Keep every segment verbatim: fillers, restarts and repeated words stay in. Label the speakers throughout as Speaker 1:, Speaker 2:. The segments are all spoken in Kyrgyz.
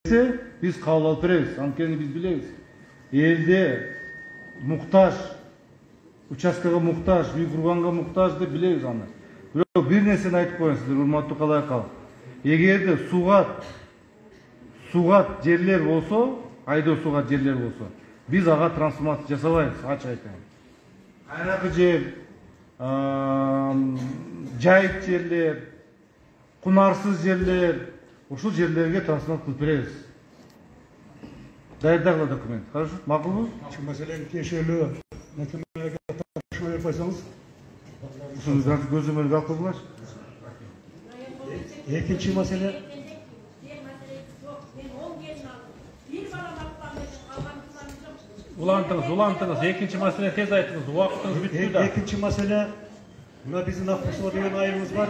Speaker 1: Biz kabul alıp veririz. Antkeni biz biliriz. Elde muhtaç, участкага muhtaç, үй kurganga muhtaç deb biliriz аны. Бирок бир нерсени айтып коеюн сиздер, урматтуу калай калк. Эгерде суга суга жерлер болсо, айдоо суга жерлер болсо, биз ага трансформация жасабайбыз, ачык айтайын. Кайракы жер, жайык жерлер, кунарсыз жерлер, ушул жерлерге трансформация кылып беребиз. Даярдагыла документ. Хорошо? Макулбу?
Speaker 2: Şu meselenin тиешелүү мекемелерге тапшырма берип койсоңуз.
Speaker 1: Ушуну көзөмөлгө алып койгула.
Speaker 2: Экинчи маселе
Speaker 3: Улантыңыз, улантыңыз. Экинчи маселе тез айтыңыз. Убактыңыз бүттү да.
Speaker 2: Экинчи маселе мына биздин Акбусоо деген айылыбыз бар.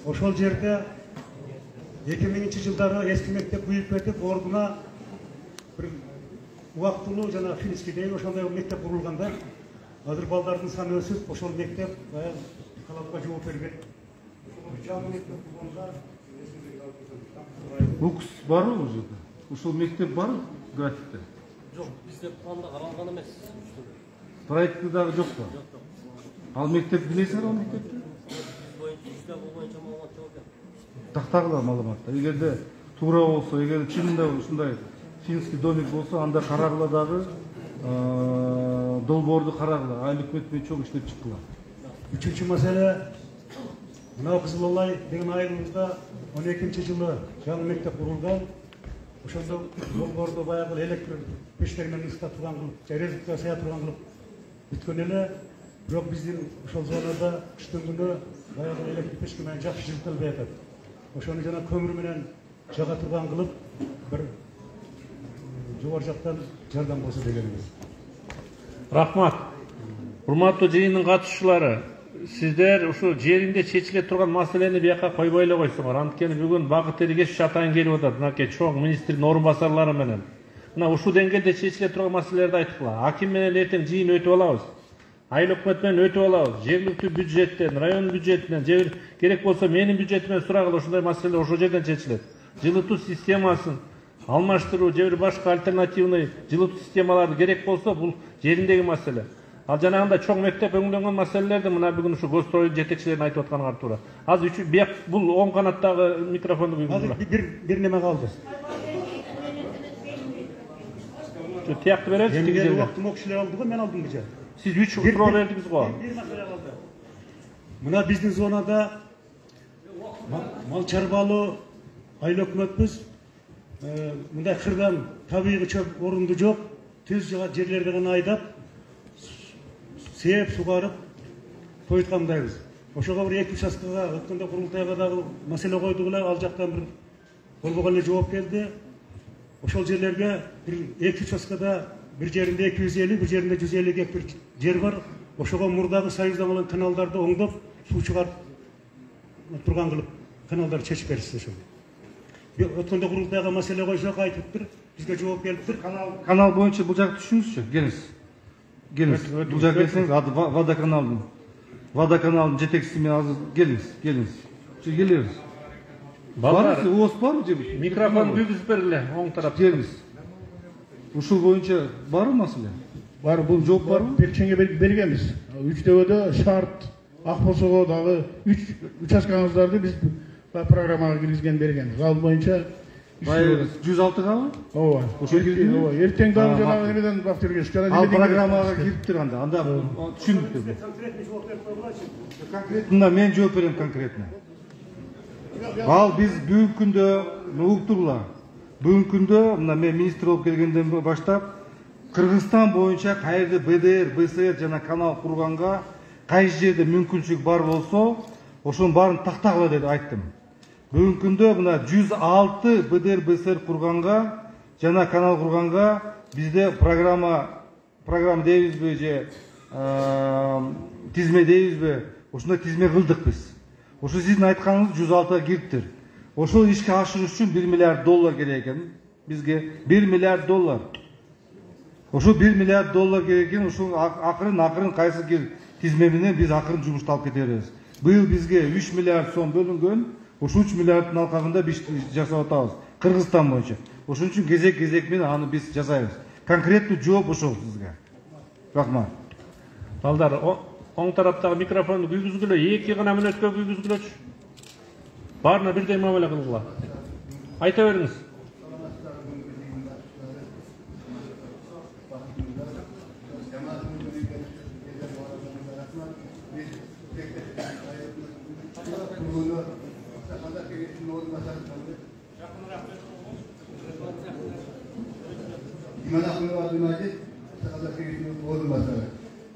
Speaker 2: Ошол жерде эки миңинчи жылдары эски мектеп күйүп кетип, ордуна бир убактылуу жана финский деген ошондой мектеп курулганда, азыр балдардын саны өсүп, ошол мектеп талапка жооп берген. Жаңы мектеп курганда
Speaker 1: Укс барбы бул жерде? Ушул мектеп барбы графикте?
Speaker 3: Жок, бизде планда каралган эмес.
Speaker 1: Проектте дагы жокпу? Ал мектеп билесиңер, ал мектепти? Тактагыла маалыматта. Эгерде туура болсо, эгер чынында ушундай финский домик болсо, анда карагыла дагы долбоорду карагыла. Айыл өкмөт менен чоң иштеп чыккыла.
Speaker 2: Үчүнчү маселе мына Кызыл Алай деген айылыбызда он экинчи жылы жаңы мектеп курулган. Ошондо долбоорду баягы электр пештер менен ыстап турган кылып, резервке сая турган кылып бүткөн эле. Бирок биздин ошол зонада кыштын күнү баягы электр печке менен жакшы жылытылбай атат. Ошону жана көмүр менен жага турган кылып, бир жогору жактан жардам болсо дегенбиз.
Speaker 3: Рахмат. Урматтуу жыйындын катышуучулары, сиздер ушу жеринде чечиле турган маселени бияка койбой эле койсоңор. Анткени бүгүн багыт эргеш атайын келип атат. Мынакей чоң министрдин орун басарлары менен. Мына ушул деңгээлде чечиле турган маселелерди айткыла. Аким менен эртең жыйын өтүп алабыз. Айыл өкмөт менен өтүп алабыз. Жергиликтүү бюджеттен, район бюджетинен, же керек болсо менин бюджетимден сурагыла, ушундай маселе ошол жерден чечилет. Жылытуу системасын алмаштыруу же бир башка альтернативный жылытуу системалары керек болсо, бул жериндеги маселе. Ал жанагындай чоң мектеп өңдөнгөн маселелерди мына бүгүн ушу Гострой жетекчилерин айтып атканга туура. Азыр үчү бияк бул оң канаттагы микрофонду
Speaker 2: Азыр бир бир неме калды.
Speaker 3: Тиякты бересиз, тиги жерге.
Speaker 2: Убактым кишилер алды го, мен алдым бужа.
Speaker 3: Сиз үч суроо бердиңиз го.
Speaker 2: Бир маселе калды. Мына биздин зонада мал чарбалуу айыл өкмөтбүз. Мындай кырдан табигый чөп орунду жок, түз жерлерди гана айдап, сээп сугарып койуткандайбыз. Ошого бир эки участкага өткөндө курултайга дагы маселе койдук эле, ал жактан бир болбогон эле жооп келди. Ошол жерлерге бир эки участкада бир жеринде эки жүз элүү, бир жеринде жүз элүү гектар жер бар. Ошого мурдагы союздан алган каналдарды оңдоп, суу чыгарып турган кылып, каналдарды чечип беришти ошол. Өткөндө курултайга маселе койсок айтыптыр, бизге жооп келиптир.
Speaker 1: Канал канал боюнча бул жакты түшүңүзчү, келиңиз. Келиңиз. Бул жакка келсеңиз, водоканалдын водоканалдын жетекчиси менен азыр келиңиз, келиңиз. Чы келебиз. Балдар, уос барбы же?
Speaker 3: Микрофон бүгүзүп бергиле, оң тарапта.
Speaker 1: Келиңиз. Ушул боюнча барбы маселе?
Speaker 4: Бар, бул
Speaker 1: жооп барбы?
Speaker 4: Перчеңге бергенбиз. Үчтөбөдө шарт, Акбосого дагы үч участкаңыздарды биз программага киргизген бергенбиз. Ал боюнча
Speaker 1: жүз алтыгабы?
Speaker 4: Ооба.
Speaker 1: Ошо кирди.
Speaker 4: Ооба. Эртең дагы жанагы эмеден бактыргеш.
Speaker 1: Ал программага кириптир анда. Анда түшүндүк. Конкретно мен жооп берем конкретно. Ал биз бүгүнкү күндө уктурла. Бүгүнкү күндө мына мен министр болуп келгенден баштап Кыргызстан боюнча кайерде бэ дэ эр, бэ эс эр жана канал курганга кайсы жерде мүмкүнчүлүк бар болсо, ошонун баарын тактагыла деп айттым. Бүгүнкү күндө мына жүз алты бэ дэ эр, бэ эс эр курганга жана канал курганга бизде программа программа дейбизби же тизме дейбизби, ушундай тизме кылдык биз. Ошо сиздин айтканыңыз жүз алтыга кириптир. Ошол ишке ашырыш үчүн бир миллиард доллар керек экен бизге. бир миллиард доллар. Ошо бир миллиард доллар керек экен, ушул акырын акырын кайсы тизме менен биз акырын жумушту алып кете беребиз. Быйыл бизге үч миллиард сом бөлүнгөн. Ушул үч миллиарддын алкагында биз жасап атабыз. Кыргызстан боюнча. Ошон үчүн кезек кезек менен аны биз жасайбыз. Конкреттүү жооп ошол сизге. Рахмат.
Speaker 3: Балдар, оң тараптагы микрофонду күйгүзгүлө, эки гана мүнөткө күйгүзгүлөчү. Баарына бирдей мамиле кылгыла. Айта бериңиз.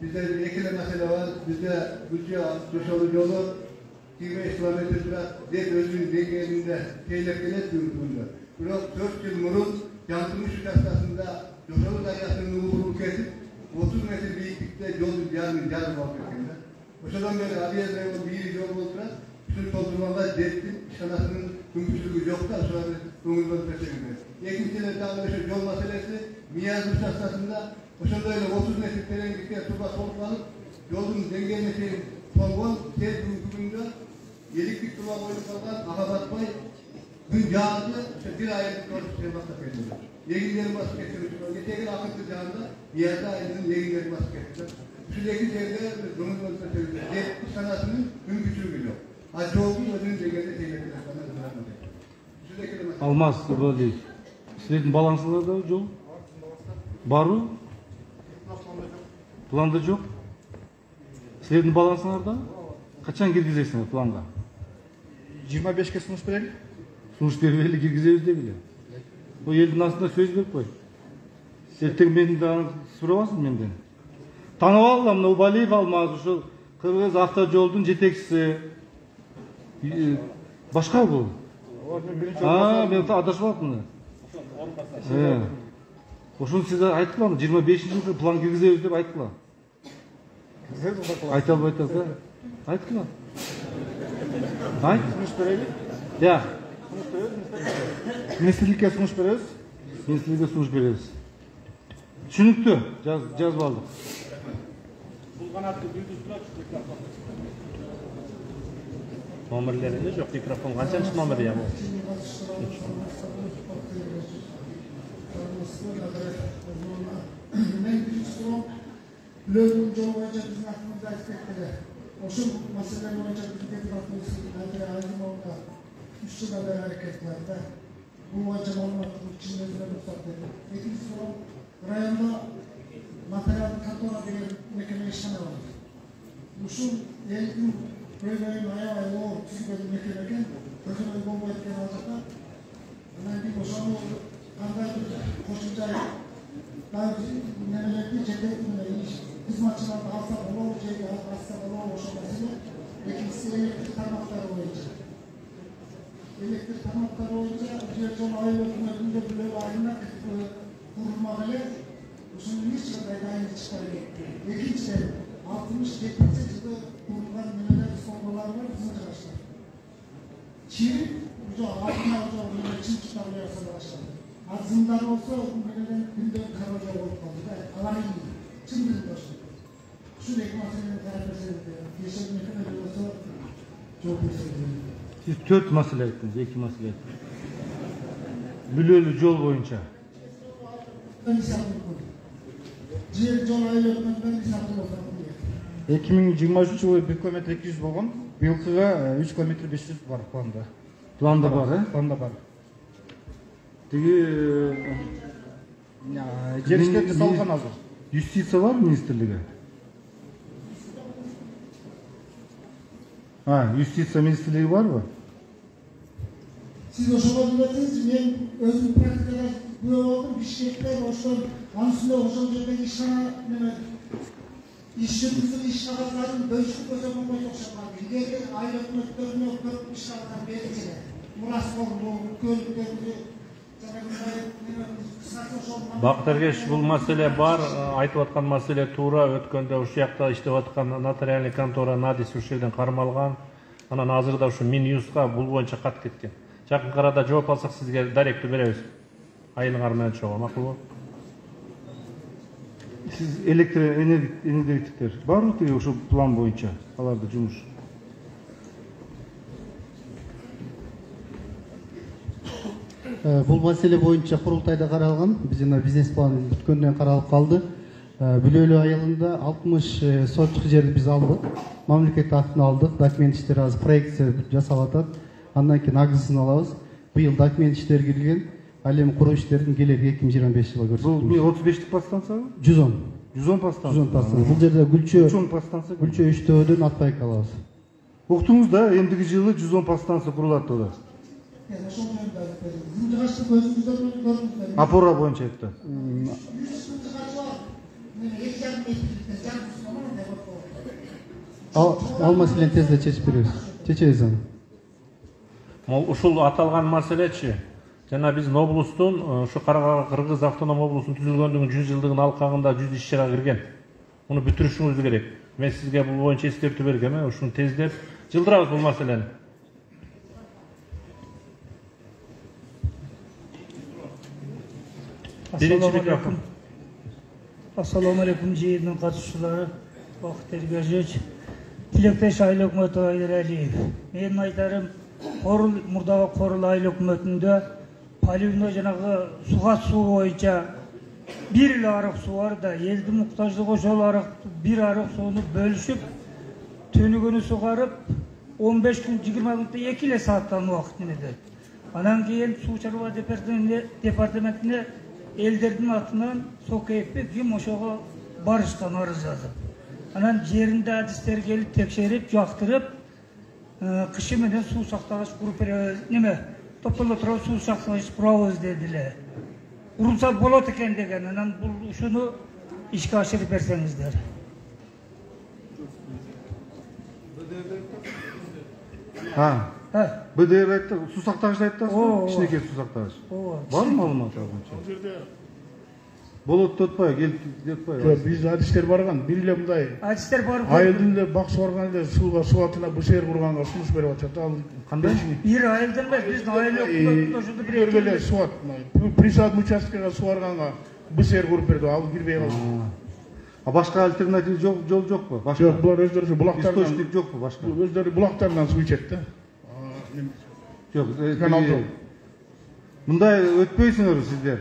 Speaker 5: Bizde ekile mesele var, bizde bütçe dışarı yolu yirmi beş kilometre sürat dek özünün dengelerinde tehlikeli durumunda. Bırak dört yıl murun yansımış kastasında dışarı daryasının uğrunu kesip otuz metre büyüklükte yol yarım yarım bakıyorlar. O şuradan beri abiye dayalı bir yol olsa bütün toplumlarda devletin şanasının mümkünlüğü yok da sonra ömürleri peşinde. İkincisi de yol meselesi Miyazlı kastasında o şurada öyle otuz metre derinlikte tuba toplanıp yolun dengelemesi kongon tez günde yeliklik tuba boyunca kalan Akabatbay gün yağdı bir aylık dört şey basıp ediyor. Yeginlerin basıp getiriyor. Geçen akıntı cağında Miyazlı ayının yeginlerin basıp getiriyor. Şu iki yerde Rumuz'un söylüyor. Devlet sanatının mümkünlüğü yok. Acı olduğu ödünün dengede tehlikeli sanatı.
Speaker 1: Алмаз Ибралиев. Силердин балансыңарда жол барбы? Планда жок. Силердин балансыңарда качан киргизесиңер планга?
Speaker 6: жыйырма бешке сунуш берели.
Speaker 1: Сунуш бербейли киргизебиз дегиле. Бул элдин астында сөз берип кой. Эртең мени дагы сурабасың менден. Таанып алдым, мына Убалиев Алмаз ушул Кыргыз автожолдун жетекчиси. Башка бул. А, мен адашып атмын. Э. Ошону сиз айткыла, жыйырма бешинчи жылы план киргизебиз деп айткыла. Айта албай атасыз, айткыла. Айт.
Speaker 6: Сунуш берели.
Speaker 1: Я.
Speaker 6: Министрликке сунуш беребиз.
Speaker 1: Министрликке сунуш беребиз. Түшүнүктүү, жазып алдык.
Speaker 3: Номерлерinde жоқ, микрофон қаншанчы номер я бұл?
Speaker 7: Мен биринчи суроо Лөлдүн жолу боюнча биздин актыбызды айтып кетти. Ошол маселе боюнча биздин депутатыбыз Айдар Азимовго үч жылдан бери аракет кылат да. Бул боюнча маалыматтын чындыгына рухсат берди. Экинчи суроо районда нотариалдык контора деген мекеме иштеп атат. Ушул элдин Böyle ayağı o tüzgünün mekaneken, ötürü bomba etken alacaklar. Hemen bir boşanma oldu. Kandan bir koşunca daha nemelerdi, cedetinde iş. Hizmetçilerinde hasta olur, şeyde hasta olur, boşanmasıyla. İkincisi elektrik tarmakları olunca. Elektrik tarmakları olunca, bir son ayı hükümetinde böyle ayına kurulmalı. Usunun hiç kadar aynı çıkarıyor. İkincisi, altmış yetmiş yılda kurulan neler sonralar var bizim arkadaşlar. Çin, bu altına alacak olan Çin çıkarmaya arkadaşlar. Azından olsa o nelerin günden karaca olup kaldı. Alayım. Çin bizim başlar. Şu rekmasının tarifesinde yaşam ne olsa çok güzel.
Speaker 1: Siz dört masale ettiniz, iki masale ettiniz. Bülölü yol boyunca.
Speaker 7: Ben isabet koydum. Ciğer yol ayırmaktan ben isabet koydum.
Speaker 6: эки миң жыйырма үчүнчү жылы бир километр эки жүз болгон, быйылкыга үч километр беш жүз бар планда.
Speaker 1: Планда бар, э?
Speaker 6: Планда бар.
Speaker 1: Тиги
Speaker 6: жер иштеп жасалган азыр.
Speaker 1: Юстиция бар министрлиги? А, юстиция министрлиги барбы?
Speaker 7: Siz ошого билесиз, мен өзүм практикада күбө болдум, Бишкекте ошол анын үстүнө ошол жердеги ишкана неме İş yürütüsün iş kağıtlarının bölüşük özel olmayı okşatmadı. İleride ayrı ökmetlerine ökmet iş kağıtlar verilsene. Muras oldu, gölüklerdi.
Speaker 3: Бакыт Эргеш, бул маселе бар, айтып аткан маселе туура. Өткөндө ушул жакта иштеп аткан нотариальный контора Надис ушул жерден кармалган. Анан азырда ушу Минюстка бул боюнча кат кеткен. Жакын арада жооп алсак сизге даректүү беребиз. Айылыңар менен чогуу, макулбу?
Speaker 1: Siz elektroenergetikler var mı diyor şu plan boyunca? Alarda cumuş.
Speaker 8: Бул маселе боюнча курултайда каралган. Биз жана бизнес план бүткөндөн каралып калды. Бүлөлүү айылында алтымыш сотчук жерди биз алдык. Мамлекет актын алдык. Документ иштери азыр проекция жасалып атат. Андан кийин агзысын алабыз. Быйыл документ иштери кирген. Ал эми куруу иштерин келер эки миң жыйырма беш жылга көрсөтүлмүш.
Speaker 1: Бул отуз бештик подстанциябы?
Speaker 8: жүз он.
Speaker 1: жүз он подстанция.
Speaker 8: жүз он подстанция. Бул жерде Гүлчө
Speaker 1: жүз он подстанция.
Speaker 8: Гүлчө үчтөөдөн Атбайкы алабыз.
Speaker 1: Уктуңуз да, эмдиги жылы жүз он подстанция курулат деп атат. Опора боюнча айтты.
Speaker 8: Ал маселени тезде чечип беребиз. Чечебиз аны.
Speaker 3: Ушул аталган маселечи жана биздин облустун ушу Кыргыз автоном облусунун түзүлгөндүгүнүн жүз жылдыгын алкагында жүз иш чара кирген. Муну бүтүрүшүңүз керек. Мен сизге бул боюнча эскертүү бергем, ушуну тездеп жылдырабыз бул маселени. Биринчи микрофон.
Speaker 9: Ассаламу алейкум жыйындын катышуучулары, Бакыт Эргежевич, тилектеш айыл өкмөтү Айдаралиев. Менин айтарым, Корул мурдагы Корул айыл өкмөтүндө поливной жанагы суга суу боюнча бир эле арык суу бар да, элдин муктаждыгы ошол арыкты бир арык сууну бөлүшүп, төнүгөнү сугарып, он беш күн жыйырма күндө эки эле сааттан убакыт нетет. Анан кийин суу чарба департаментине элдердин атынан Сокеевпи ким ошого барышкан арыз жазып. Анан жеринде адистер келип текшерип, жактырып, кышы менен суу сактагыч куруп беребиз, неме, топтоло туруп суу сактагыч курабыз дедилер. Урулса болот экен деген. Анан бул ушуну ишке ашырып берсеңиздер.
Speaker 1: Ha. Б Д Р айтты, суу сактагычты айттыңызбы? Кичинекей суу сактагыч. Бар маалымат ал боюнча? Болот деп атпайбы, келип деп атпайбы?
Speaker 4: Жок, биз адистер барган, бир эле мындай.
Speaker 9: Адистер барып,
Speaker 4: айылдын эле бак сугарган эле сууга суу атына БСР курганга сунуш берип атышат. Ал
Speaker 1: кандай?
Speaker 9: Бир айылдан эмес, биздин айыл өкмөтүндө ошондо бир
Speaker 4: эле суу ат. Присадный участкага сугарганга БСР куруп берди, ал кирбей калды.
Speaker 1: А башка альтернатив жол жокпу? Башка.
Speaker 4: Жок, булар өздөрү булактардан.
Speaker 1: Источник жокпу башка?
Speaker 4: Өздөрү булактардан суу ичет да.
Speaker 1: Жок, мындай өтпөйсүңөр сиздер.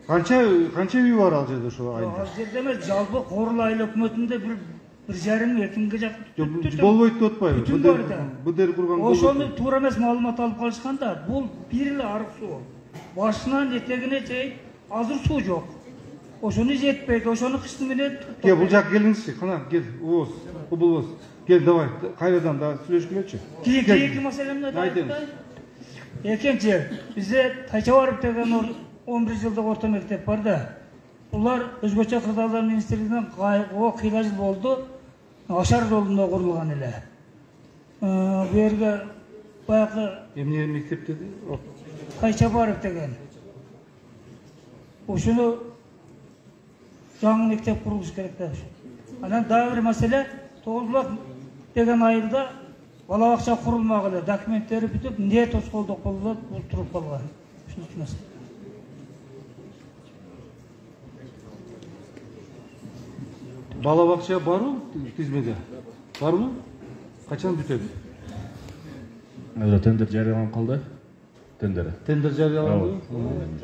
Speaker 1: Канча канча үй бар ал жерде ошо айылда?
Speaker 9: Ал жерде эмес, жалпы Корул айыл өкмөтүндө бир бир жарым эки миңге жакын.
Speaker 1: Болбойт деп атпайбы?
Speaker 9: Бүтүн бар да.
Speaker 1: Б Д Р курган.
Speaker 9: Ошону туура эмес маалымат алып калышкан да. Бул бир эле арык суу. Башынан этегине чейин азыр суу жок. Ошону жетпейт, ошону кыштын менен.
Speaker 1: Кел, бул жака келиңизчи, кана кел, убоз, убоз. Кел, давай, кайрадан да сүйлөшкүлөчү.
Speaker 9: Кийинки маселемди айтайын. Экинчи, бизде Тайчабаров деген он бир жылдык орто мектеп бар да. Улар өзбекче кырдаалдар министрлигинен кайгыга кыйла жыл болду. Ашар жолунда курулган эле. Бу жерге баягы
Speaker 1: эмне мектеп деди?
Speaker 9: Тайчабаров деген. Ошону жаңы мектеп курулуш керек да. Анан дагы бир маселе, Тогузбулак деген айылда бала бакча курулмагыла, документтери бүтүп, не тоскоолдук болуп, бул туруп калган. Ушул маселе.
Speaker 1: Бала бакча барбы тизмеде? Барбы? Качан бүтөт?
Speaker 10: Азыр тендер жарыяланып калды. Тендер.
Speaker 1: Тендер жарыяланды.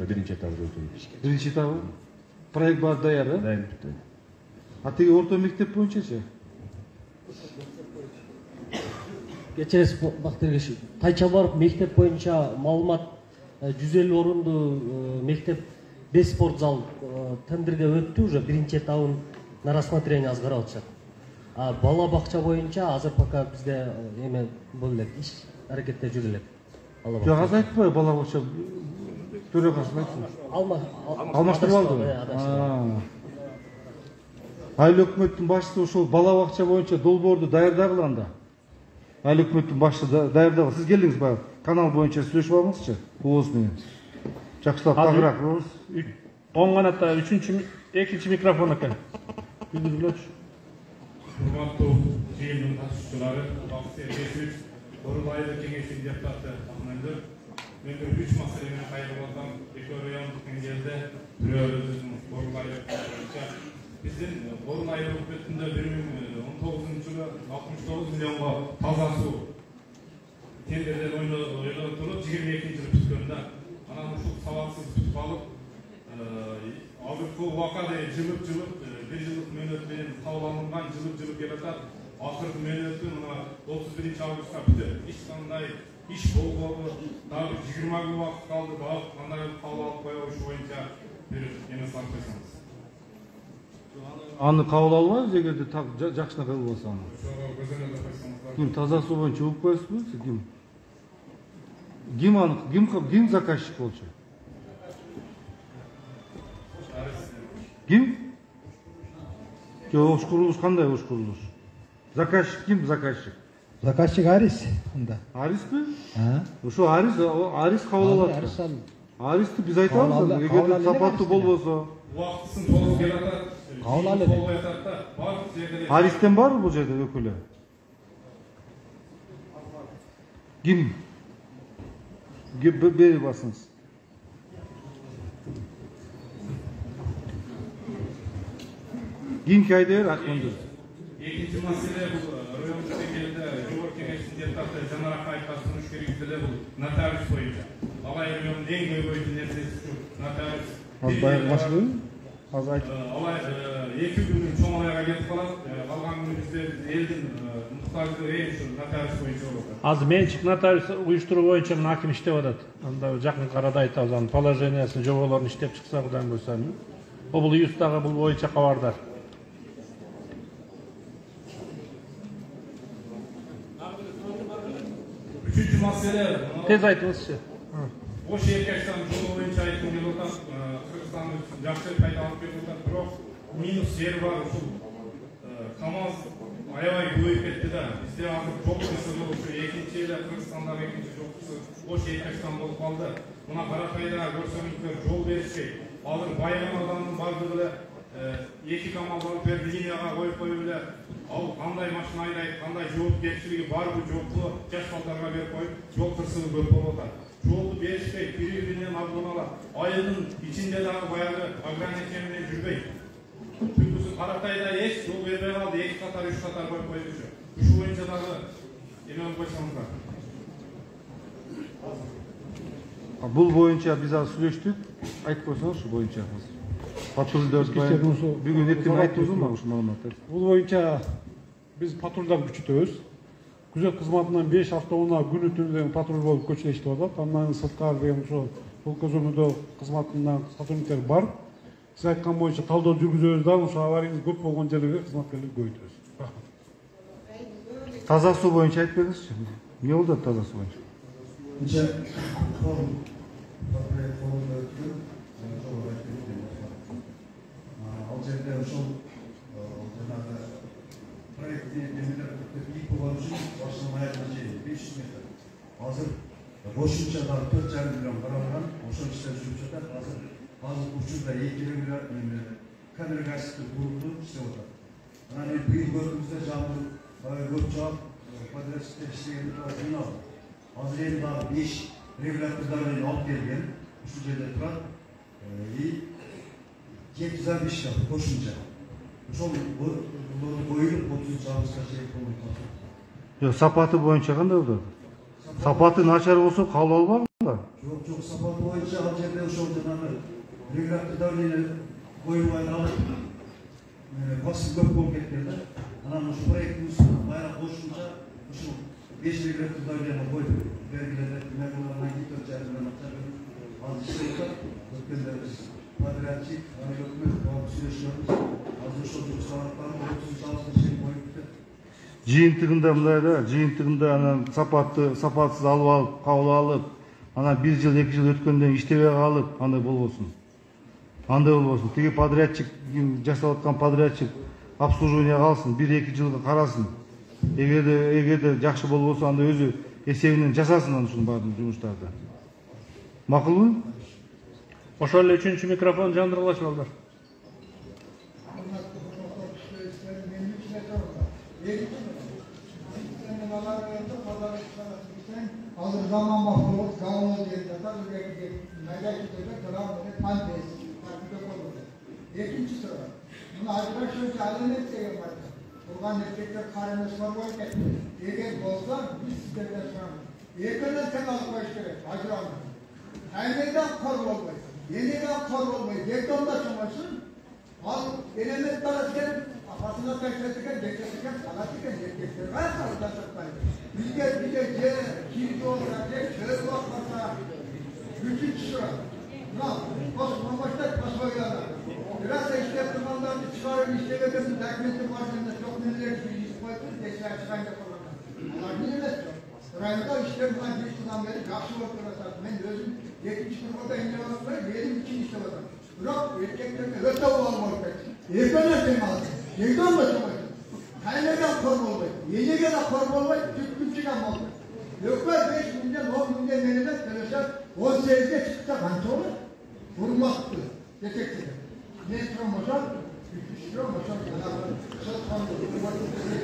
Speaker 10: Биринчи этабы өтүлдү.
Speaker 1: Биринчи этабы. Проект бар даяр, э?
Speaker 10: Дайын бүтү.
Speaker 1: А тиги орто мектеп боюнчачы?
Speaker 11: Кечерес Бактыргеш, Тайчабаров мектеп боюнча маалымат жүз элүү орундуу мектеп беш спорт зал тендерге өттү, уже биринчи этабын на рассмотрение азыр карап атышат. А бала бакча боюнча азыр пока бизде эме боло элек, иш аракетте жүрө элек.
Speaker 1: Жок, аз айтпай бала бакча төрөгасы айтсын.
Speaker 11: Алма
Speaker 1: алмаштырып алды. Айыл өкмөттүн башчысы ошол бала бакча боюнча долбоорду даярдагыла анда. Айыл өкмөттүн башчысы даярдагыла. Сиз келдиңиз баягы канал боюнча сүйлөшүп алыңызчы. Убоз менен. Жакшылап багыраак.
Speaker 3: оң канатта үчүнчү экинчи микрофон экен. Үйдүрүлөчү.
Speaker 12: Урматтуу жыйындын катышуучулары, Бакыт Эргежевич, Корул айыл кеңешинин депутаты Акмендер. Мен үч маселе менен кайрылып атам. Экөө райондук деңгээлде, бирөө өзүбүздүн Корул айыл боюнча биздин Корул айыл өкмөтүндө бир миң он тогузунчу жылы алтымыш тогуз миллионго таза суу тендерден ойлонуп туруп жыйырма экинчи жылы бүткөн да. Анан ушул ушул убакада жылып жылып бир жылдык мөөнөт менен кабыл алынган жылып жылып келатат. Акыркы мөөнөтү мына отуз биринчи августка бүтөт. Эч кандай иш болбоду. Дагы жыйырма күн убакыт калды. Дагы кандай кабыл алып коебуз ушу боюнча бир эме салып койсоңуз.
Speaker 1: Аны кабыл албайбыз эгерде жакшына кабыл болсо аны.
Speaker 12: Ошого көзөмөлдөп койсоңуздар.
Speaker 1: Ким таза суу боюнча угуп коесузбу? Ким? Ким аны ким ким заказчик болчу? Ким? Жок, ош курулуш кандай ош курулуш? Заказчик ким заказчик?
Speaker 6: Заказчик Арис анда.
Speaker 1: Арисби?
Speaker 6: А?
Speaker 1: Ошо Арис, Арис кабыл алат.
Speaker 6: Арис ал.
Speaker 1: Аристи биз айтабыз, эгерде сапаттуу болбосо.
Speaker 12: Убактысын толук келатат.
Speaker 6: Кабыл алат.
Speaker 12: Аристен
Speaker 1: барбы бул жерде өкүлү? Ким? Бери басыңыз. Ким кайдыр акмындыр?
Speaker 12: Экинчи маселе бул райондук деңгээлде жогорку кеңештин депутаты Жанар Акаевге сунуш керек деле бул нотариус боюнча. Алай райондун эң көйгөйлүү нерсеси ушу нотариус.
Speaker 6: Аз баягы башкы азыр айтып.
Speaker 12: Алай эки күнүн чоң айга кетип калат. Калган күнү бизде элдин муктаждыгы эң ушу нотариус боюнча болот.
Speaker 3: Азыр менчик нотариус уюштуруу боюнча мына аким иштеп атат. Анда жакын арада айтабыз анын положениясын, жоболорун иштеп чыкса Кудайым буйрса. Облус дагы бул боюнча кабардар.
Speaker 12: Üçüncü mesele
Speaker 3: tez aytыңызчы.
Speaker 12: Ош Эркештан жолу боюнча айткым келип атат. Кыргызстан жакшы пайда алып берип атат, бирок минус жери бар. Ушул КамАЗ аябай көбөйүп кетти да. Бизде азыр жол кырсыгы ушу экинчи эле Кыргызстандагы экинчи жол кырсыгы Ош Эркештан болуп калды. Мына Каракайда көрсөңүздөр жол беришпейт. Азыр Байган ауданынын бардыгы эле эки КамАЗ алып берип линияга коюп коюп эле ал кандай машина айдайт, кандай жоопкерчилиги барбы жокпу жаш балдарга берип коюп, жол кырсыгы көп болуп атат. Жолду беришпейт, бири-биринен алдын ала айылдын ичинде дагы баягы ограничение менен жүрбөйт. Түпкүсү Каракайда эч жол бербей калды, эки катар, үч катар коюп коюшчу. Ушу боюнча дагы эме кылып койсоңуздар.
Speaker 1: Бул боюнча биз азыр сүйлөштүк. Айтып койсоңуз ушу боюнча. Патрулдар бүгүн эртең айттыңызбы ушу маалыматты?
Speaker 2: Бул боюнча биз патрулдарды күчөтөбүз. Күзөт кызматынан беш автоунаа күнү түнү патруль болуп көчөдө иштеп атат. Андан сырткары деген ошо жол көзөмөлдөө кызматынан сотрудниктер бар. Сиз айткан боюнча талдоо жүргүзөбүз да, ошо авария көп болгон жерлерге кызматкерлерди көбөйтөбүз. Рахмат.
Speaker 1: Таза суу боюнча айтып бериңизчи. Эмне болду таза суу боюнча?
Speaker 5: Ал жерде ошол жанагы проектти эмелер ий болгон үчүн башынан аягына чейин беш жүз метр. Азыр кошумча дагы төрт жарым миллион каралган, ошол иштер жүрүп жатат. Азыр азыр учурда эки миллион камера гасиптер курулду, иштеп атат. Анан эми быйыл көрдүңүздөр жамгыр көп жаап, подрядчиктер иштегенди жыйналды. Азыр эми дагы беш регулятордорду алып келген, ушул жерде турат. И жети жүз алпыс беш кошумча. Ошол коюлуп отузунчу августка чейин болуп калат.
Speaker 1: Жок, сапаты боюнча кандай болду? Сапаты начар болсо кабыл албагыла?
Speaker 5: Жок, жок, сапаты боюнча ал жерде ошол жанагы регулятордорду коюлбай калып, басым көп болуп кеткен да. Анан ошол проекттин үстүнө байра кошумча ушул беш регулятордорду коюп бергилерде мемлекеттен төрт жарым миллион акча берип азыр иштеп атат. Өткөндө биз подрядчик, өкмөт болуп сүйлөшүбүз. Азыр ошол жумуштарды отузунчу августка чейин коюп кетет.
Speaker 1: Жыйынтыгында мындай да, жыйынтыгында анан сапатты, сапатсыз алып алып, кабыл алып, анан бир жыл, эки жыл өткөндөн иштебей калып, андай болбосун. Андай болбосун. Тиги подрядчик, жасап аткан подрядчик обслуживание калсын, бир эки жылга карасын. Эгерде эгерде жакшы болбосо, анда өзү эсебинен жасасын анын ушунун баардык жумуштарды. Макулбу?
Speaker 3: Ошол эле үчүнчү микрофон жандырылачы балдар.
Speaker 7: Азыр заман бакылып, галына келип жатат, майдачыларга грамманы пандес. Экинчи суроо. Мына айтпакчы алемет деген бар. Турган эркектер карыны сорбой кетти. Эгер болсо, биз сиздерден сурайбыз. Экинен тең алып коюш керек, ажыралып. Кайнедан кор болбойсуң.
Speaker 5: Yeniden kor olmayı, dektomda çamaşın, al element tarafken, apasına taşlatırken, geçerken, salatırken, geçerken, her sarıda saklayın. Bizde bize ce, kirli olsa, ce, çörek olmasa, bütün çıra. Buna, bas, mamaşta basmayla. Biraz da işte yaptırmanlarını çıkarın, işte vedelim, derkmeti varlığında çok neler bir iş koydun, geçer çıkan yapalım. Onlar bilmez. Rayında işte buna bir yıldan beri karşı ortada. Ben özüm yetmiş kurmada ince olanlar benim için işte var. Bırak erkeklerine öte olmalı. Erkekler teması. Yekten mi teması? Kaynağından korma olmayı. Yenege de korma olmayı. Tükkün çıkan oldu. Yoksa beş milyon, on milyon meneden çalışan on sekizde çıksa kança olur? Vurmaktı. Detektidir. Ne çıkan boşan? üç yüz lira boşan. Kısal kandı.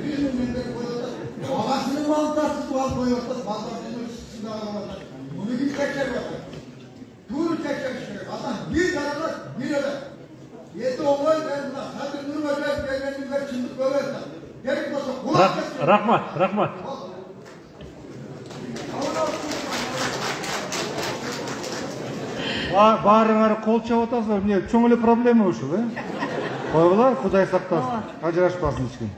Speaker 5: yüz milyonları koyuyorlar. Babasının mantıksız bal koyuyorlar. Ballarının üstünde alamazlar. Bunu bir tekrar bakar. Tur tekrar çıkıyor. Adam bir tarafa bir öyle. Yedi olay ben buna. Hadi Nur Hocam gelmenin ve çındık böyle. Gerek olsa.
Speaker 3: Rahmat, rahmat.
Speaker 1: Баарыңар кол чабып атасыздар. Эмне чоң эле проблема ушул, э? Койгула, Кудай сактасын. Ажырашпасын эч ким.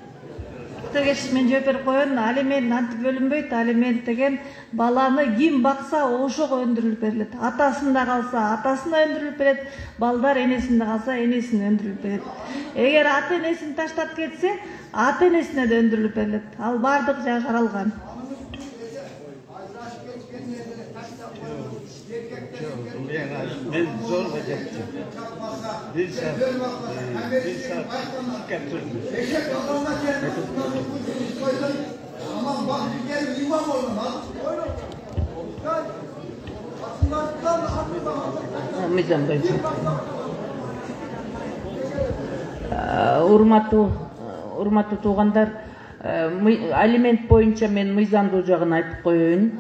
Speaker 13: Тегеш мен жооп берип коеюн. Алимент антип бөлүнбөйт. Алимент деген баланы ким бакса ошого өндүрүлүп берилет. Атасында калса, атасына өндүрүлүп берет. Балдар энесинде калса, энесине өндүрүлүп берет. Эгер ата энесин таштап кетсе, ата энесине да өндүрүлүп берилет. Ал бардык жагы каралган.
Speaker 14: Ben zorla gittim. Bir saat, bir saat getirdim.
Speaker 5: Aman bak bir kere imam olun ha.
Speaker 15: Mizan Bey. Урматтуу урматтуу туугандар, алимент боюнча мен мыйзамдуу жагын айтып коеюн.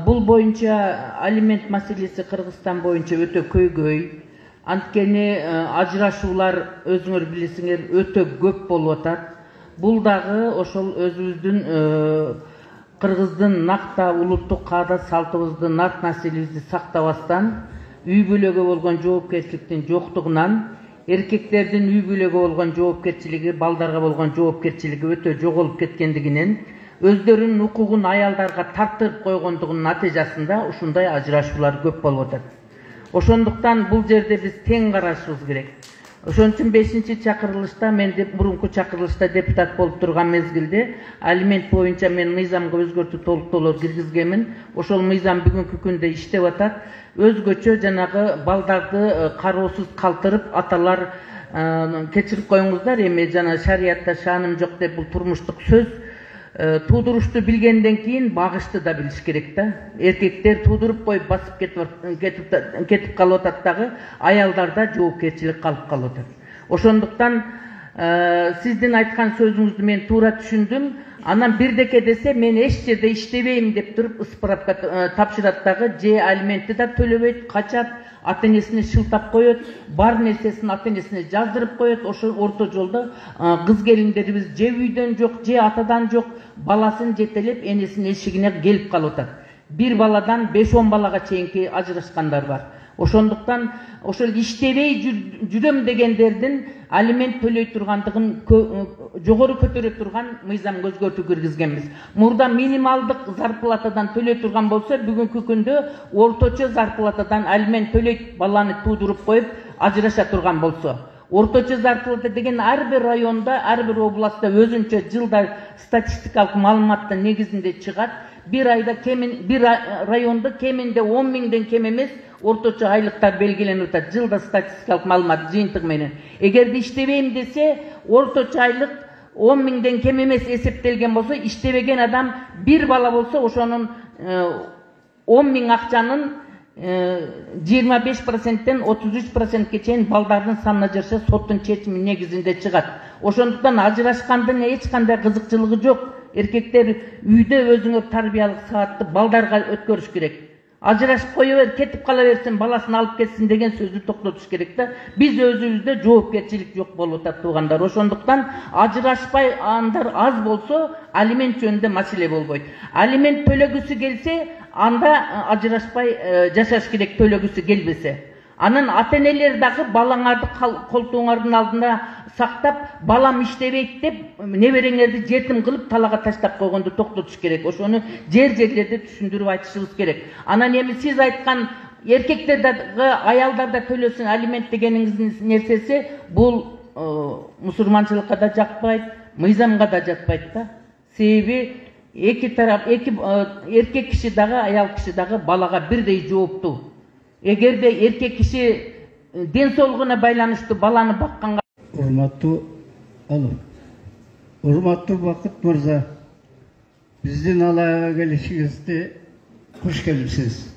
Speaker 15: Бул боюнча алимент маселеси Кыргызстан боюнча өтө көйгөй. Анткени ажырашуулар өзүңөр билесиңер өтө көп болуп атат. Бул дагы ошол өзүбүздүн Кыргыздын накта улуттук каада салтыбызды, нарт населебизди сактабастан, үй бүлөгө болгон жоопкерчиликтин жоктугунан, эркектердин үй бүлөгө болгон жоопкерчилиги, балдарга болгон жоопкерчилиги өтө жоголуп кеткендигинен, өздөрүнүн укугун аялдарга тартырып койгондугунун натыйжасында ушундай ажырашуулар көп болуп атат. Ошондуктан бул жерде биз тең карашыбыз керек. Ошон үчүн бешинчи чакырылышта, мен деп мурунку чакырылышта депутат болуп турган мезгилде алимент боюнча мен мыйзамга өзгөртүү толуктоолор киргизгенмин. Ошол мыйзам бүгүнкү күндө иштеп атат. Өзгөчө жанагы балдарды кароосуз калтырып, аталар кечирип коюңуздар, эми жана шариятта шааным жок деп бул турмуштук сөз. Туудурушту билгенден кийин багышты да билиш керек да. Эркектер туудуруп коюп басып кетип кетип калып атат дагы, аялдарда жоопкерчилик калып калып атат. Ошондуктан сиздин айткан сөзүңүздү мен туура түшүндүм. Анан бирдеке десе мен эч жерде иштебейм деп туруп справка тапшырат дагы, же алиментти да төлөбөйт, качат, ата энесине шылтап коет, бар нерсесин ата энесине жаздырып коет. Ошо орто жолдо кыз келиндерибиз же үйдөн жок, же атадан жок, баласын жетелеп энесинин эшигине келип калып атат. Бир баладан беш он балага чейинки ажырашкандар бар. Ошондуктан ошол иштебей жүрөм дегендердин алимент төлөй тургандыгын жогору көтөрө турган мыйзамга өзгөртүү киргизгенбиз. Мурда минималдык зарплатадан төлөй турган болсо, бүгүнкү күндө орточо зарплатадан алимент төлөйт, баланы туудуруп коюп ажыраша турган болсо. Орточо зарплата деген ар бир районда, ар бир областта өзүнчө жылда статистикалык маалыматтын негизинде чыгат. Bir ayda kemin, bir rayonda keminde on mingden kem emes ortaça aylıklar belgilenip atat. Жылда statistikалық malumat жыйынтык менен. Эгерде иштебейм десе, орточа айлык on mingden kem emes эсептелген болсо, иштебеген адам bir bala болсо, ошонун on ming акчанын жыйырма беш проценттен отуз үч процентке чейин балдардын санына жараша соттун чечими негизинде чыгат. Ошондуктан ажырашкандын эч кандай кызыкчылыгы жок. Эркектер үйдө өзүңөр тарбиялык саатты балдарга өткөрүш керек. Ажырашып кое бер, кетип кала берсин, баласын алып кетсин деген сөздү токтотуш керек да. Биз өзүбүздө жоопкерчилик жок болуп атат туугандар. Ошондуктан ажырашпай андар аз болсо, алимент жөнүндө маселе болбойт. Алимент төлөгүсү келсе, анда ажырашпай жашаш керек, төлөгүсү келбесе. Анан ата энелер дагы балаңарды колтуңардын алдында сактап, балам иштебейт деп небереңерди жетим кылып талага таштап койгонду токтотуш керек. Ошону жер жерлерде түшүндүрүп айтышыбыз керек. Анан эми сиз айткан эркектер дагы аялдар да төлөсүн алимент дегениңиздин нерсеси бул мусулманчылыкка да жакпайт, мыйзамга да жатпайт да. Себеби эки тарап, эки эркек киши дагы, аял киши дагы балага бирдей жооптуу. Эгерде эркек киши ден соолугуна байланыштуу баланы бакканга
Speaker 14: урматтуу алып урматтуу Бакыт мырза, биздин алайга келишиңизди куш келипсиз.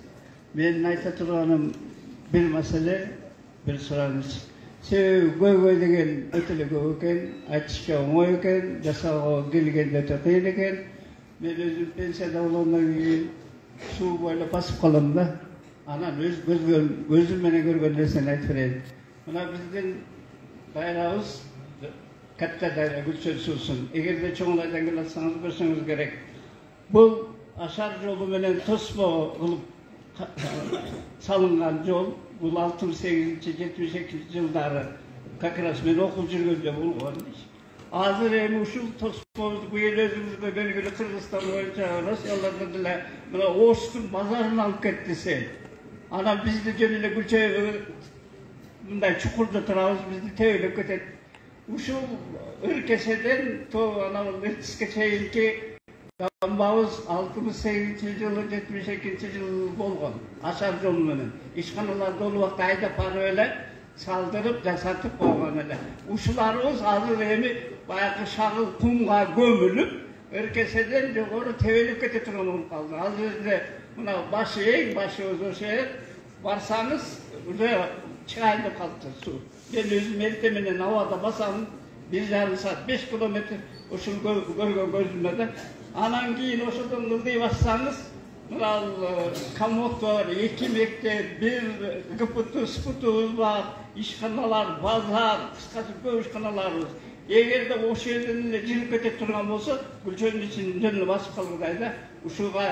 Speaker 14: Менин айта турганым бир маселе, бир сураңыз. Себеби көйгөй деген өтө эле көп экен, айтышка оңой экен, жасоого келгенде өтө кыйын экен. Мен өзүм пенсияда болгондон кийин суу бойлоп басып калам да. Анан өз көзүм менен көргөн нерсени айтып берейин. Мына биздин дайрабыз катта дайра, Гүлчөн суусун. Эгерде чоңлайдан келе атсаңыз көрсөңүз керек. Бул ашар жолу менен тосмо кылып салынган жол. Бул алтымыш сегизинчи жетимиш экинчи жылдары как раз мен окуп жүргөндө болгон. Азыр эми ушул тосмобузду бул эл өзүбүзгө белгилүү Кыргызстан боюнча Россиялардан деле мына Оштун базарын алып кетти десе. Анан бизди жөн эле Гүлчөбү мындай чукурда турабыз, бизди тебелеп кетет. Ушул өлкеседен то анан Ертиске чейинки дамбабыз алтымыш сегизинчи жылы, жетимиш экинчи жыл болгон. Ашар жол менен ишканаларды ол убакта айдап барып эле салдырып, жасатып койгон эле. Ушуларыбыз азыр эми баягы шагыл кумга көмүлүп, өлкеседен жогору тебелеп кете турган болуп калды. Азыр эле мына башы эң башыбыз ошо эл барсаңыз уже чыгайын деп калыптыр суу. Мен өзүм эрте менен абада басам, бир жарым саат, беш километр ушул көргөн көзүмө да. Анан кийин ошодон ылдый бассаңыз, мына коммут бар, эки мектеп, бир ГПТ, СПТубуз бар, ишканалар, базар, кыскасы көп ишканаларыбыз. Эгерде ошол жерден эле жигип кете турган болсо, Гүлчөндүн ичин жөн эле басып калгыдай да. Ушуга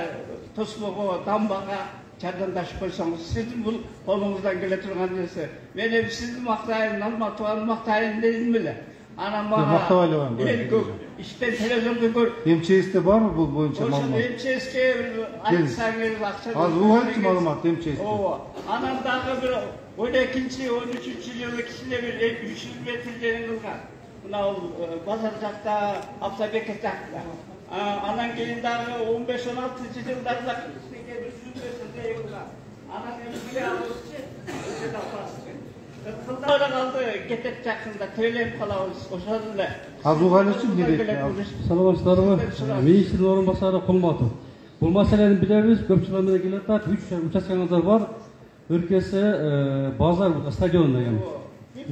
Speaker 14: тосмого, дамбага жардамдашып койсоңуз, сиздин бул колуңуздан келе турган нерсе. Мен эми сизди мактайын, Алматыбаны мактайын дедим эле. Анан мага эл көп иштен телевизордо көр.
Speaker 1: МЧСте барбы бул боюнча маалымат?
Speaker 15: Ошо МЧСке айтсаңыз акча.
Speaker 1: Азыр угайчы маалымат МЧСте.
Speaker 15: Ооба. Анан дагы бир он экинчи, он үчүнчү жылы кишилер бир үч жүз метр жерин кылган. Мына базар жакта, Абсабеков жакта. Анан кийин дагы он беш он алтынчы жылдарда үч жүз метр жер кылган. Анан эми билебизчи, өтө тапасыз. Кылдыра калды, кетет жакында төлөп калабыз, ошол эле.
Speaker 1: Азугалычы билет.
Speaker 16: Саламатсыздарбы? Министрдин орун басары Кулматов. Бул маселени билебиз, көп жылдан бери келе атат. үч участкаңыздар бар. Өлкөсү базар стадион деген.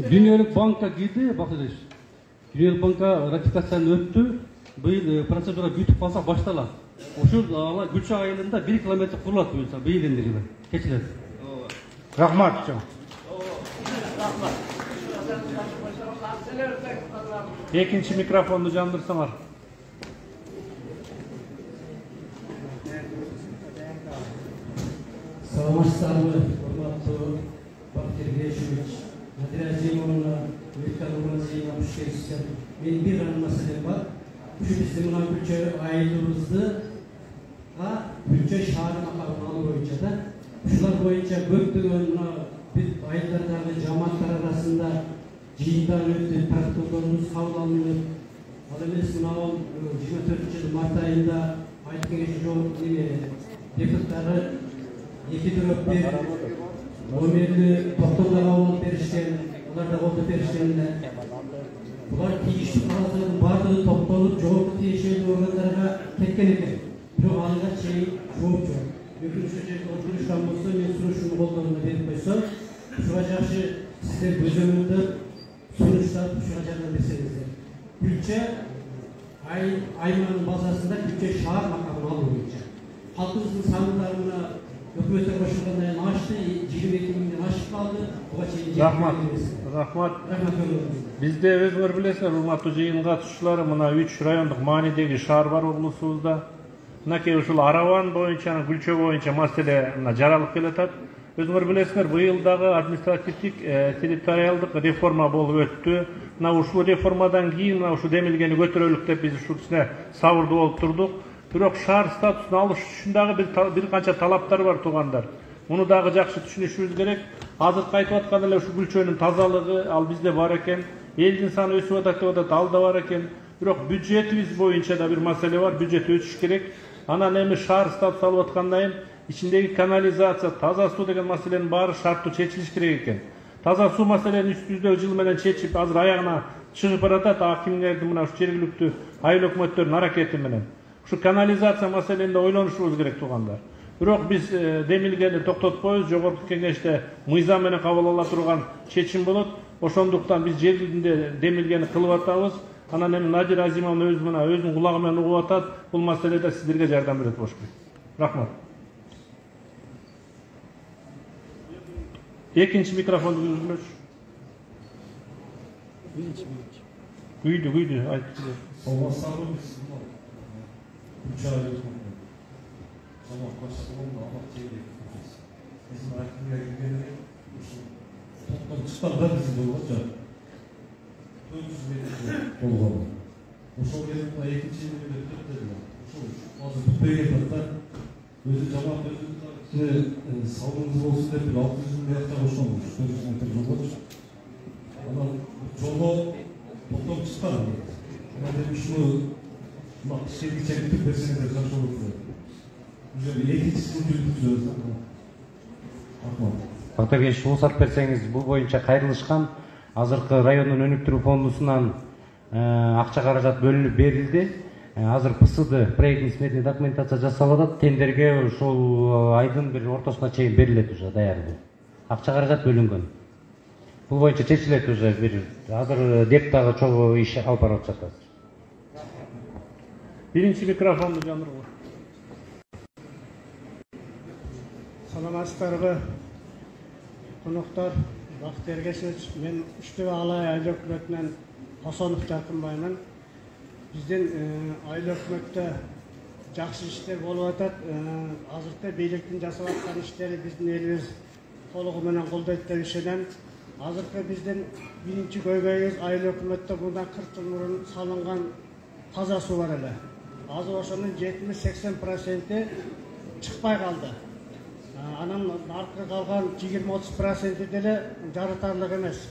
Speaker 16: Дүйнөлүк банкка кирди, Бакытович. Дүйнөлүк банкка ратификацияны өттү. Быйыл процедура бүтүп калса башталат. Ушул Гүлчө айылында бир километр курулат буюрса, быйыл энди жылы. Кечилет.
Speaker 1: Рахмат.
Speaker 3: Экинчи микрофонду жандырсаңар.
Speaker 17: Саламатсыздарбы, урматтуу Бакыт Эргешевич, Надира Азимовна, Виктор Нурмазиевна, куш келипсиздер. Менин бир гана маселем бар. Ушу биздин мына Гүлчө айылыбызды Гүлчө шаары макамын алуу боюнча да. Ушулар боюнча көптөгөн мына айылдардагы жамааттар арасында жыйындар өтүп, протоколдорубуз кабыл алынып, ал эмес мына жыйырма төртүнчү жыл март айында айыл кеңеши жогорку депутаттары эки төрөп бир номерли токтомдо кабыл алып беришкен, алар да колдоп беришкен эле. Булар тийиштүү кагаздардын баардыгы топтолуп, жогорку тиешелүү органдарга кеткен экен. Бирок ага чейин жооп жок. Өкүн ушул жерде отурушкан болсо, мен сурушууну колдоруна берип койсом, ушуга жакшы сиздер көзөмөлдөп, сунуштап, ушуга жардам берсеңиздер. Гүлчө аймагынын базасында Гүлчө шаар макамын алуу боюнча. Халкыбыздын сандыктары мына өкмөттөр кошулгандан кийин ашты, жыйырма эки миңден ашып калды. Буга чейин
Speaker 3: Рахмат. Рахмат. Бизде өзүңөр билесиздер, урматтуу жыйын катышуучулары, мына үч райондук маанидеги шаар бар облусубузда. Мынакей ушул Араван боюнча, Гүлчө боюнча маселе жаралып келатат. Өзүңөр билесиңер, быйыл дагы административдик территориалдык реформа болуп өттү. Мына ушул реформадан кийин мына ушу демилгени көтөрөлүк деп биз ушул ичине сабырдуу болуп турдук. Бирок шаар статусун алыш үчүн дагы бир бир канча талаптар бар туугандар. Муну дагы жакшы түшүнүшүбүз керек. Азыркы айтып аткан эле ушу күлчөнүн тазалыгы ал бизде бар экен. Элдин саны өсүп атат деп атат, ал да бар экен. Бирок бюджетибиз боюнча да бир маселе бар. Бюджет өсүш керек. Анан эми шаар статус алып аткандан кийин ичиндеги канализация, таза суу деген маселенин баары шарттуу чечилиш керек экен. Таза суу маселени үстүбүздөгү жыл менен чечип, азыр аягына чыгып баратат акимдердин мына ушу жергиликтүү айыл өкмөттөрдүн аракети менен. Ушу канализация маселенде ойлонушубуз керек туугандар. Бирок биз демилгени токтотпойбуз. Жогорку кеңеште мыйзам менен кабыл ала турган чечим болот. Ошондуктан биз жергиликте демилгени кылып атабыз. Анан эми Надир Азимовна өзү мына өзүнүн кулагы менен угуп атат. Бул маселеде сиздерге жардам берет болуш керек. Рахмат. Экинчи микрофонду үзүлмөчү. Күйдү, күйдү, айтты.
Speaker 18: Саламатсыздарбы биз үч ай өткөн. Салам коштогон алак чейли. Биздин акимге келгенде ушу топтон чыкканда биз болгончо төрт жүз метр болгон. Ошол кезде экинчи бөлүмдө төрт ушул азыр бүтпөйгөн да өзү жамаат өзү салымыңыз болсун деп бир алты жүз миң жакка ошол төрт жүз метр жолго. Анан жолго топтон чыккан. Анан ушуну мына шерги чегип берсеңиздер жакшы болот.
Speaker 19: Бактыргеч, уруксат берсеңиз, бул боюнча кайрылышкан азыркы райондун өнүктүрүү фондусунан акча каражат бөлүнүп берилди. Азыр ПСД проектный сметный документация жасалып атат. Тендерге ушул айдын бир ортосуна чейин берилет уже даярдуу. Акча каражат бөлүнгөн. Бул боюнча чечилет уже бир азыр деп дагы чогуу иш алып барып жатат.
Speaker 3: Биринчи микрофонду жандыргыла.
Speaker 20: Саламатсыздарбы, коноктор, Бактыр Эргешевич, мен Үчтөбө Алай айыл өкмөтүнөн Косонов Жаркынбаймын. Биздин айыл өкмөттө жакшы иштер болуп атат. Азыркы бийликтин жасап аткан иштери биздин элибиз толугу менен колдойт деп ишенем. Азыркы биздин биринчи көйгөйүбүз айыл өкмөттө мындан кырк жыл мурун салынган таза суу бар эле. Азыр ошонун жетимиш сексен проценти чыкпай калды. Анан аркы калган жыйырма отуз проценти деле жарытарлык эмес.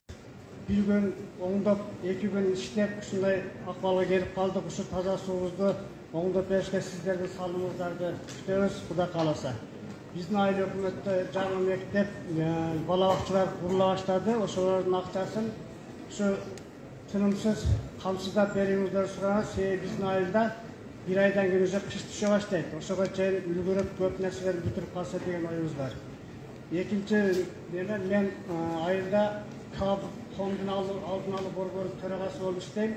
Speaker 20: Бир күн оңдоп, эки күн иштеп, ушундай акыбалга келип калдык. Ушу таза суубузду оңдоп беришке сиздердин салымыңыздарды күтөбүз, Кудай кааласа. Биздин айыл өкмөттө жаңы мектеп, бала бакчалар курула баштады. Ошолордун акчасын ушу тынымсыз камсыздап берүүңүздөрдү сурайбыз. Себеби биздин айылда bir aydan keyin уже kış düşe başlaydı. Oşoga çeyin ülgürüp köp narsalarni bitirip kalsa degan oyumuz var. Ekinci demen men ayılda kab fondun aldın alıp borboru төрагасы болуп иштейм.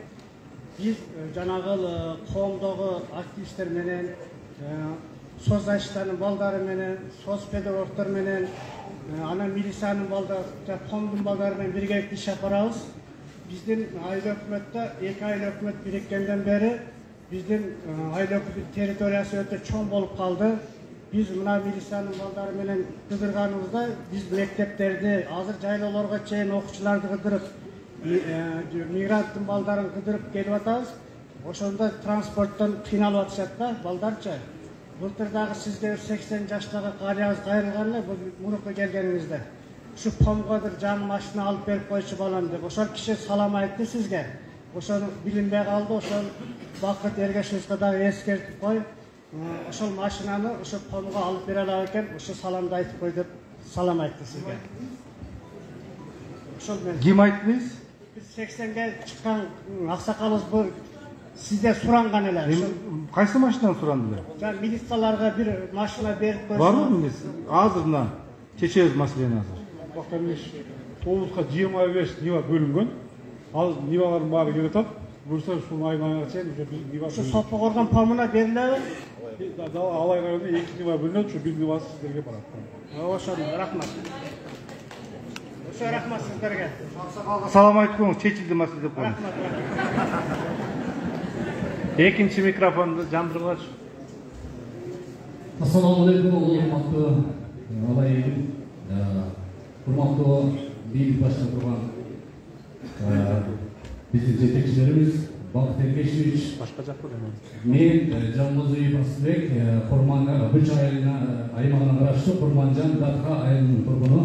Speaker 20: Биз жанагы коомдогу активисттер менен, соцзащитанын балдары менен, соцпедагогдор менен, анан милициянын балдары, коомдун балдары менен биргеликте иш алып барабыз. Биздин айыл өкмөттө эки айыл өкмөт бириккенден бери биздин айыл өкмөт территориясы өтө чоң болуп калды. Биз мына милициянын балдары менен кыдырганыбызда биз мектептерди, азыр жайлоолорго чейин окуучуларды кыдырып, мигранттын балдарын кыдырып келип атабыз. Ошондо транспорттон кыйналып атышат да балдарчы. Былтыр дагы сизге сексен жаштагы карыябыз кайрылган эле мурунку келгениңизде. Ушу помгодур жаңы машина алып берип койчу балам деп. Ошол киши салам айтты сизге. Ошону билинбей калды. Ошол Бакыт Эргешевичке дагы эскертип кой. Ошол машинаны ошо помго алып бере алат экен. Ошо саламды айтып кой деп салам айтты сизге. Ошол менен.
Speaker 1: Ким айтты биз?
Speaker 20: Биз сексенге чыккан аксакалыбыз бул сизде суранган эле.
Speaker 1: Кайсы машинаны суранды?
Speaker 20: Жана милицияларга бир машина берип койсо.
Speaker 1: Барбы эмес? Азыр мына чечебиз маселени азыр.
Speaker 2: Бактыргеч, тобузга жыйырма беш нива бөлүнгөн. Ал нивалардын баары келип атат. Буюрса ушул айдын аягына чейин уже биз нива.
Speaker 20: Ушу Сопо коргон помуна берилеби?
Speaker 2: Алай районунда эки нива бөлүнөт, ушу бир нивасы сиздерге барат.
Speaker 20: Ошо рахмат. Ошо рахмат сиздерге.
Speaker 1: Салам айтып коюңуз, чечилди маселе деп коюңуз.
Speaker 20: Рахмат.
Speaker 3: Экинчи микрофонду жандыргылачы.
Speaker 17: Ассаламу алейкум, урматтуу Алай
Speaker 21: урматтуу бийлик башында турган биздин жетекчилерибиз Бакыт Эргешевич, мен Жалмазиев Асылбек, Курман аймагына караштуу Курманжан Датка айылынын тургуну.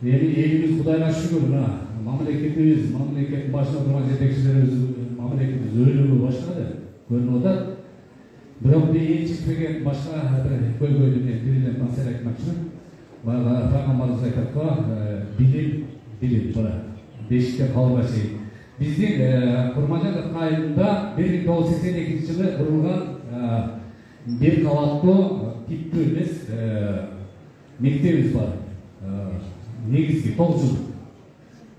Speaker 21: Эми элибиз Кудайга шүгүр, мына мамлекетибиз, мамлекеттин башында турган жетекчилерибиз мамлекетибиз өйнөгө баштады, көрүнүп атат. Бирок эң чыкпеген башка бир көйгөйдү мен биринен маселе айтмакчымын. Баягы Фагамбарыбыз айтат го, билим, билим, тура бешикте калбай чейин. Биздин Курманжан айылында бир миң тогуз жүз сексен экинчи жылы курулган бир кабаттуу типтүү эмес мектебибиз бар. Негизги тогуз жыл.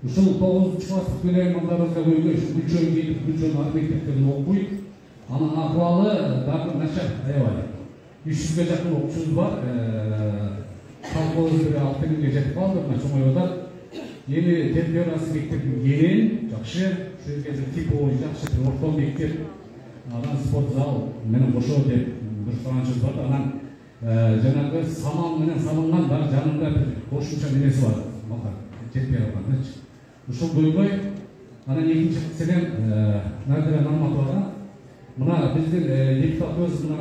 Speaker 21: Ушул тогузунчу класстык төлөймандарыбызга көйгөй, үчөө келип, үчөө ар мектептерде окуйт. Анын акыбалы дагы начар, аябай. үч жүзгө жакын окуучубуз бар. Колхоз бир алты миңге жетип калды, мына чоңоюп атат. Эми темперасы мектептин кең, жакшы, ушул жерде типовый жакшы бир орто мектеп, анан спорт зал менен кошо деп бир суранычыбыз бар. Анан жанагы саман менен салынган дагы жанында бир кошумча немеси бар. Мага жетпей калганчы. Ушул көйгөй. Анан экинчи маселе Надира Нурматовага. Мына биздин депутатыбыз мына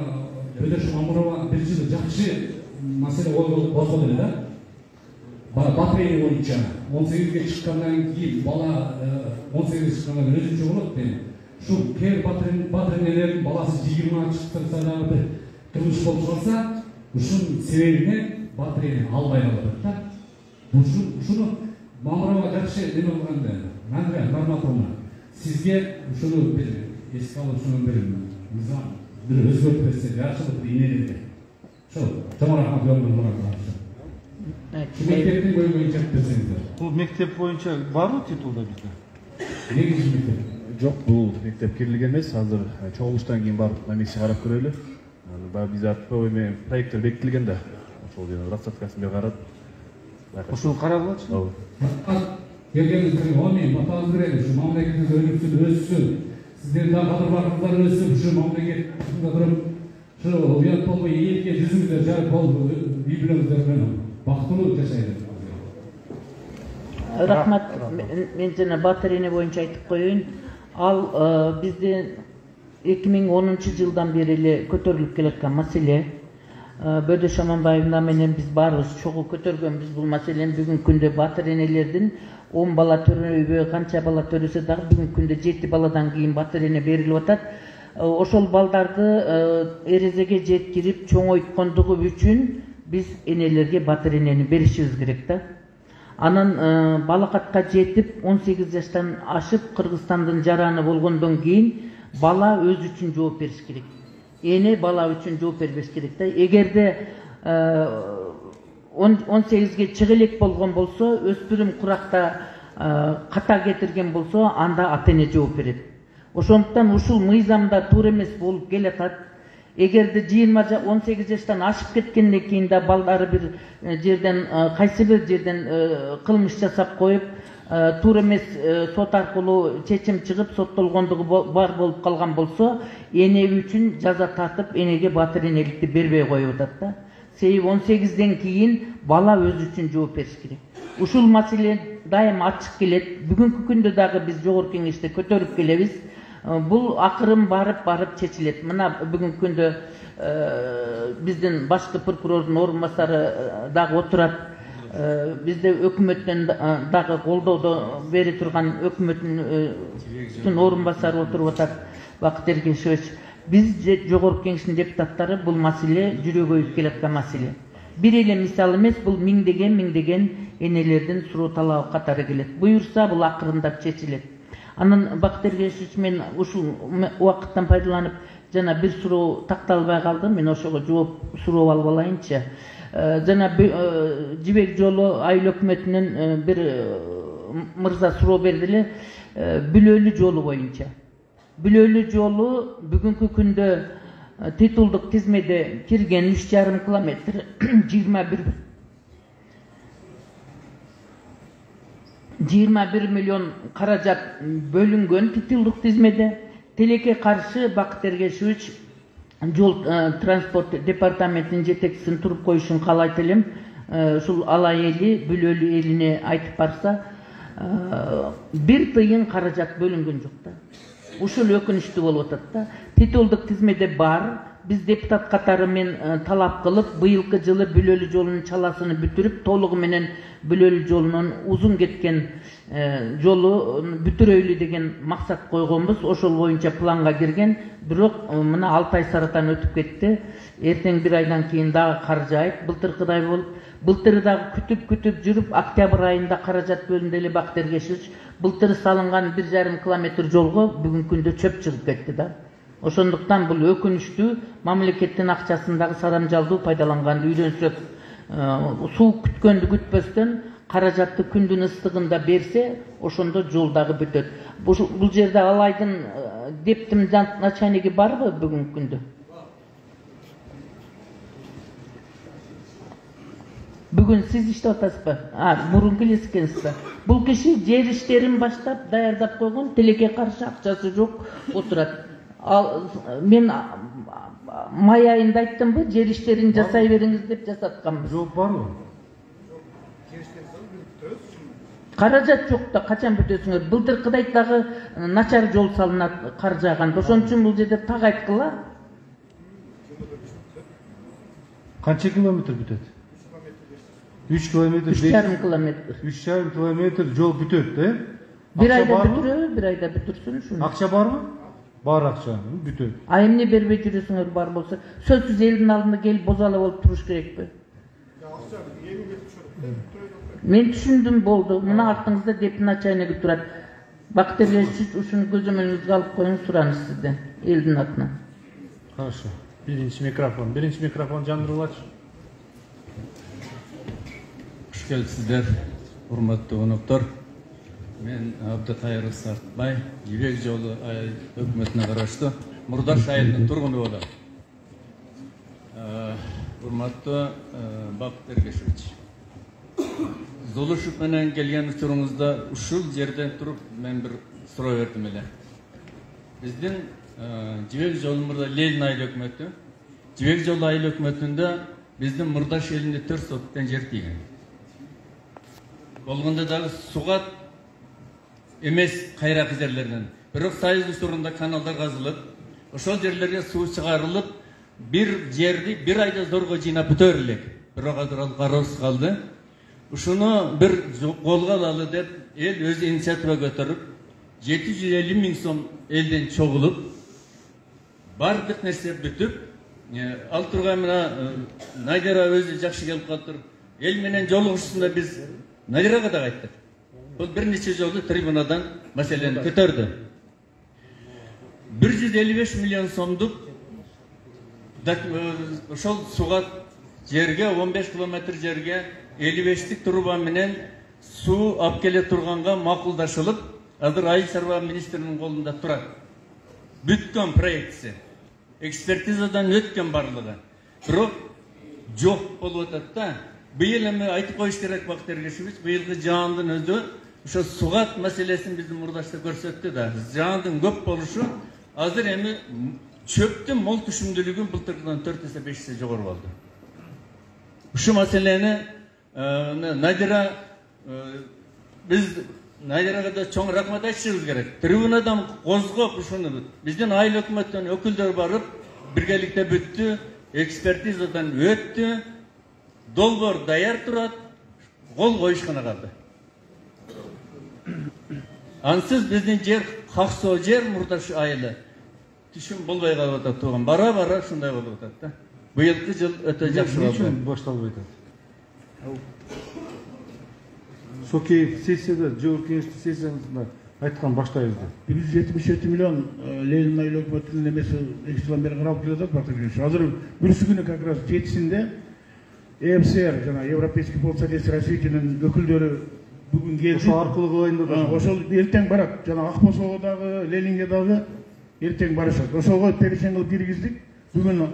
Speaker 21: Бөдөш Мамурова бир жыл жакшы маселе козгоду эле да. Батырейни боюнча он сегизге чыккандан кийин бала он сегизге чыккандан кийин өзүнчө болот дейм. Ушул кер батырейнелердин баласы жыйырма чыктырса дагы бир кылмыш болуп калса, ушунун себебинен батырейни албай калып атат да. Ушуну Мамурова жакшы неме кылганда, Надира Нурматовна, сизге ушуну бир эске алып, ушуну бир мыйзам бир өзгөртүп берсе, жакшылык ийнелерге. Ошо чоң рахмат берип Мектептин көйгөйүн чечип берсеңиздер.
Speaker 1: Бул мектеп боюнча барбы титулда бизде?
Speaker 21: Негизги мектеп.
Speaker 10: Жок, бул мектеп кирилген эмес. Азыр чогулуштан кийин барып намекси карап көрөлү. Баягы биз артпы эме проекттер бекитилген да. Ошол жерде рассадкасын бир карап.
Speaker 1: Ошол каралгачы?
Speaker 21: Ооба. Келгениңизге оңой батаңыз берели, ушу мамлекетибиз өнүксүн, өссүн. Сиздердин да кадыр бакыттар өссүн, ушу мамлекеттин туруп, ушу уят болбой элге жүзүңүздөр жарык болуп, үй бүлөңүздөр менен бактылуу жашайлы.
Speaker 15: Рахмат. Мен жана Батырейни боюнча айтып коеюн. Ал биздин эки миң онунчу жылдан бери эле көтөрүлүп келаткан маселе. Бөдөш Аманбаевна менен биз баарыбыз чогуу көтөргөнбүз бул маселени. Бүгүнкү күндө Батырейнелердин он бала төрөбөй, канча бала төрөсө дагы бүгүнкү күндө жети баладан кийин Батырейне берилип атат. Ошол балдарды эрезеге жеткирип чоңойткондугу үчүн биз энелерге Батырейнени беришибиз керек да. Анан балакатка жетип он сегиз жаштан ашып Кыргызстандын жараны болгондон кийин бала өзү үчүн жооп бериш керек. Эне бала үчүн жооп бербеш керек да. Эгерде он сегизге чыга элек болгон болсо, өспүрүм куракта ката кетирген болсо, анда ата эне жооп берет. Ошондуктан ушул мыйзамда туура эмес болуп келатат. Эгерде жыйырма он сегиз жаштан ашып кеткенден кийин да балдары бир жерден, кайсы бир жерден кылмыш жасап коюп, туура эмес сот аркылуу чечим чыгып, соттолгондугу бар болуп калган болсо, эне үчүн жаза тартып, энеге батыренеликти бербей коюп атат да. Себеби он сегизден кийин бала өзү үчүн жооп бериш керек. Ушул маселе дайым ачык келет. Бүгүнкү күндө дагы биз жогорку кеңеште көтөрүп келебиз. Бул акырын барып барып чечилет. Мына бүгүнкү күндө биздин башкы прокурордун орун басары дагы отурат. Бизде өкмөттөн дагы колдоодо бери турган өкмөттүн орун басары отуруп атат, Бакыт Эргешевич. Биз жогорку кеңештин депутаттары бул маселе жүрөгөйүп келаткан маселе. Бир эле мисал эмес, бул миңдеген миңдеген энелердин суроо талабы катары келет. Буюрса бул акырындап чечилет. Анан Бакыт Эргешевич, мен ушул убакыттан пайдаланып жана бир суроо такталбай калды. Мен ошого жооп суроо алып алайынчы. Жана Жибек жолу айыл өкмөтүнүн бир мырза суроо берди эле, Бүлөлү жолу боюнча. Бүлөлү жолу бүгүнкү күндө титулдук тизмеде кирген үч жарым километр, жыйырма бир жыйырма бир миллион каражат бөлүнгөн титулдук тизмеде. Тилекке каршы Бакыт Эргешевич жол транспорт департаментинин жетекчисин туруп коюшун каалайт элем. ушул алай эли бүлөлүү элине айтып барса бир тыйын каражат бөлүнгөн жок да. Ушул өкүнүчтүү болуп атат да. Титулдук тизмеде бар. Биз депутат катары мен талап кылып, быйылкы жылы бүлөлүү жолунун чаласын бүтүрүп, толугу менен бүлөлүү жолунун узун кеткен жолу бүтүрөйлү деген максат койгонбуз. Ошол боюнча планга кирген. Бирок мына алты ай саратан өтүп кетти. Эртең бир айдан кийин дагы кар жаайт. Былтыркыдай болуп, былтыры дагы күтүп күтүп жүрүп, октябрь айында каражат бөлүндү эле Бактер Кешевич. Былтыры салынган бир жарым километр жолго бүгүнкү күндө чөп чыгып кетти да. Ошондуктан бул өкүнүчтүү, мамлекеттин акчасын дагы сарамжалдуу пайдаланганды үйрөнсөк, суу күткөндү күтпөстөн каражатты күндүн ыстыгында берсе, ошондо жол дагы бүтөт. Бул жерде алайдын дептим начальниги барбы бүгүнкү күндө? Бүгүн сиз иштеп атасызбы? А, мурун келип экенсизби? Бул киши жер иштерин баштап, даярдап койгон, тилекке каршы акчасы жок отурат. Ал мен май айында айттымбы, жер иштерин жасай бериңиз деп жасатканбыз.
Speaker 1: Жооп барбы?
Speaker 15: Каражат жок да, качан бүтөсүңөр? Былтыркыдай дагы начар жол салынат кар жааганда. Ошон үчүн бул жерде так айткыла.
Speaker 1: Канча километр бүтөт? үч километр.
Speaker 15: үч жарым километр.
Speaker 1: үч жарым километр жол бүтөт, э?
Speaker 15: Бир айда бүтүрөбү, бир айда бүтүрсүн ушуну.
Speaker 1: Акча барбы? Бар акча, бүтөт.
Speaker 15: А эмне бербей жүрөсүңөр бар болсо? Сөзсүз элдин алдында келип бозала болуп туруш керекпи? Мен түшүндүм, болду. Мына артыңызда деп начальниги турат. Бактер Кешевич ушуну көзөмөлүңүзгө алып коюңуз, сураныз сизден, элдин атынан.
Speaker 3: Хорошо. Биринчи микрофон. Биринчи микрофон жандырылачы.
Speaker 8: Хуш келипсиздер, урматтуу коноктор. Мен Абдыкайыр Сартбай, Жибек жолу өкмөтүнө караштуу Мурдаш айылынын тургуну болом. Урматтуу Бактер Кешевич, Зулушев менен келген учуруңузда ушул жерден туруп мен бир суроо бердим эле. Биздин Жибек жолу мурда Ленин айыл өкмөтү, Жибек жолу айыл өкмөтүндө биздин Мурдаш элинде төрт соттон жер тийген. Болгондо дагы сугат эмес кайракы жерлерден. Бирок Союз учурунда каналдар казылып, ошол жерлерге суу чыгарылып, бир жерди бир айда зорго жыйнап бүтөр элек. Бирок азыр ал кароосуз калды. Ушуну бир колго алалы деп эл өз инициатива көтөрүп, жети жүз элүү миң сом элден чогулуп, бардык нерсе бүтүп, ал турган мына Надира өзү жакшы келип калыптыр. Эл менен жолугушуусунда биз Надирага да айттык. Бул бир нече жолу трибунадан маселени көтөрдү. бир жүз элүү беш миллион сомдук ошол сугат жерге, он беш километр жерге элүү бештик труба менен суу алып келе турганга макулдашылып, азыр Айыл чарба министринин колунда турат. Бүткөн проектиси. Экспертизадан өткөн барлыгы. Бирок жок болуп атат да. Быйыл эми айтып коюш керек Бактер Кешевич, быйылкы жаандын өзү ошо сугат маселесин биздин Мурдашта көрсөттү да. Жаандын көп болушу азыр эми чөптүн мол түшүмдүүлүгү былтыркыдан төрт эсе беш эсе жогору болду. Ушу маселени Надира биз Надирага да чоң рахмат айтышыбыз керек. Трибунадан козгоп ушуну биздин айыл өкмөттөн өкүлдөр барып биргеликте бүттү, экспертизадан өттү, долбоор даяр турат, кол коюшкана калды. Ансыз биздин жер каксоо жер Мурдаш айылы түшүм болбой калып атат туган. Бара-бара ушундай болуп атат да. Быйылкы жыл өтө жакшы болду.
Speaker 1: Эмне башталбай атат? Соки сессияда, жогорку кеңештин сессиясында айткан баштайбыз деп.
Speaker 4: бир жүз жетимиш жети миллион Ленин айыл өкмөтүнүн эмеси эки жылдан бери каралып келатат Бактер Кешевич. Азыр бүрүсү күнү как раз жетисинде Э М С Р жана Европейский фонд содействия развитиянын өкүлдөрү бүгүн келди.
Speaker 1: Ошо аркылуу кылайын деп атат.
Speaker 4: Ошол эртең барат. Жана Акбосого дагы, Ленинге дагы эртең барышат. Ошого перешен кылып киргиздик. Бүгүн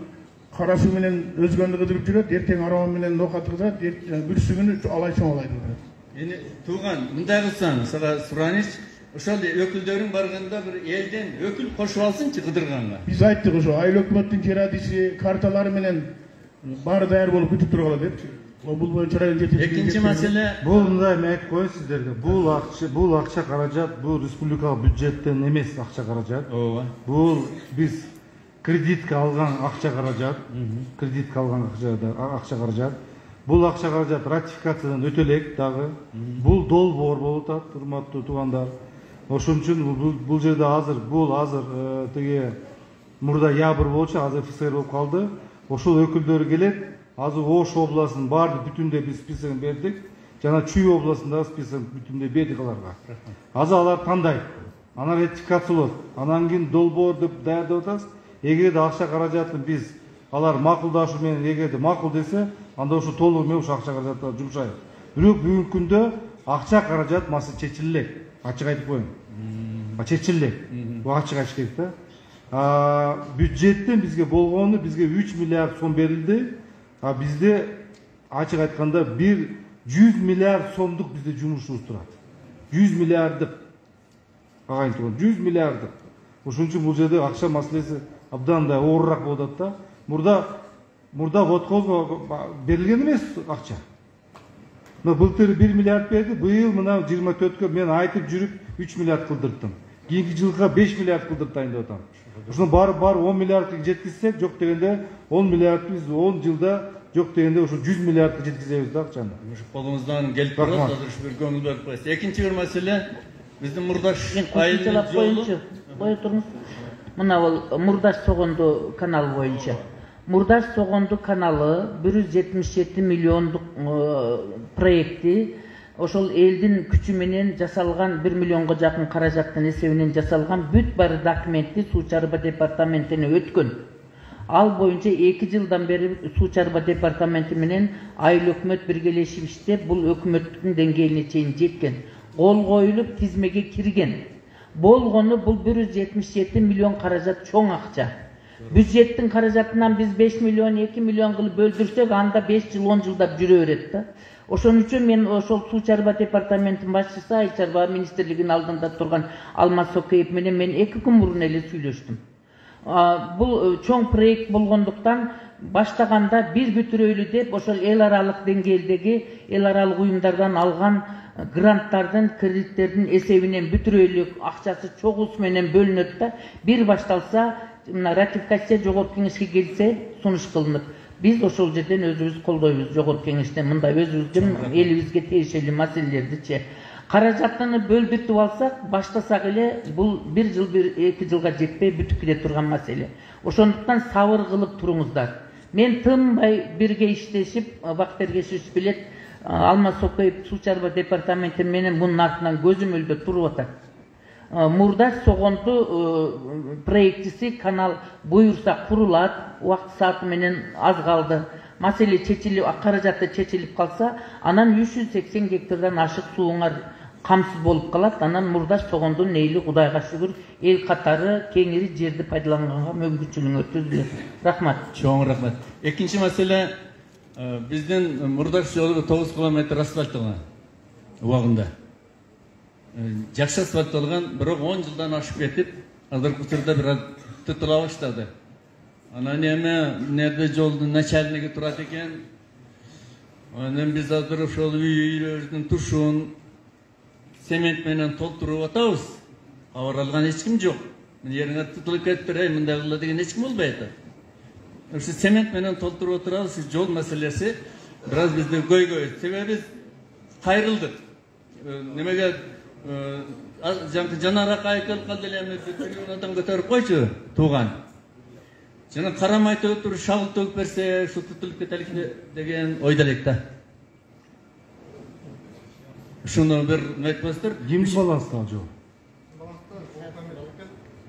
Speaker 4: кара суу менен өзгөндү кыдырып жүрөт, эртең арабан менен ноокат кыдырат, бүрүсү күнү алай чоңалай турат.
Speaker 8: Эми тууган, мындай кылсаң, сага сураныч, ошол өкүлдөрүң барганда бир элден өкүл кошуп алсынчы кыдырганга.
Speaker 4: Биз айттык ошо айыл өкмөттүн жер адиси, карталары менен баары даяр болуп күтүп тургула депчи. Бул боюнча район жетекчилиги.
Speaker 8: Экинчи маселе.
Speaker 1: Бул мындай мен айтып коеюн сиздерге. Бул акча, бул акча каражат, бул республикалык бюджеттен эмес акча каражат.
Speaker 8: Ооба.
Speaker 1: Бул биз кредитке алган акча каражат. Кредитке алган акча каражат. Бул акча каражат ратификациядан өтө элек дагы. Бул долбоор болуп атат, урматтуу туугандар. Ошон үчүн бул жерде азыр бул азыр тиги мурда ябыр болчу, азыр ФСР болуп калды. Ошол өкүлдөр келет. Азыр Ош областынын баардык бүтүндөй биз списогун бердик. Жана Чүй областындагы списогун бүтүндөй бердик аларга. Азыр алар тандайт. Анан ратификациялот. Анан кийин долбоор деп даярдап атабыз. Эгерде акча каражатын биз алар макулдашуу менен эгерде макул десе, анда ошо толугу менен ошо акча каражатты жумшайбыз. Бирок бүгүнкү күндө акча каражат маселе чечиле. Ачык айтып коеюн. Чечиле. Бул ачык айтыш керек да. Бюджеттен бизге болгону бизге үч миллиард сом берилди. А бизде ачык айтканда бир жүз миллиард сомдук бизде жумушубуз турат. жүз миллиарддык. Агайын тууган, жүз миллиарддык. Ошон үчүн бул жерде акча маселеси абдан да оорураак болуп атат да. Мурда мурда водхозго берилген эмес акча. Мына былтыр бир миллиард берди, быйыл мына жыйырма төрткө мен айтып жүрүп үч миллиард кылдырттым. Кийинки жылга беш миллиард кылдырып дайындап атам. Ошону баары баары он миллиардка жеткизсек, жок дегенде он миллиард биз он жылда жок дегенде ошо жүз миллиардка жеткизебиз да акчаны.
Speaker 8: Ушу колуңуздан келип турат, азыр ушу бир көңүл берип коесуз. Экинчи бир маселе биздин Мурдаш айылынын жолу.
Speaker 15: Кое туруңуз. Мына бул Мурдаш Согонду каналы боюнча. Мурдаш Согонду каналы бир жүз жетимиш жети миллиондук проекти ошол элдин күчү менен жасалган бир миллионго жакын каражаттын эсебинен жасалган бүт баары документти Суу чарба департаментине өткөн. Ал боюнча эки жылдан бери Суу чарба департаменти менен айыл өкмөт биргелешип иштеп, бул өкмөттүн деңгээлине чейин жеткен. Кол коюлуп тизмеге кирген. Болгону бул бир жүз жетимиш жети миллион каражат чоң акча. Бюджеттин каражатынан биз беш миллион эки миллион кылып бөлдүрсөк, анда беш жыл он жылдап жүрө берет да. Ошон үчүн мен ошол Суу чарба департаментинин башчысы, Айыл чарба министрлигинин алдында турган Алмаз Сокеев менен мен эки күн мурун эле сүйлөштүм. Бул чоң проект болгондуктан баштаганда бир бүтүрөйлү деп ошол эл аралык деңгээлдеги эл аралык уюмдардан алган гранттардын, кредиттердин эсебинен бүтүрөйлүк акчасы чогулуш менен бөлүнөт да. Бир башталса, мына ратификация жогорку кеңешке келсе, сунуш кылынып. Биз ошол жерден өзүбүз колдойбуз, жогорку кеңештен мындай өзүбүздүн элибизге тиешелүү маселелерди. Каражатты бөлдүртүп алсак, баштасак эле бул бир жыл бир эки жылга жетпей бүтүп кете турган маселе. Ошондуктан сабыр кылып туруңуздар. Мен тынбай бирге иштешип, Бактергешевич билет, Алмаз Сокеев Суу чарба департаменти менен мунун артынан көзөмөлдө туруп атат. Мурдаш Согонду проектиси канал буюрса курулат, убакыт сааты менен аз калды. Маселе чечилип, каражаты чечилип калса, анан үч жүз сексен гектардан ашык сууңар камсыз болуп калат. Анан Мурдаш Согондун эйли Кудайга шүгүр эл катары кеңири жерди пайдаланганга мүмкүнчүлүгү түзүлөт. Рахмат.
Speaker 8: Чоң рахмат. Экинчи маселе биздин Мурдаш жолу тогуз километр асфальтталган убагында. Жакшы асфальтталган, бирок он жылдан ашып кетип, азыркы учурда бир тытыла баштады. Анан эми нерде жолдун начальниги турат экен. Анан биз азыр ошол үйлөрдүн тушун цемент менен толтуруп атабыз. Кабар алган эч ким жок. Жериңе тытылып кетип берейин, мындай кыла деген эч ким болбой атат. Ошо цемент менен толтуруп отурабыз, жол маселеси бир аз бизде көйгөй. Себеби кайрылдык. Немеге жаңкы жанараак айкал калды эле эми трибунадан көтөрүп койчу тууган. Жана карамай туруп шагыл төгүп берсе, ушу тутулуп кетелик деген ойдо элек да. Ушуну бир айтпастыр.
Speaker 1: Кимди баланста ал жол?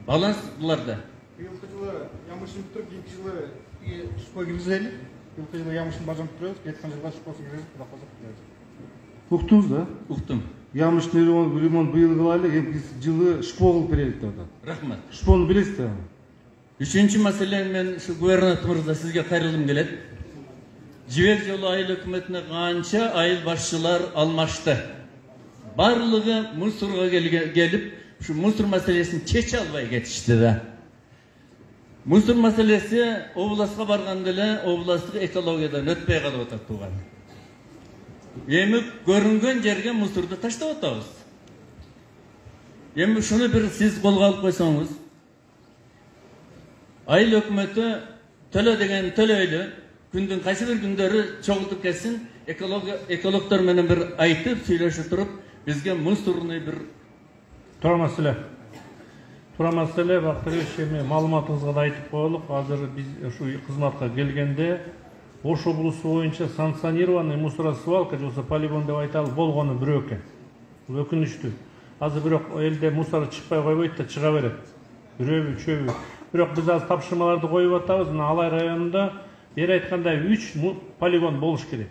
Speaker 8: Баланс буларда.
Speaker 6: Быйылкы жылы ямышын бүтүрүп, кийинки жылы сушпой киргизели. Быйылкы жылы ямышын бажам бүтүрөбүз, кеткен жылга сушпосын киргизип, кудай калса.
Speaker 1: Уктуңуз да?
Speaker 8: Уктум.
Speaker 1: Ямышын ремонт быйыл кылайлы, кийинки жылы шпо кылып берелик деп атат.
Speaker 8: Рахмат.
Speaker 1: Шпону билесиз да?
Speaker 8: Үчүнчү маселе, мен ушу губернатор мырза сизге кайрылгым келет. Жибек жолу айыл өкмөтүнө канча айыл башчылар алмашты. Барлыгы мусорго келип, ушу мусор маселесин чече албай кетишти да. Мусор маселеси областка барганда эле областтык экологиядан өтпөй калып атат тууган. эми көрүнгөн жерге мусорду таштап атабыз. Эми шуну бир сиз колго алып койсоңуз, айыл өкмөтү төлө деген төлөйлү, күндүн кайсы бир күндөрү чогултуп кетсин, экологдор менен бир айтып, сүйлөшүп туруп, бизге мусорный бир
Speaker 3: туура маселе. Туура маселе, Бактырбек, эми маалыматыңызга да айтып коелук. Азыр биз ушу кызматка келгенде Ош облусу боюнча санкционированный мусоросвалка же болбосо полигон деп айталы болгону бирөө экен. Бул өкүнүчтүү. Азыр бирок элде мусор чыкпай койбойт да, чыга берет. Бирөөбү, үчөөбү. Бирок биз азыр тапшырмаларды коюп атабыз. Мына Алай районунда бери айткандай үч полигон болуш керек.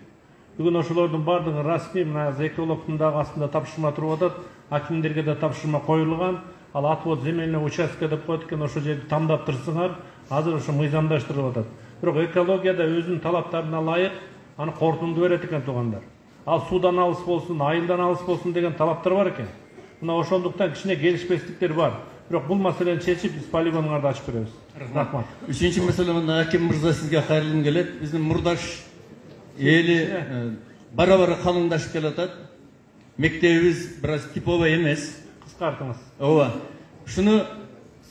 Speaker 3: Бүгүн ошолордун бардыгы расмий, мына экологдун дагы астында тапшырма туруп атат. Акимдерге да тапшырма коюлган. Ал отвод земельный участка деп коет экен, ошол жерди тандап турсуңар. Азыр ошо мыйзамдаштырылып атат. Бирок экологияда өзүнүн талаптарына ылайык аны корутунду берет экен туугандар. Ал суудан алыс болсун, айылдан алыс болсун деген талаптар бар экен. Мына ошондуктан кичине келишпестиктер бар. Бирок бул маселени чечип, биз полигонуларды ачып беребиз. Рахмат.
Speaker 8: Үчүнчү маселе, мында Аким мырза сизге кайрылгым келет. Биздин мурдаш эли бара-бара калыңдашып келатат. Мектебибиз бир аз типовый эмес.
Speaker 3: Кыскартыңыз.
Speaker 8: Ооба. Шуну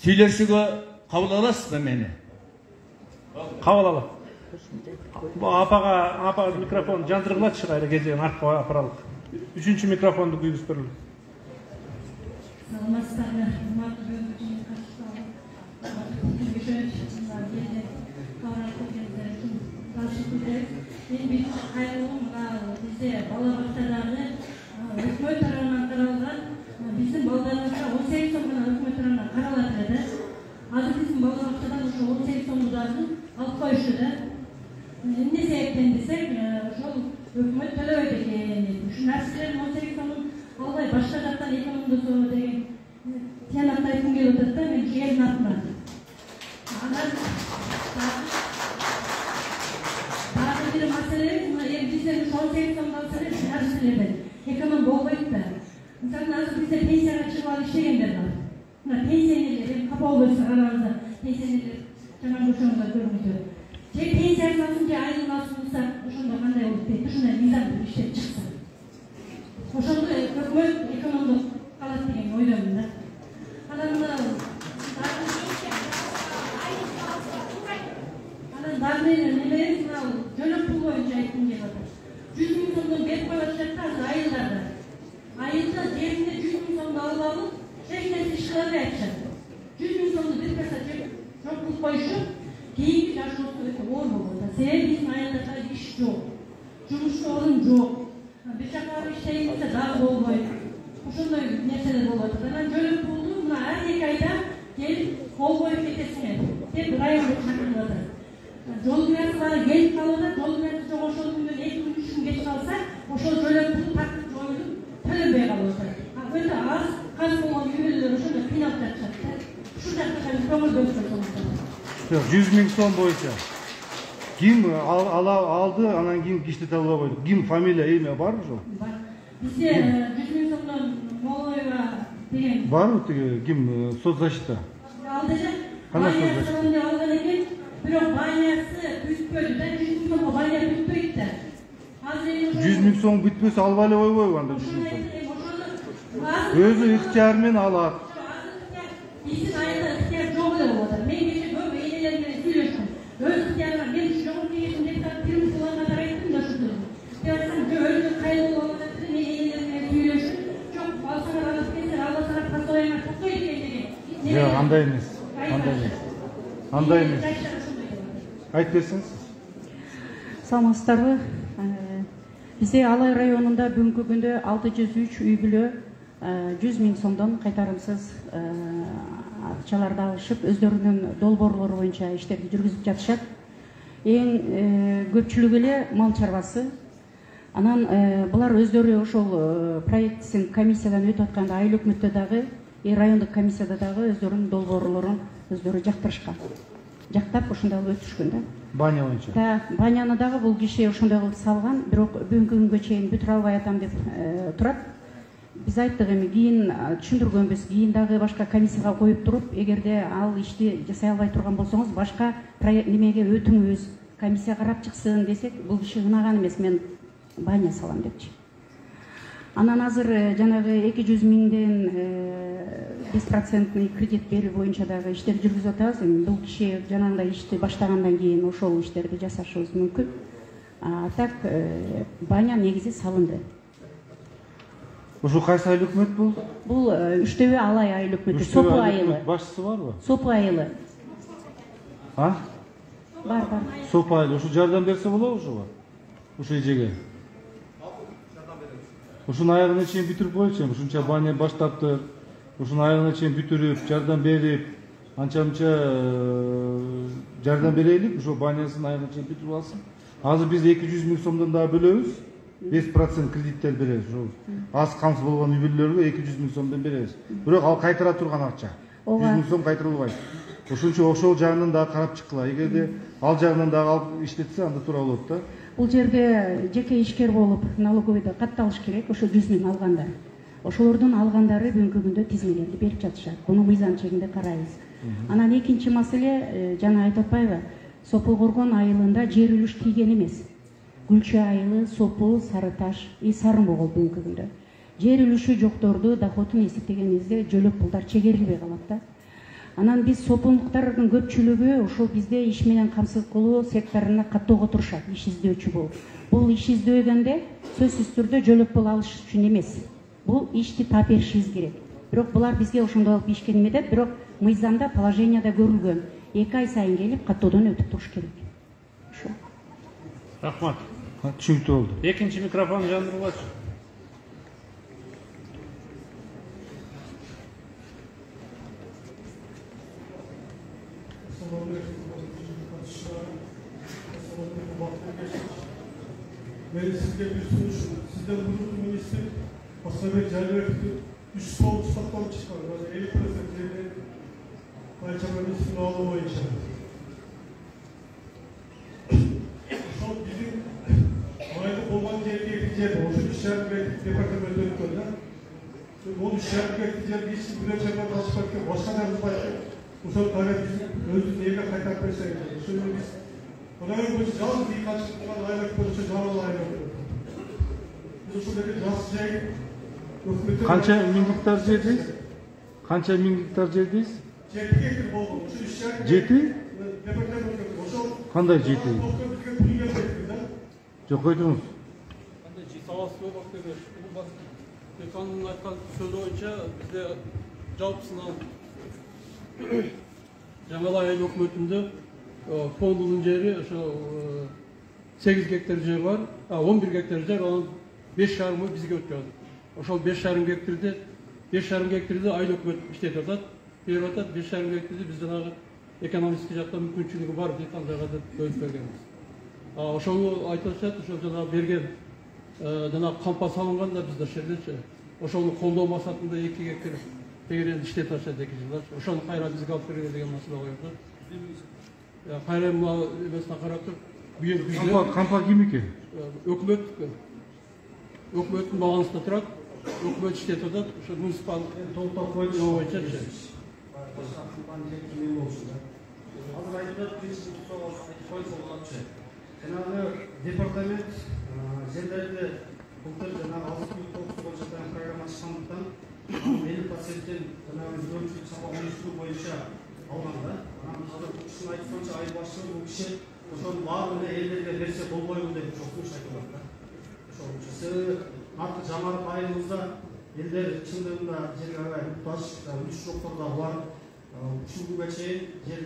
Speaker 8: сүйлөшүүгө кабыл аласызбы мени?
Speaker 3: Кабыл алам. Бу апага, апа микрофон жандыргылачы, кайра кезеген артка апаралык. Үчүнчү микрофонду күйгүзүп берели.
Speaker 9: Саламатсыздарбы, урматтуу бөлгүчү катышкан. Мен биринчи кайрылгым мына бизде бала бакчаларды өкмөт тарабынан каралган, биздин балдарыбызга он сегиз сом гана өкмөт тарабынан каралат эле да. Азыр биздин бала бакчадан ошо он сегиз сомдарды алып коюшту да. Эмне себептен десек, ошол өкмөт төлөбөйт экен. Ушул нерселердин он сегиз сомун албай башка жактан экономдосо деген тиянатты айткым келип атат да, мен жердин атынан. Анан дагы бир маселе, мына эми бизден он сегиз сом алса эле нерселерден эконом болбойт да. Мисалы, азыр бизде пенсияга чыгып алып иштегендер бар. Мына пенсионерлер, эми капа болбойсуз арабызда пенсионерлер жаман ошондой көрүнүктү. Же пенсиясын алсын, же айлыгын алсын болсо, ошондо кандай болуп кетти, ушундай мыйзам иштеп чыкса. Ошондо өкмөт экономдук калат деген ойдомун да. Анан мына анан дагы немеребиз мына жөлөк пул боюнча айткым келип атат. жүз миң сомдон берип коюп атышат да азыр айылдарда. Айылда жеринде жүз миң сомду алып алып, эч нерсе иш кыла албай атышат. жүз миң сомду бир каса жеп жок кылып коюшуп, кийинки жашоосу өтө оор болуп атат. Себеби биздин айылдарда иш жок, жумуш орун жок. Бир жака барып иштейин десе дагы болбойт. Ошондой нерселер болуп атат. Анан жөлөк пулду мына ар эки айда келип кол коюп кетесиңер деп райондо чакырып атат. Жол кирасы бары келип калып атат, жол кирасы жок ошол күндөн эки күн үч күн кеч калса, ошол жөлөк пул тартып жоюлуп төлөнбөй калып атат. Өтө аз каз болгон үй-бүлөлөр ошондо кыйналып жатышат да. Ушул жакка көңүл бөлүшөт.
Speaker 1: жүз миң сом боюнча ким алды, анан кийин иштете албай койдук. Ким фамилия, эме барбы ошол?
Speaker 9: Бар. Бизде жүз миң сомдон Молоева деген
Speaker 1: барбы тиги ким соцзащита?
Speaker 9: Алды эле.
Speaker 1: Кандай соцзащита?
Speaker 9: Алган экен, бирок байясы бүтпөдү да, жүз миң сомго бая бүтпөйт да. Азыр
Speaker 1: жүз миң сом бүтпөсө албай эле койбойбу анда жүз миң сом? Өзү ыктыяр менен алат.
Speaker 9: Биздин айылда ыктыяр жок эле болуп атат. Мен кечээ көп энелер менен сүйлөштүм. Өз ыктыярга мен жогорку кеңештин депутаты Пирмусуларга да айттым да ушуну. Деп айтсам, жок өзү кайыл болуп атат, мен энелер менен сүйлөшүп, жок алсаңар алып келсеңер, албасаңар постоянно токтой экен деген.
Speaker 1: Жок, андай эмес. Андай эмес. Андай эмес. Айтып берсеңиз.
Speaker 22: Саламатсыздарбы? Бизде Алай районунда бүгүнкү күндө алты жүз үч үй бүлө жүз миң сомдон кайтарымсыз акчаларды алышып, өздөрүнүн долбоорлору боюнча иштерди жүргүзүп жатышат. Эң көпчүлүгү эле мал чарбасы. Анан булар өздөрү ошол проектисин комиссиядан өтүп атканда айыл өкмөттө дагы, райондук комиссияда дагы өздөрүнүн долбоорлорун өздөрү жактырышкан. Жактап ошондой кылып өтүшкөн да.
Speaker 1: Баня боюнча.
Speaker 22: Да, баняны дагы бул киши ошондой кылып салган, бирок бүгүнкү күнгө чейин бүтүрө албай атам деп турат. Биз айттык, эми кийин түшүндүргөнбүз, кийин дагы башка комиссияга коюп туруп, эгерде ал ишти жасай албай турган болсоңуз, башка немеге өтүңүз, комиссия карап чыксын десек, бул киши ынаган эмес. Мен баня салам депчи. Анан азыр жанагы эки жүз миңден беш проценттный кредит берүү боюнча дагы иштер жүргүзүп атабыз. Эми бул киши жанагындай ишти баштагандан кийин ошол иштерди жасашыбыз мүмкүн. А так баня негизи салынды.
Speaker 1: Ошо кайсы айыл өкмөт бул?
Speaker 22: Бул Үчтөбө Алай айыл өкмөтү, Сопу айылы.
Speaker 1: Башчысы барбы?
Speaker 22: Сопу айылы.
Speaker 1: А?
Speaker 22: Бар, бар.
Speaker 1: Сопу айылы. Ошо жардам берсе болобу ошого? Ошо эжеге. Ушунун аягына чейин бүтүрүп койчу, ушунча баня баштаптыр. Ушунун аягына чейин бүтүрүп, жардам берип, анча-мынча жардам берелик, ошо банясын аягына чейин бүтүрүп алсын. Азыр биз эки жүз миң сомдон дагы бөлөбүз. беш процент кредиттер беребиз. Ошо аз камсыз болгон үй бүлөлөргө эки жүз миң сомдон беребиз. Бирок ал кайтара турган акча. жүз миң сом кайтарылбайт. Ошончо ошол жагынан дагы карап чыккыла. Эгерде ал жагынан дагы алып иштетсе, анда туура болот да.
Speaker 22: Бул жерде жеке ишкер болуп налоговыйда катталыш керек, ошо жүз миң алгандар. Ошолордун алгандары бүгүнкү күндө тизмелерди берип жатышат. Буну мыйзам чегинде карайбыз. Анан экинчи маселе, жана айтып атпайбы, Сопу Коргон айылында жер үлүш тийген эмес. Гүлчө айылы, Сопу, Сары Таш, и Сары Могол бүгүнкү күндө. Жер үлүшү жокторду доходун эсептегенибизде жөлөк пулдар чегерилбей калат да. Анан биз сопундуктардын көпчүлүгү ошол бизде иш менен камсыз кылуу секторуна каттоого турушат, иш издөөчү болуп. Бул иш издөөгөндө сөзсүз түрдө жөлөк пул алыш үчүн эмес. Бул ишти таап беришибиз керек. Бирок булар бизге ошондой алып ишкен эмедет, бирок мыйзамда положенияда көрүлгөн. эки ай сайын келип каттоодон өтүп туруш керек. Ошо.
Speaker 3: Рахмат.
Speaker 1: Түшүнүктүү болду.
Speaker 3: Экинчи микрофон жандырылачы.
Speaker 18: Мен сізге бір сұрақ, сізден бұрын министр Асабек Жәлібековті үш сол ұстаттан шыққан, елу процент жерден Байчама министрін алу бойынша. Ошол біздің майды болған жердегі жер, ошол үш жарым гектар департамент өткөн да. Ол үш жарым гектар жерге ешкім бір жерден ашпай кеткен, башқа да бұзбайды. Ошол тарих біздің өзіміз елге қайтарып берсеңіз. Ошол біз Odanın bu жалғыз үй қашықтыған айлық көрісі жалғыз айлық көрісі. Біз ошолдегі жас жай өкмөттен...
Speaker 1: Қанша мың гектар жердейіз? Қанша мың гектар жердейіз?
Speaker 18: Жеті гектар болған. Ошо үш жарым...
Speaker 1: Жеті?
Speaker 18: Департамент өткөн. Ошол...
Speaker 1: Қандай жеті?
Speaker 18: Бізге пул келмейді да.
Speaker 1: Жоқ, қойдыңыз.
Speaker 11: Қандай жеті саласы болмақ деген. Бұл бас... Деканның айтқан сөзі бойынша бізде жалпысынан Жаңалай айыл өкмөтүндө фондунун жери ошо сегиз гектар жер бар, он бир гектар жер, анын беш жарымы бизге өтүп. Ошол беш жарым гектарды беш жарым гектарды айыл өкмөт иштетип атат, берип атат. беш жарым гектарды биз жанагы экономический жактан мүмкүнчүлүгү бар декан жагада бөлүп бергенбиз. Ошону айтып атышат, ошол жанагы берген жанагы кампа салынган да бизде шерлечи. Ошону колдоо максатында эки гектар тегерен иштетип атышат эки жылдар. Ошону кайра бизге алып берген деген маселе коюлду. Кайра мына эмесине карап туруп, бүйүн бизде
Speaker 1: кампа ким экен?
Speaker 11: Өкмөт. Өкмөттүн балансында турат. Өкмөт иштетип атат. Ошо муниципал толуктап койду боюнча.
Speaker 16: Азыр айтылат принцип койсо болотчу. Жанагы департамент жерлерди былтыр жанагы алты миң тогуз жүз жаткан программа чыккандыктан элүү проценттен жанагы жөнсүз сабак уюштуруу боюнча алган да. Анан азыр бул кишинин айтуусунча айыл башчысы бул киши ошонун баарын элдерге берсе болбойбу деп сунуш айтып атат да. Ошол себеби наркы жамарып айылыбызда элдер чындыгында жерге аябай муктаж, үлүш жоктор да бар. Ушул күнгө чейин жер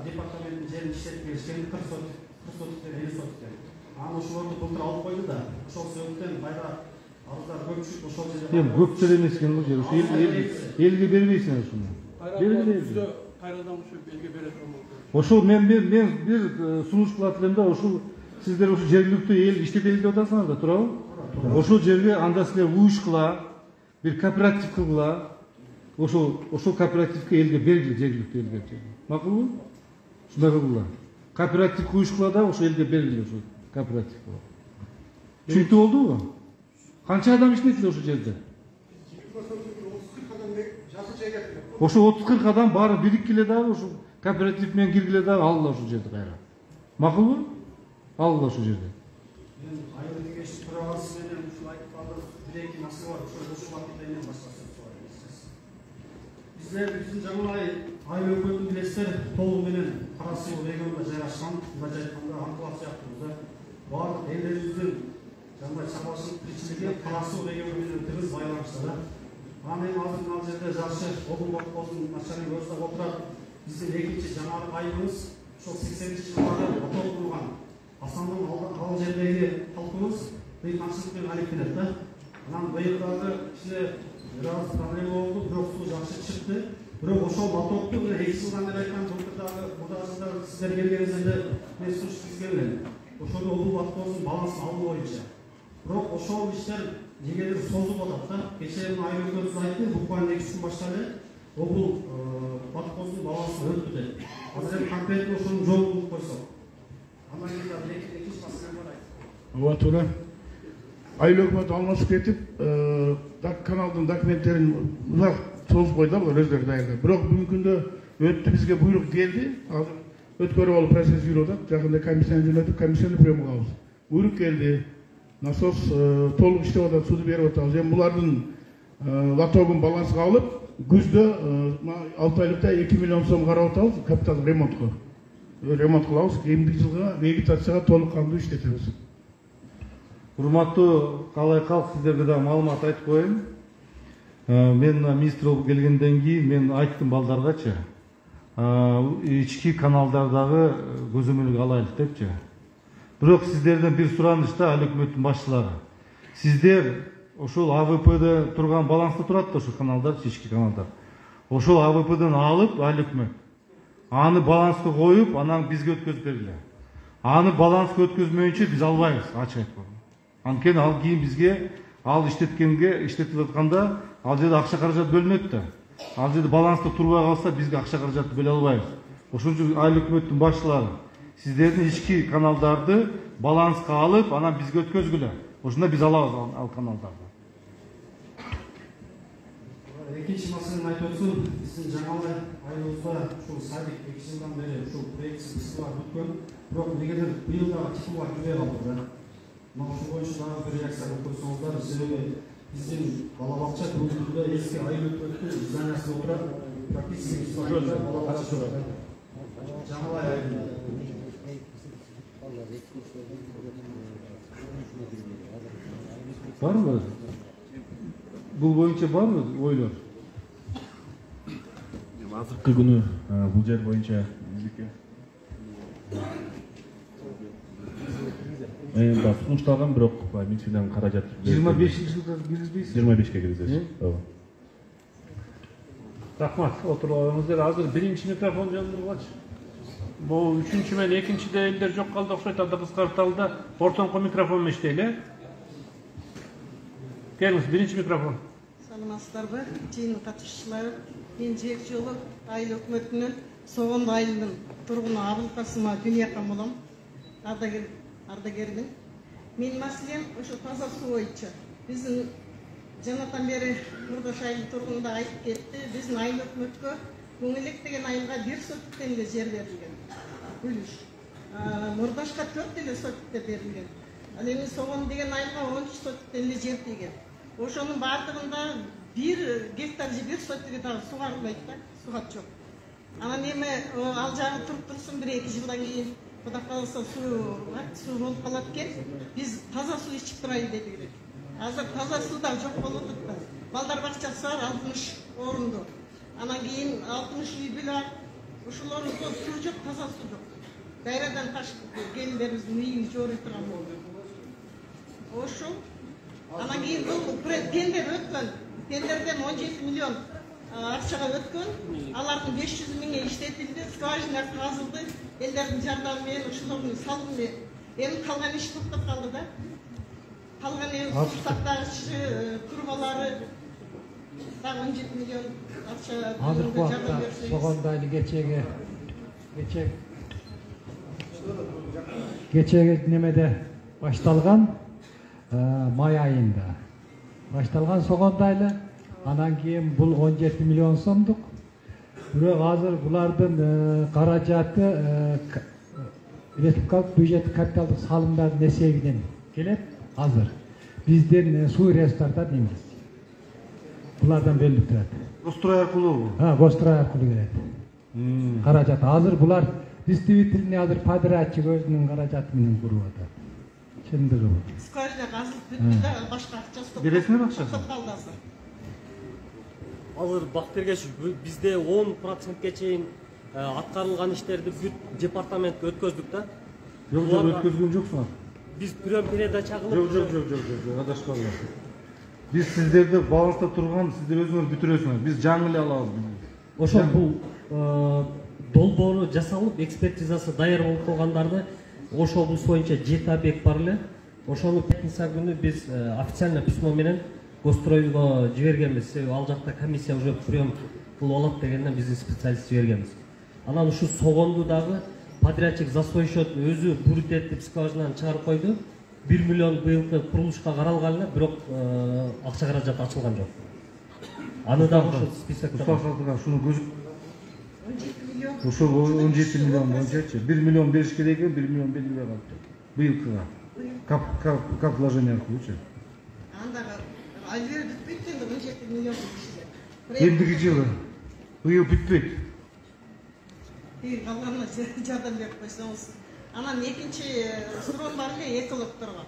Speaker 16: департаменттин жерин иштетип келишкен кырк сотик, кырк сотиктер, элүү сотиктер. Анан ошолорду былтыр алып койду да. Ошол себептен кайра арыздар көпчүлүк ошол жерде.
Speaker 1: Эми көптөр эмес экен бул жер. Ошо элге бербейсиң ошону. Бербейсиң.
Speaker 11: Кайрадан ушу элге берет.
Speaker 1: Ошол мен мен бир сунуш кылат элем да, ошол сиздер ошо жергиликтүү эл иштетели деп атасыңар да, туурабы? Ошол жерге анда силер уюшкула, бир кооператив кылгыла. Ошол ошол кооперативге элге бергиле, жергиликтүү элге. Макулбу? Ушундай кылгыла. Кооператив уюшкула да ошол элге бергиле ошол кооператив. Түшүнүктүү болдубу? Канча адам иштейт ошол жерде? Ошо отуз кырк адам баары бириккиле дагы ошо кооператив менен киргиле дагы алгыла ошол жерде кайра. Макулбу? Алгыла ошол жерде.
Speaker 7: айыл кеңеши төрагасы менен ушул айтып бир эки маселе бар. Ошол ушул убакытта эми башкасы сурайбыз. Биздер биздин Жаңылай айыл өкмөтүн билесиздер, толугу менен Кара Суу регионунда жайгашкан. Мындайча айтканда Анклав сыяктуу баардык элдерибиздин Жаңылай чарбачылык тиричилиги Кара Суу региону менен тыгыз байланышта. Анан эми азыр мына жерде жакшы обул колхозунун начальниги өзү отурат. Биздин экинчи жаңылык айылыбыз ошол сексенинчи жылдары отурулган. Асандын ал жердеги халкыбыз кыйынчылык менен алектенет да. Анан быйыл дагы кичине бир аз проблема болду, бирок суу жакшы чыкты. Бирок ошол лотокту мына эки жылдан бери айткан былтырдагы мурдагы сиздер келгениңизде мен сунуш түзгөнмүн. Ошол обул колхозунун балансын алуу боюнча. Бирок ошол иштер негедир созулуп атат да. Кечээ мына айыл өкмөтүбүз айтты, буквально эки күн башталды. Обул колхоздун балансын өтүп кетет. Азыр эми конкретно ошонун жолун кылып койсок. Андан кийин дагы экинчи маселе бар айтып.
Speaker 4: Ооба туура. Айыл өкмөтү алмашып кетип, каналдын документтерин узак созуп койду булар өздөрү даярдап. Бирок бүгүнкү күндө өттү, бизге буйрук келди. Азыр өткөрүп алып процесс жүрүп атат. Жакында комиссияны жөнөтүп, комиссияны приемга алабыз. Буйрук келди. Насос толук иштеп атат, сууду берип атабыз. Эми булардын лотогун балансыга алып, күздө алты айлыкта эки миллион сом карап атабыз капитал ремонтко. Ремонт кылабыз, кийинки жылга вегетацияга толук кандуу иштетебиз.
Speaker 1: Урматтуу калай калк, сиздерге да маалымат айтып коеюн. Мен министр болуп келгенден кийин мен айттым балдаргачы, ички каналдардагы көзөмөлгө алайлык депчи. Бирок сиздерден бир сураныч да, айыл өкмөттүн башчылары. Сиздер ошол А В П'де турган баланста турат да ошол каналдар, ички каналдар. Ошол А В П'ден алып айыл өкмөт аны баланска коюп, анан бизге өткөзүп бергиле. Аны баланска өткөзмөйүнчө биз албайбыз, ачык айтканда. Анткени ал кийин бизге ал иштеткенге, иштетип атканда ал жерде акча каражат бөлүнөт да. Ал жерде баланста турбай калса бизге акча каражатты бөлө албайбыз. Ошон үчүн айыл өкмөттүн башчылары сиздердин ички каналдарды баланска алып, анан бизге өткөзгүлө. Ошондо биз алабыз ал каналдарды.
Speaker 7: Экинчи маселени айтып өтсөм, биздин Жаңылай айылыбызда ушул садик эки жылдан бери ушул проектси кысылар бүткөн. Бирок негедир быйыл дагы типулар жүрбөй калды да. Мына ушул боюнча дагы бир реакция кылып койсоңуздар, себеби биздин бала бакча бүгүнкү күндө эски айыл өкмөттүн зданиясында отурат. Практически бала бакча турат. Жаңылай айылында.
Speaker 1: Барбы? Бул боюнча барбы ойлор?
Speaker 10: Азыркы күнү бул жер боюнча биздики эми да сунушталган, бирок министрден каражат
Speaker 1: жыйырма бешинчи жылга киргизбейсиз?
Speaker 10: жыйырма бешке киргизебиз. Ооба.
Speaker 3: Рахмат, отуруңуздар. Азыр биринчи микрофон жандыргылачы. Бул үчүнчү менен экинчиде элдер жок калды окшойт, анда кыскартылды. Ортоңку микрофон менен иштейли. Келиңиз, биринчи микрофон.
Speaker 12: Саламатсыздарбы, жыйын катышуучулар. Мен жер жолу айыл өкмөтүнүн Согондо айылынын тургуну Абыл Касымова Дүния болом. Ардагер ардагермин. Менин маселем ошо таза суу боюнча. Биздин жанатан бери Мурдаш айыл тургунунда айтып кетти. Биздин айыл өкмөткө Көңүлек деген айылга бир сотуктен эле жер берилген. Бүлүш. Мурдашка төрт эле сотукта берилген. Ал эми Согон деген айылга он үч сотуктен эле жер тийген. Ошонун баардыгында бир гектар же бир сотугу дагы сугарылбайт да, сугат жок. Анан эми ал жагы туруп турсун, бир эки жылдан кийин Кудай кааласа суу суу болуп калат экен. Биз таза суу ичип турайлы дедик. Азыр таза суу да жок болуп атат да. Балдар бакчасы бар алтымыш орунду. Анан кийин алтымыш үй бүлө бар. Ошолордо суу жок, таза суу жок. Дайрадан ташып келиндерибиздин үйүн жорой турган болду. Ошол. Анан кийин бул тендер өткөн. Тендерден он жети миллион акчага өткөн. Алардын беш жүз миңи иштетилди, скважина казылды. Элдердин жардамы менен ошолордун салымы. Эми калган иш токтоп калды да. Калган эми суу сактагыч турбалары дагы он жети миллион акча.
Speaker 23: Азыркы убакта Согондо айылы кечеги кечеги кечеги немеде башталган, май айында башталган Согондо айылы. Анан кийин бул он жети миллион сомдук. Бирок азыр булардын каражаты республикалык бюджет капиталдык салымдардын эсебинен келет азыр. Бизден суу ресурстарда дейбиз. Булардан бөлүнүп турат.
Speaker 1: Гострой аркылуу?
Speaker 23: Ha, Гострой аркылуу келет. Каражат азыр булар действительно азыр подрядчик өзүнүн каражаты менен куруп атат. Чындыгы бул.
Speaker 12: Скважина казылып бүттү да башка акча стоп.
Speaker 1: Бересиңер акчасын?
Speaker 12: Калды азыр.
Speaker 5: Азыр Бактергеш бизде он процентке чейин аткарылган иштерди бүт департаментке өткөздүк да.
Speaker 1: Жок, жок, өткөзгөн жоксуңар.
Speaker 5: Биз прям передача кылып.
Speaker 1: Жок, жок, жок, жок, жок, адашпаңдар. Биз сиздерди баланста турган, сиздер өзүңөр бүтүрөсүңөр. Биз жаңы эле алабыз.
Speaker 5: Ошол бул долбоору жасалып, экспертизасы даяр болуп калгандарды ошол облус боюнча жети объект бар эле. Ошону пятница күнү биз официально письмо менен Гостройго жибергенбиз. Себеби ал жакта комиссия уже прием кылып алат дегенден биздин специалист жибергенбиз. Анан ушу согонду дагы подрядчик за свой счет өзү бурит этип скважинаны чыгарып койду. бир миллион быйылкы курулушка каралган эле, бирок акча каражаты ачылган жок. Аны дагы ошол списокто.
Speaker 1: Усталсатыга шуну көзүп он жети миллион. Ошол он жети миллион боюнчачы бир миллион бериш керек экен, бир миллион берилбей калыптыр. Быйылкыга. Кап кап кап вложение аркылуучу.
Speaker 12: Андагы альвер бүтпөйт энди он жети миллион кишиге.
Speaker 1: Эндиги жылы быйыл бүтпөйт.
Speaker 12: И калганына жардам берип койсоңуз. Анан экинчи суроо бар эле экологторго.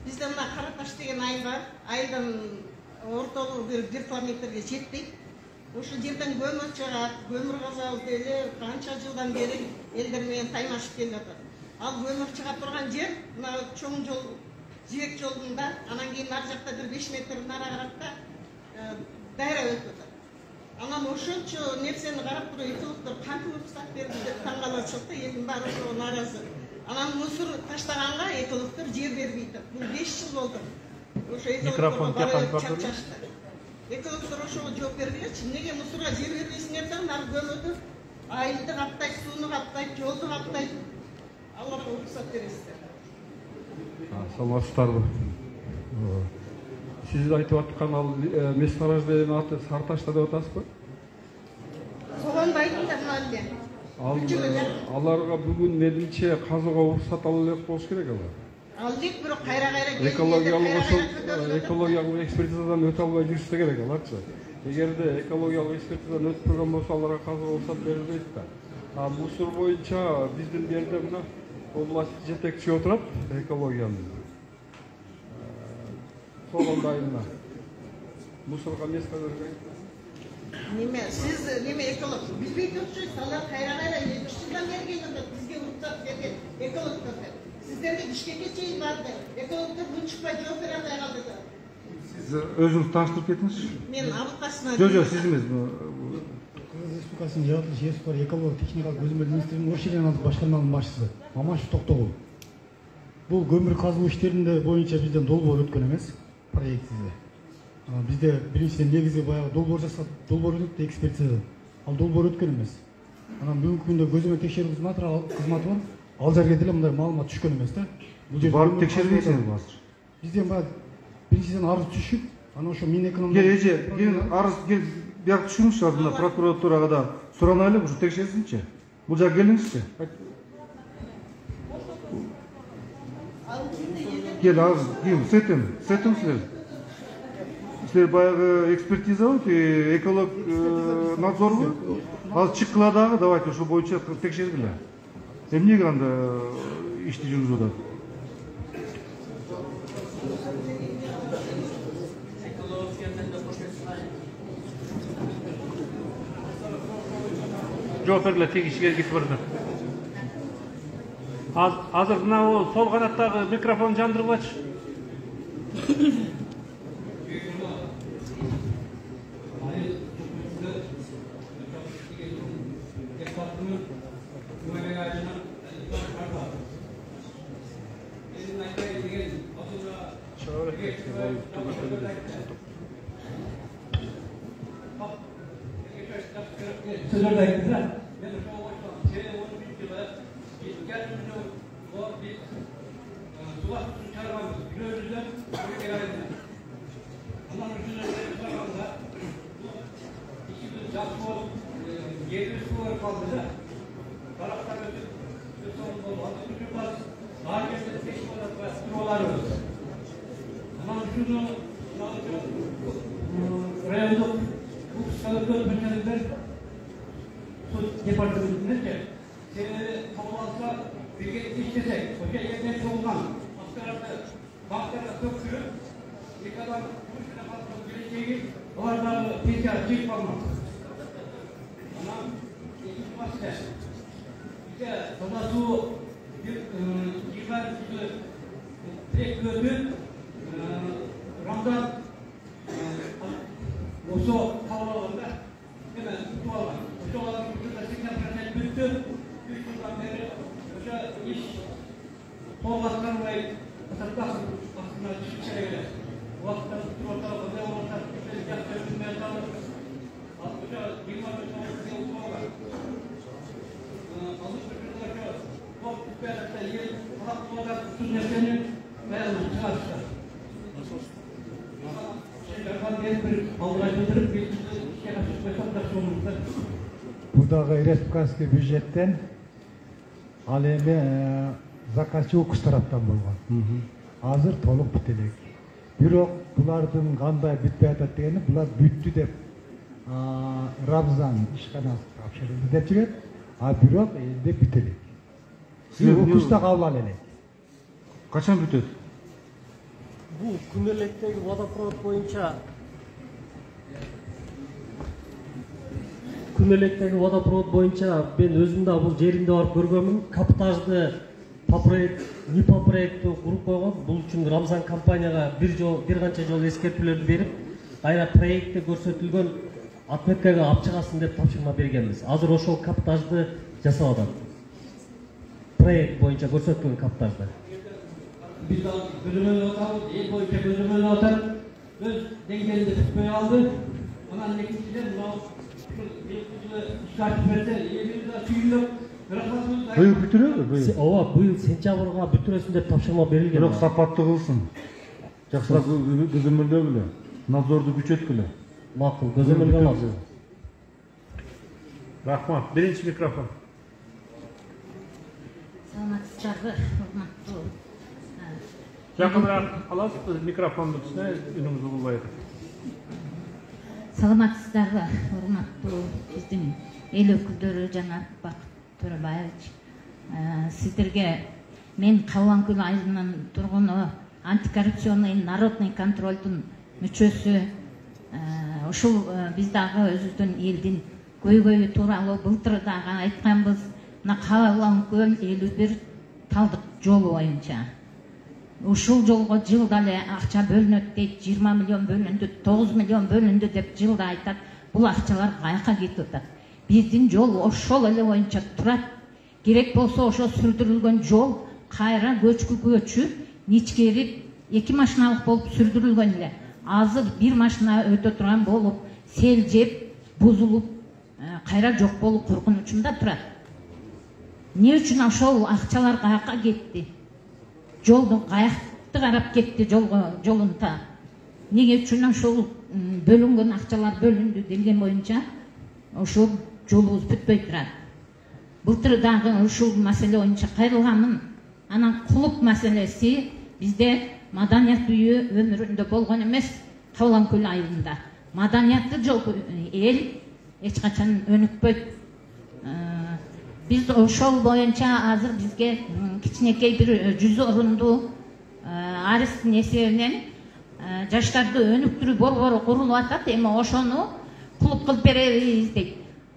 Speaker 12: Бизде мына Кара Таш деген айыл бар. Айылдын ортолугу бир километрге жетпейт. Ошол жерден көмүр чыгат, көмүр казабыз эле канча жылдан бери элдер менен таймашып келип атат. Ал көмүр чыга турган жер мына чоң жол, жибек жолунда, анан кийин ар жакта бир беш метр нара каракта дайра өтүп атат. Анан ошончо нерсени карап туруп экологдор кантип уруксат берди деп таң калып атышат да, элдин баары ошого нааразы. Анан мусор таштаганга экологдор жер бербей атат. Бул беш жыл болду. Ошо экологдор чапчашты. Экологдор ошого жооп бергенчи, эмнеге мусорго жер бербейсиңер да, ар көмөдү айылды каптайт, сууну каптайт, жолду каптайт. Аларга уруксат бересиздер.
Speaker 11: Саламатсыздарбы? Сиз айтып аткан ал месторождениянын аты Сарташта деп атасызбы?
Speaker 12: Согонду айттым да мына эле.
Speaker 11: Ал аларга бүгүн менимче казууга уруксат ала элек болуш керек алар.
Speaker 12: Ал элек бирок кайра-кайра
Speaker 11: экологиялык ошол экологиялык экспертизадан өтө албай жүрүшсө керек аларчы. Эгерде экологиялык экспертизадан өтүп турган болсо аларга казууга уруксат берилбейт да. А мусор боюнча биздин жерде мына область жетекчи отурат экологиянын. Согонду айылына мусорго место бербейт.
Speaker 12: Неме, сиз неме эколог билбей турчусуз, алар кайра-кайра үч жылдан бери келип атат, бизге уруксат берген экологдор. Сиздерге Бишкекке чейин барды. Экологдор бун чыкпай жооп бере албай калды да.
Speaker 1: Сиз өзүңүз тааныштырып кетиңизчи.
Speaker 12: Мен Абылкасымов.
Speaker 1: Жок, жок, сиз эмес.
Speaker 13: Кыргыз Республикасынын жаратылыш ээси бар экология техникалык көзөмөл министринин Оршилен башкарманын башчысы Мамашев Токтогул. Бул көмүр казуу иштеринде боюнча бизден долбоор өткөн эмес, проектсиз. Бизде биринчиден негизи баягы долбоор жасап, долбоор өтүп экспертиза. Ал долбоор өткөн эмес. Анан бүгүнкү күндө көзөмөл текшерүү кызматы бар. Ал жерге деле мындай маалымат түшкөн эмес да.
Speaker 1: Бул жерде барып текшербейсиңер азыр.
Speaker 13: Бизден баягы биринчиден арыз түшүп, анан ошо Минэкономдун
Speaker 1: Кел эже, кел арыз кел бияк түшүңүзчү, азыр мына прокуратурага да суранайлы, ушу текшерсинчи. Бул жака келиңизчи. Кел азыр, кел, сетим, сетим силер. Силер баягы экспертиза болуп, эколог надзорбу? Азыр чыккыла дагы, давайте ошол боюнча текшергиле. Эмнеге анда ишти жүргүзүп атат?
Speaker 3: Жооп бергиле, теги ишиге кетип барат. Азыр мына сол канаттагы микрофон жандыргылачы.
Speaker 21: Sözler de gittiler.
Speaker 17: райондық өкілдер мекемелер департаментінде сені қабыл алса бекет иштесек, өте ертең болған аскарды бақтарға көпшілік екі адам жұмысына қатысып келешегі олардағы пенсия жеп қалмақ. Анан екінші мәселе бізде таза су жиырма тірек өтіп Рамдан осы қалаларында hemen tuttu alған. Осы алған seksen процент бүтті. Үш жылдан бері осы іш толғатқанбай қасаптақ астына түсіп келеді. Уақытта tuttu орталық қандай болмаса біздер жақсы өтінмей қалып. Ал осы жиырма бес жыл болған. Алып жүргендер топ түспей жатса ел қалап толғат түз нәрсені бәрін шығарышты.
Speaker 23: Бурдагы республикалык бюджеттен ал эми заказчы укук тараптан болгон. Азыр толук бүт элек. Бирок булардын кандай бүтпөй атат дегени булар бүттү деп Рамзан ишканасы тапшырылды деп жүрөт, а бирок элде бүт элек. Сиз укукта кабыл ала элек.
Speaker 1: Качан бүтөт?
Speaker 5: Бул күнөлүктөгү водопровод боюнча күнөлүктөгү водопровод боюнча мен өзүм да бул жеринде барып көргөнмүн. Каптажды по проект, не по проекту куруп койгон. Бул үчүн Рамзан компанияга бир жол, бир канча жол эскертүүлөрдү берип, кайра проектте көрсөтүлгөн отметкага алып чыгасын деп тапшырма бергенбиз. Азыр ошол каптажды жасап атат. Проект боюнча көрсөтүлгөн каптажды. Biz gözümüzü atalım, el boyunca gözümüzü atalım. Göz dengelinde tutmaya aldı. Aman nekisiyle bu işaret verdi. Elimizde suyun yok.
Speaker 1: Быйыл бүтүрөбү? Быйыл.
Speaker 5: Ооба, быйыл сентябрга бүтүрөсүн деп тапшырма берилген.
Speaker 1: Бирок сапаттуу кылсын. Жакшыраак көзөмөлдөгүлө, надзорду күчөткүлө.
Speaker 5: Макул, көзөмөлгө алабыз.
Speaker 3: Рахмат. Биринчи микрофон.
Speaker 2: Саламатсыздарбы, урматтуу.
Speaker 3: Жақынырақ аласыз микрофонды түсіне үніңізді бұлбайды.
Speaker 2: Саламатсыздарбы, урматтуу биздин эл өкүлдөрү жана Бакыт Төрөбаевич. Сиздерге мен Калбанкөл айылынын тургуну, антикоррупционный народный контролдун мүчөсү, ушул биз дагы өзүбүздүн элдин көйгөйү тууралуу былтыр дагы айтканбыз. Мына Калбанкөл элүү бир талдык жолу боюнча ушул жолго жылда эле акча бөлүнөт дейт, жыйырма миллион бөлүндү, тогуз миллион бөлүндү деп жылда айтат. Бул акчалар каяка кетип атат? Биздин жол ошол эле боюнча турат. Керек болсо ошо сүрдүрүлгөн жол кайра көчкү көчүп, ичкерип, эки машиналык болуп сүрдүрүлгөн эле. Азыр бир машина өтө турган болуп, сел жеп, бузулуп, кайра жок болуу коркунучунда турат. Эмне үчүн ошол акчалар каяка кетти? Жолдун каякты карап кетти жолго, жолунда. Эмне үчүн ошол бөлүнгөн акчалар бөлүндү делген боюнча ошол жолубуз бүтпөй турат. Былтыр дагы ушул маселе боюнча кайрылганмын. Анан кулук маселеси бизде маданият үйү өмүрүндө болгон эмес, Калбанкөл айылында. Маданияттуу жол эл эч качан өнүкпөйт. Biz ошол боюнча азыр бизге кичинекей бир жүз орундуу арестин эсебинен жаштарды өнүктүрүү борбору курулуп атат. Эми ошону клуб кылып беребиз дейт.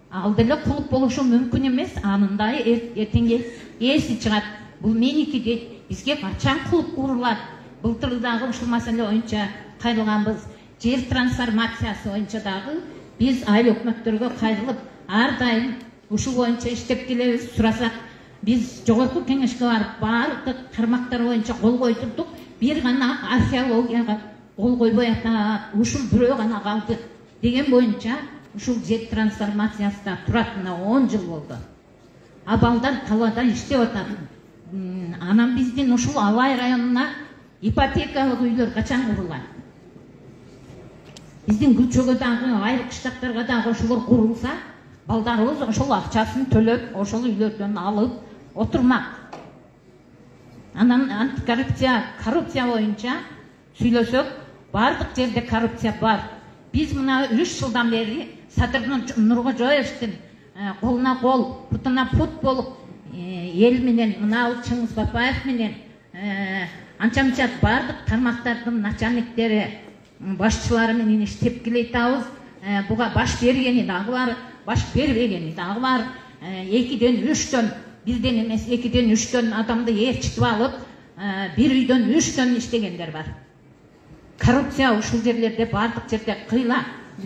Speaker 2: Ал деле клуб болушу мүмкүн эмес. Анында эртеңге эси чыгат. Бул меники дейт. Бизге качан клуб курулат? Былтыр дагы ушул маселе боюнча кайрылганбыз. Жер трансформациясы боюнча дагы биз айыл өкмөттөргө кайрылып, ар дайым ушул боюнча иштеп келебиз. Сурасак, биз жогорку кеңешке барып, баардык кармактар боюнча кол койдурдук. Бир гана археологияга кол койбой атат. Ушул бирөө гана калды деген боюнча ушул жер трансформациясында туратына он жыл болду. А балдар талаада иштеп атат. Анан биздин ушул Алай районуна ипотекалык үйлөр качан курулат? Биздин Күлчөгө дагы, айыл кыштактарга дагы ошолор курулса, балдарыбыз ошол акчасын төлөп, ошол үйлөрдөн алып отурмак. Анан антикоррупция, коррупция боюнча сүйлөсөк, бардык жерде коррупция бар. Биз мына үч жылдан бери Садыр Нуркожоевдин колуна кол, путуна пут болуп, эл менен мына Чыңгыз Бапаев менен анча-мынча бардык тармактардын начальниктери, башчылары менен иштеп келатабыз. Буга баш бергени дагы бар, баш бербегени дагы бар. Экиден үчтөн, бирден эмес, экиден үчтөн адамды ээрчитип алып, бир үйдөн үчтөн иштегендер бар. Коррупция ушул жерлерде бардык жерде кыйла.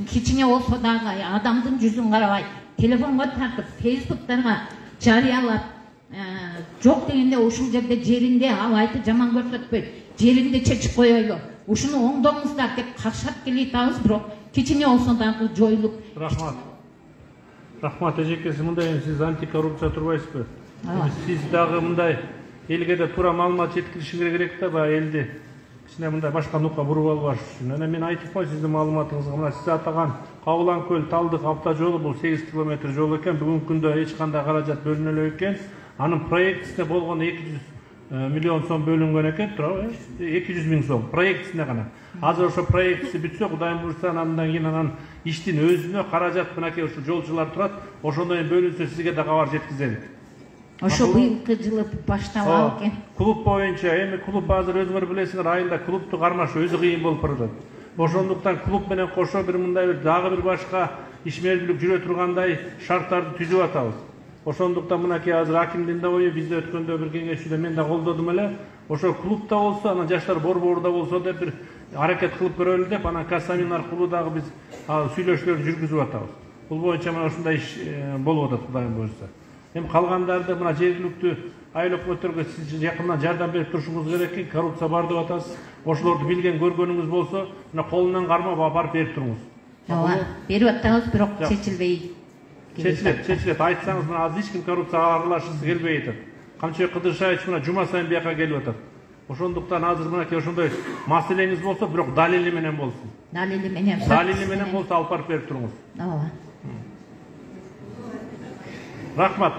Speaker 2: Кичине болсо дагы адамдын жүзүн карабай, телефонго тартып, фейсбуктарга жарыялап, жок дегенде ушул жерде жеринде алайды жаман көрсөтпөй, жеринде чечип коелу. Ушуну оңдоңуздар деп каршап келатабыз, бирок кичине болсо дагы жоюлуп.
Speaker 3: Рахмат. Рахмат эжекеси, мындай сиз антикоррупция турбайсызбы? Сиз дагы мындай элге да туура маалымат жеткиришиңер керек да, баягы элди кичине мындай башка нукка буруп албаш үчүн. Анан мен айтып коеюн сиздин маалыматыңызга, мына сиз атаган Кабылан көл Талдык автожолу бул сегиз километр жол экен. Бүгүнкү күндө эч кандай каражат бөлүнө элек экен. Анын проектисине болгону эки жүз миллион сом бөлүнгөн экен, туурабы? эки жүз миң сом проектисине гана. Азыр ошо проектиси бүтсө, Кудайым буйрса, андан кийин анан иштин өзүнө каражат мынакей ушул жолчулар турат, ошондон бөлүнсө сизге да кабар жеткизелик.
Speaker 2: Ошо быйылкы жылы башталат экен.
Speaker 3: Клуб боюнча, эми клуб азыр өзүңөр билесиңер, айылда клубту кармашуу өзү кыйын болуп баратат. Ошондуктан клуб менен кошо бир мындай бир дагы бир башка ишмердүүлүк жүрө тургандай шарттарды түзүп атабыз. Ошондуктан мынакей азыр акимдин да ою бизде өткөндө бир кеңешчүдө мен да колдодум эле. Ошо клубда болсо, анан жаштар борборунда болсо деп бир аракет кылып көрөлү деп, анан Касамин аркылуу дагы биз сүйлөшүүлөрдү жүргүзүп атабыз. Бул боюнча мына ушундай иш болуп атат, Кудайым буйрса. Эми калгандарды мына жергиликтүү айыл өкмөттөргө сиз жакындан жардам берип турушуңуз керек экен. Коррупция бар деп атасыз. Ошолорду билген көргөнүңүз болсо, мына колунан кармап апарып берип туруңуз.
Speaker 2: Ооба, берип атабыз, бирок чечилбей.
Speaker 3: Чечилет, чечилет. Айтсаңыз, мына азыр эч ким коррупцияга аралашкысы келбей атат. Камчыбек Кыдыршаевич мына жума сайын бияка келип атат. Ошондуктан азыр мынакей ошондой маселеңиз болсо, бирок далили менен болсун.
Speaker 2: Далили менен.
Speaker 3: Далили менен болсо алып барып берип туруңуз.
Speaker 2: Ооба.
Speaker 3: Рахмат.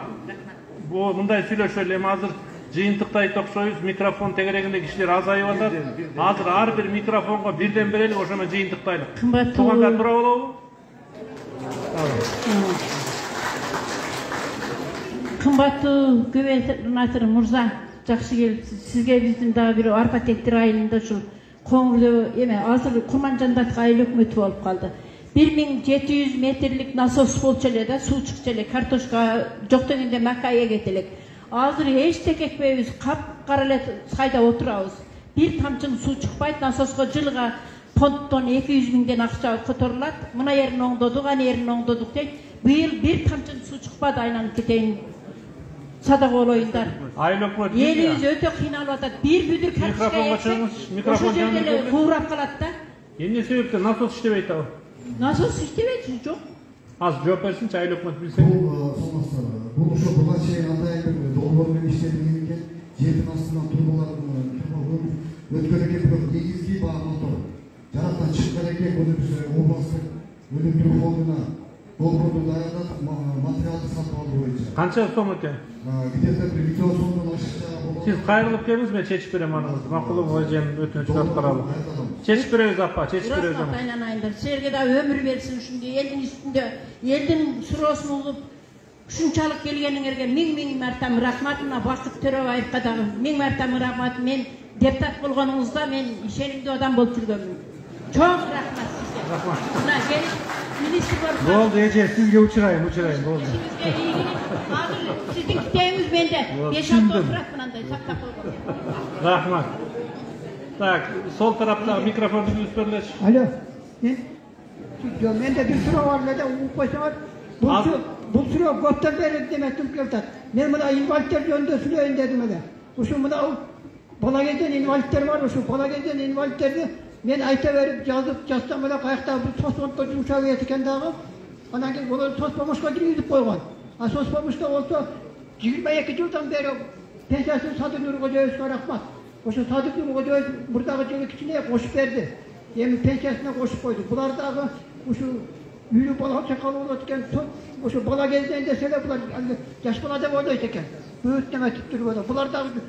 Speaker 3: Бу мындай сүйлөшөлү, эми азыр жыйынтыктайт окшойбуз, микрофон тегерегинде кишилер азайып атат. Азыр ар бир микрофонго бирден берели, ошо менен жыйынтыктайлык. Туугандар тура болобу?
Speaker 14: Кымбаттуу губернатор мырза, жакшы келипсиз. Сизге биздин дагы бир арпа тектир айылында ушул коңурлуу эме азыр Курманжандатка айыл өкмөтү болуп калды. бир миң жети жүз метрлик насос болчу эле да, суу чыкчу эле, картошка жок дегенде макка эгет элек. Азыр эчтеке экпейбиз, капкара эле сайда отурабыз. Бир тамчың суу чыкпайт, насоско жылга фонддон эки жүз миңден акча которулат. Мына жерин оңдодук, ана жерин оңдодук дейт. Быйыл бир тамчың суу чыкпады, айланып кетейин. Садак болоюндар.
Speaker 3: Айыл өкмөтү
Speaker 14: элибиз өтө кыйналып атат. Бир бүдүр картошка эксек, ошол жерде эле куурап калат да.
Speaker 3: Эмне себептен насос иштебейт ал?
Speaker 14: Насос иштебейт, жок.
Speaker 3: Азыр жооп берсинчи, айыл өкмөт билсе.
Speaker 19: Бул ошо буга чейин кандай бир долбоор менен иштелген экен, жердин астынан турбалардын турбаларын өткөн экен, бирок негизги багыты жараттан чыккан экен. Муну биз областтык өнүктүрүү фондуна долбоорду даярдап, материалды сатып алуу боюнча.
Speaker 3: Канча сом экен?
Speaker 19: Где-то бир миллион сомдон ашыкча.
Speaker 3: Сиз кайрылып келиңиз, мен чечип берем аныңызды. Макулуңуз эжем өтүнүчүн аткаралы. Чечип беребиз апа, чечип беребиз.
Speaker 14: Рахмат айланайындар. Силерге да өмүр берсин ушундай элдин үстүндө, элдин суроосун угуп, ушунчалык келгениңерге миң-миң марта рахмат. Мына Бакыт Төрөбаевга дагы миң марта рахмат. Мен депутат болгонуңузда мен ишенимдүү адам болуп жүргөнмүн. Чоң рахмат сизге.
Speaker 3: Рахмат.
Speaker 14: Мына келип министр болуп.
Speaker 1: Болду, эже, сизге учурайм, учурайм, болду.
Speaker 14: Азыр сиздин китебиңиз менде беш алты отурат мынандай сактап койгон.
Speaker 3: Рахмат. Так, сол тараптагы микрофонду үзүп берлечи.
Speaker 20: Алло. Мен менде бир суроо бар эле да, угуп койсоңор. Бул бул суроо көптөн бери деметип келатат. Мен мына инвалидтер жөнүндө сүйлөйүн дедим эле. Ушу мына бала кезден инвалидтер бар, ушу бала кезден инвалидтерди мен айта берип жазып жазсам эле каякта бир соцфонддо жумшап кетет экен дагы. Анан кийин булар соцпомощко киргизип койгон. А соцпомощто болсо жыйырма эки жылдан бери пенсиясын Садыр Нуркожоевге рахмат. Ошо Садыр Нуркожоев мурдагы жылы кичине кошуп берди. Эми пенсиясына кошуп койду. Булар дагы ушу үйлүү бала чакалы болот экен, ошо бала кезинен десе эле булар жаш бала деп ойлойт экен. Бөөт неметип туруп атат. Булар дагы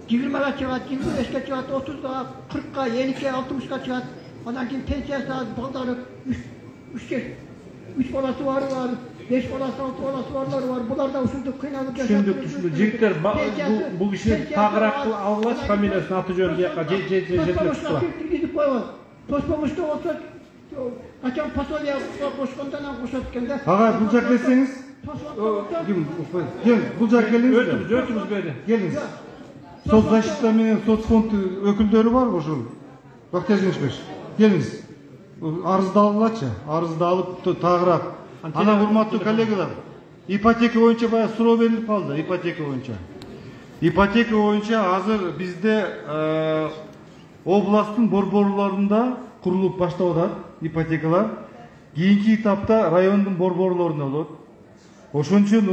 Speaker 20: жыйырмага чыгат, жыйырма бешке чыгат, отузга, кыркка, элүүгө, алтымышка чыгат. Анан кийин пенсиясы аз балдары үч үч баласы бары бар, беш баласы, алты баласы барлары бар. Булар да ушунтип кыйналып жашап.
Speaker 3: Түшүндүк, түшүндүк. Жигиттер бул кишини тагыраак алгыла фамилиясын, аты жөнүн бияка жеткилеп тургула.
Speaker 20: Киргизип койгон. Тоспомушта болсо качан пособие кошкондон анан кошот экен да.
Speaker 1: Ага, бул жака келсеңиз. Ким? Кел, бул жака келиңиз.
Speaker 3: Өтүбүз, өтүбүз бери.
Speaker 1: Келиңиз. Соцзащита менен соцфонд өкүлдөрү барбы ушул? Бактияр Жеңишбек. Келиңиз. Арызды алгылачы, арызды алып тагыраак. Анан урматтуу коллегалар, ипотека боюнча баягы суроо берилип калды, ипотека боюнча. Ипотека боюнча азыр бизде областтын борборлорунда курулуп баштап атат ипотекалар. Кийинки этапта райондун борборлорунда болот. Ошон үчүн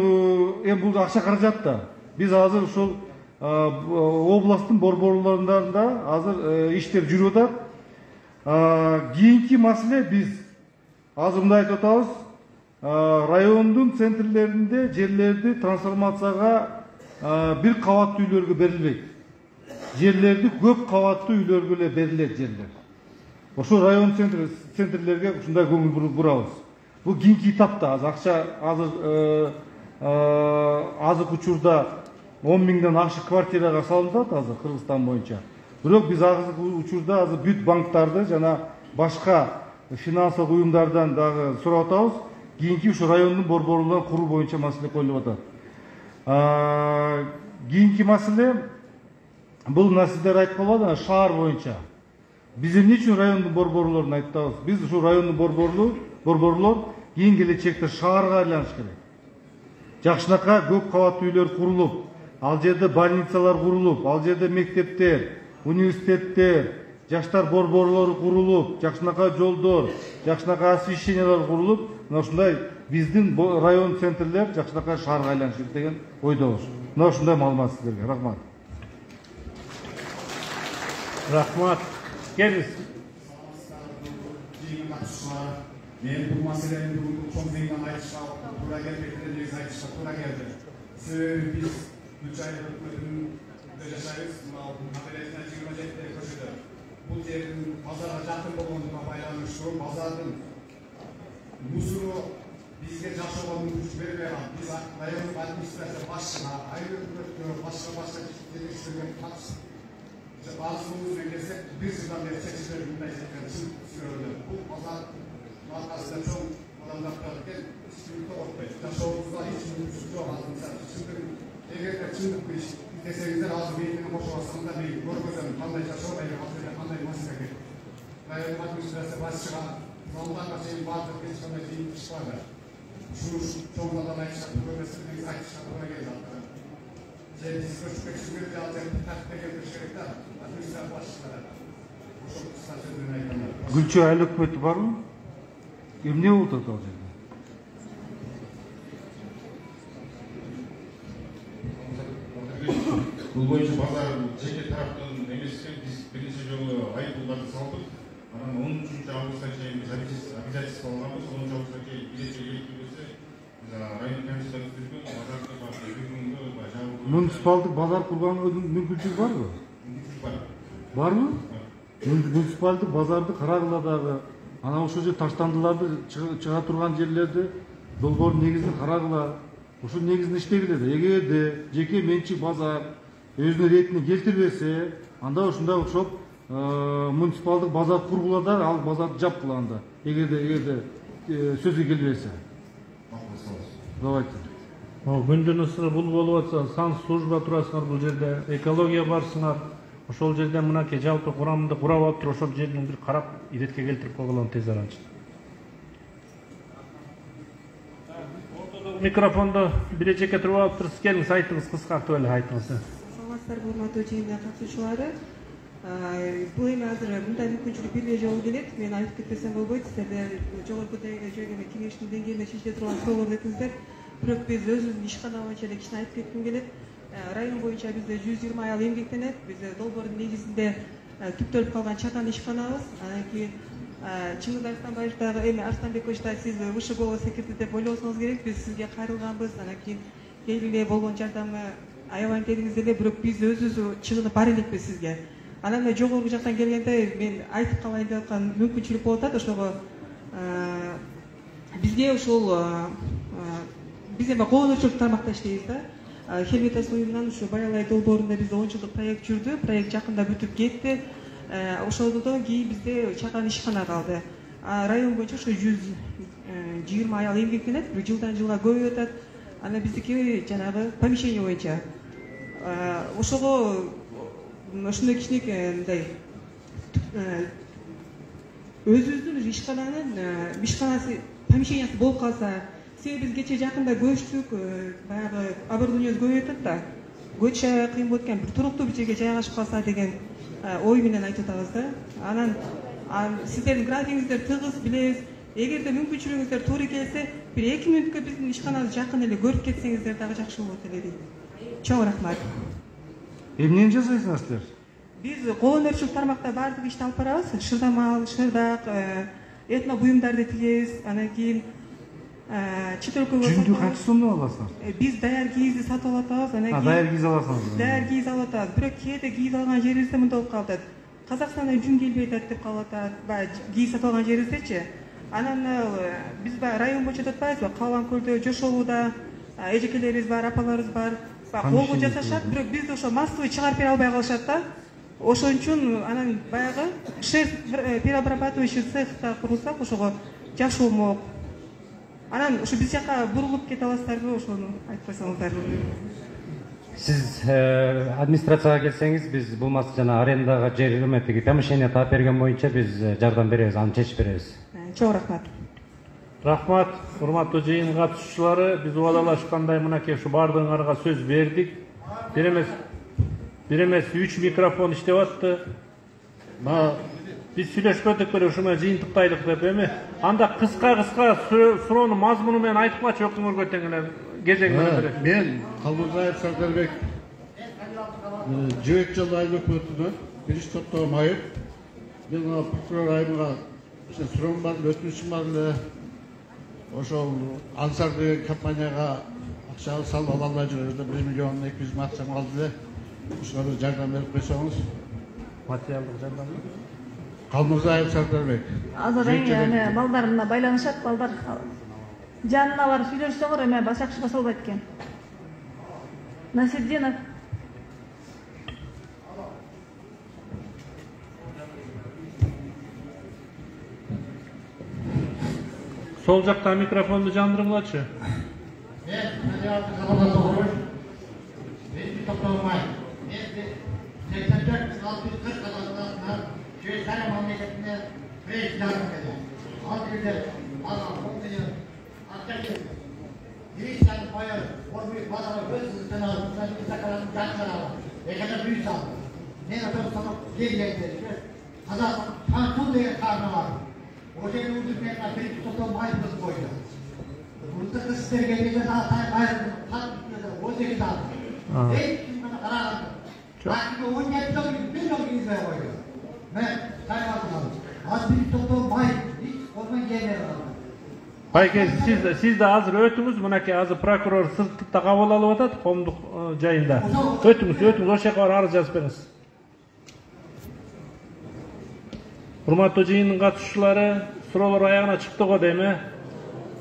Speaker 1: эми бул акча каражат да. Биз азыр ушул областтын борборлорунда азыр иштер жүрүп атат. Кийинки маселе биз азыр мындай айтып атабыз. Райондун центрлеринде жерлерди трансформацияга бир кабаттуу үйлөргө берилбейт. Жерлерди көп кабаттуу үйлөргө эле берилет жерлер. Ошо район центрлерге ушундай көңүл бурабыз. Бул кийинки этапта азыр акча азыр азыркы учурда он миңден ашык квартирага салынат азыр Кыргызстан боюнча. Бирок биз азыркы учурда азыр бүт банктарды жана башка финансылык уюмдардан дагы сурап атабыз. Кийинки ушу райондун борборлорун куруу боюнча маселе коюлуп атат. Кийинки маселе бул мына сиздер айтып калбадыңар шаар боюнча. Биз эмне үчүн райондун борборлорун айтабыз? Биз ушу райондун борборлор борборлор кийин келечекте шаарга айланыш керек. Жакшынакай көп кабаттуу үйлөр курулуп, ал жерде больницалар курулуп, ал жерде мектептер, университеттер, жаштар борборлору курулуп, жакшынакай жолдор, жакшынакай освещениялар курулуп, мына ушундай биздин район центрлер жакшынакай шаарга айланыш керек деген ойдобуз. Мына ушундай маалымат сиздерге. Рахмат.
Speaker 3: Рахмат. Келиңиз.
Speaker 6: Мен бул маселени бүгүн чоң мыйдан айтышка туура келбейтин негизи айтышка туура келди. Себеби биз үч айлык өкмөтүндө жашайбыз. Мына маселесине жыйырма жетиде көчөдө. Бул жердин базарга жакын болгондугуна байланыштуу базардын мусору бизге жашоого мүмкүнчүлүк бербей калат. Биз райондук администрация башчыга, айыл өкмөткө, башка башка жетекчилерге катышып баасыбыз менен келсек, бир жылдан бери чечилбей мындай чын бул базар аркасында чоң адамдар экен, чындыкты окутпайт. Жашообузга эч мүмкүнчүлүк жок азыр. Чындык эгерде чындыкты иштесеңиздер, азыр менен кошуп алсам да мен көргөзөм кандай жашоо, кандай маселе керек. Райондук администрация башчыга залдарга чейин бардык эч кандай кыйын иш бар. Ушул чоңдордон айтышат, көбөсү айтышат туура келди. Жер биз көчүп кетишибиз ал жерди тартып келтириш керек да. Администрация башчылары. Ошол статьяны айткандар.
Speaker 1: Гүлчө айыл өкмөтү барбы? Эмне болуп атат ал жерде?
Speaker 8: Бул боюнча базар жеке тараптан эмес экен, биз биринчи жолу айыппулдарды салдык. Анан он үчүнчү августка чейин биз обязательство алганбыз. онунчу августка чейин биринчи келип район комиссиясы түзгөн базарды бар бүгүнгү жабылып.
Speaker 1: Муниципалдык базар курганга мүмкүнчүлүк барбы?
Speaker 8: Бар.
Speaker 1: Барбы? Муниципалдык базарды карагыла дагы. Анан ошол жер таштандыларды чыга турган жерлерди долбоордун негизин карагыла. Ушул негизинде иштегиле да. Эгерде жеке менчик базар өзүнүн ретине келтирбесе, анда ушундай окшоп муниципалдык базар кургула да, ал базарды жапкыла анда. Эгерде эгерде сөзгө келбесе. Давайте.
Speaker 3: Күндүн ысыры бул болуп атса, сан служба турасыңар бул жерде, экология барсыңар. Ошол жерде мынакей жалпы курамында курап алып туруп, ошол жердин бир карап иретке келтирип койгула тез аранча. Микрофонду бире жеке туруп алып туруп, келиңиз, айтыңыз, кыскартып эле айтыңыз.
Speaker 15: Саламатсыздарбы, урматтуу жыйындын катышуучулары. Бул эми азыр мындай мүмкүнчүлүк бир эле жолу келет. Мен айтып кетпесем болбойт. Сиздер жогорку деңгээлде кеңештин деңгээлинде чечиле турган суроолорду этиңиздер. Бирок биз өзүбүздүн ишкана боюнча эле кичине айтып кетким келет. Район боюнча бизде жүз жыйырма аял эмгектенет. Биз долбоордун негизинде түптөлүп калган чатан ишканабыз. Анан кийин Чыңгыз Арстанбаев дагы эми Арстанбекович да сиз высший голос секирди деп ойлосоңуз керек. Биз сизге кайрылганбыз. Анан кийин келгиле болгон жардамы аябай дедиңиз эле, бирок биз өзүбүз чыгынып бара элекпиз сизге. Анан мен жогорку жактан келгенде мен айтып калайын деп аткан мүмкүнчүлүк болуп атат. Ошого бизге ушул биз эми коомчулук тармакта иштейбиз да. Хелвитас уюмунан ушу Баялай долбоорунда бизде он жылдык проект жүрдү. Проект жакында бүтүп кетти. Ошондон кийин бизде чаган ишкана калды. Район боюнча ушу жүз жыйырма аял эмгектенет, бир жылдан жылга көбөйүп атат. Анан биздики жанагы помещение боюнча. Ошого ошондой кичинекей мындай өзүбүздүн ишкананын ишканасы помещениясы болуп калса, себеби биз кечээ жакында көчтүк, баягы оборудованиебиз көбөйүп атат да. Көчө кыйын болот экен, бир туруктуу бир жерге жайгашып калса деген ой менен айтып атабыз да. Анан сиздердин графигиңиздер тыгыз, билебиз. Эгерде мүмкүнчүлүгүңүздөр туура келсе, бир эки мүнөткө биздин ишканабызды жакын эле көрүп кетсеңиздер дагы жакшы болот эле дейт. Чоң рахмат.
Speaker 1: Эмнени жасайсыңар силер?
Speaker 15: Биз коомчулук тармакта баардык ишти алып барабыз. Шырдамал, шырдак, этно буюмдарды тигебиз. Анан кийин чет өлкөгө
Speaker 1: жүндү канча сомдон аласыңар?
Speaker 15: Биз даяр кийизди сатып алып атабыз. Анан кийин
Speaker 1: даяр кийиз аласыңыз.
Speaker 15: Даяр кийиз алып атабыз. Бирок кээде кийиз алган жерибизде мындай болуп калат. Казакстандан жүн келбей атат деп калып атат. Баягы кийиз сатып алган жерибиздечи. Анан биз баягы район боюнча деп атпайбызбы? Калган көлдө, Жошоодо эжекелерибиз бар, апаларыбыз бар. Колго жасашат, бирок бизди ошо массовый чыгарып бере албай калышат да. Ошон үчүн анан баягы шесть переобрабатывающий цехта курулсак, ошого жакшы болмок. Анан ошо биз жака бурулуп кете аласыздарбы, ошону айтып койсоңуздар.
Speaker 9: Сиз администрацияга келсеңиз, биз булмаса жана арендага жер өмөтүгү помещение таап берген боюнча биз жардам беребиз, аны чечип беребиз.
Speaker 15: Чоң рахмат.
Speaker 3: Рахмат, урматтуу жыйын катышуучулары, биз убадалашкандай мынакей ушу баардыгыңарга сөз бердик. Бир эмес, бир эмес үч микрофон иштеп атты. Биз сүйлөшпөдүк беле ушуну жыйынтыктайлык деп эми. Анда кыска-кыска суроонун мазмуну менен айтып калчы өкмөргө тең эле кезеги менен берет.
Speaker 4: Мен Калмурзаев Сардарбек жебек жолу айыл өкмөтүнөн биринчи топтогу майып. Мен прокурор айымга суроом бар, өтүнүчүм бар эле. Ошол Ансар деген компанияга акча салып ала албай жүрөбүз. бир миллион эки жүз миң акчам калды эле. Ушуга бир жардам берип койсоңуз.
Speaker 3: Материалдык жардам.
Speaker 4: Калмурзаев Сардарбек.
Speaker 18: Азыр эми балдар мына байланышат, балдар жанына барып сүйлөшсөңөр эми жакшы баса албайт экен. Насирдинов.
Speaker 3: Сол жакта микрофонду жандыргылачы.
Speaker 22: Мен материалдык кабылдап тургуч. Мен топтолмай. Мен сексен төрт алты жүз кырк кадамдан Швейцария мамлекетине президент келди. Ал жерде ага он миллион акча келди. Гречаны баяр, орбуй базары өз жана сакаларын жакшырабы. Экада бүй салды. Мен атам санап келгенде Казак Тантун деген карны бар. O жерде үздүкмен биринчи топтон майыбыз койду. Мурда сиздерге келген атай байырды, кат он сегиз алды. Эки күндө караганда. Бакыга он жети жыл бир жыл кийизбей койду. Мен кайралдым. Az биринчи топтон майып, hiç olmay келе калды.
Speaker 3: Байке, сиз сиз да азыр өтүңүз, мынакей азыр прокурор сыртта кабыл алып атат, коомдук жайында. Өтүңүз, өтүңүз, ошол жака барып арыз жазып бериңиз. Урматтуу жыйындын катышуучулары, суроолор аягына чыкты го дейм э.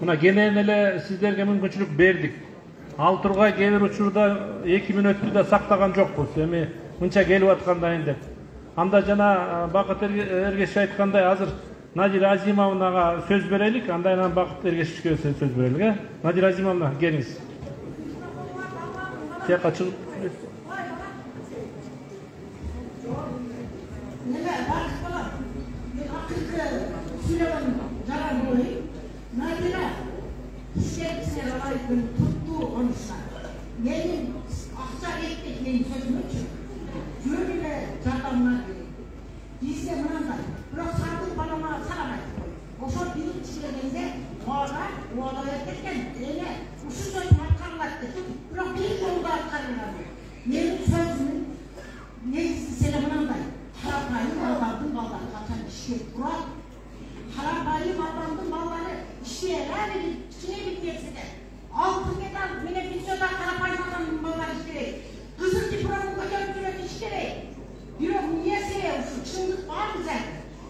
Speaker 3: Мына кенен эле сиздерге мүмкүнчүлүк бердик. Ал тургай кээ бир учурда эки мүнөттү да сактаган жокпуз. Эми мынча келип аткандайын деп. Анда жана Бакыт Эргешев айткандай азыр Надира Азимовнага сөз берелик, андан кийин Бакыт Эргешевге сөз берелик, э? Надира Азимовна, келиңиз. Тияка чыгып.
Speaker 24: Надира, сіздер алайын тұтты онышқа. Менің ақша кетті кейін сөзімінші. Жөнілі жардамына керек. Бізде мынандай, бірақ сардың балама сағамайды. Ошо бірінші келгенде оға, оға өткен, еле ұшы сөзім атқарылады. Бірақ бір жолда атқарылады. Менің сөзімін негізі сені мынандай. Қарапайым балдардың балдар қашан ішке тұрады. бери кичине бир нерседе алтын медаль менен видеода карапайым адам балдар иштебейт. Кызыл дипломун көтөрүп жүрөт иш керек. Бирок эмнеси ушу чындык барбы зат?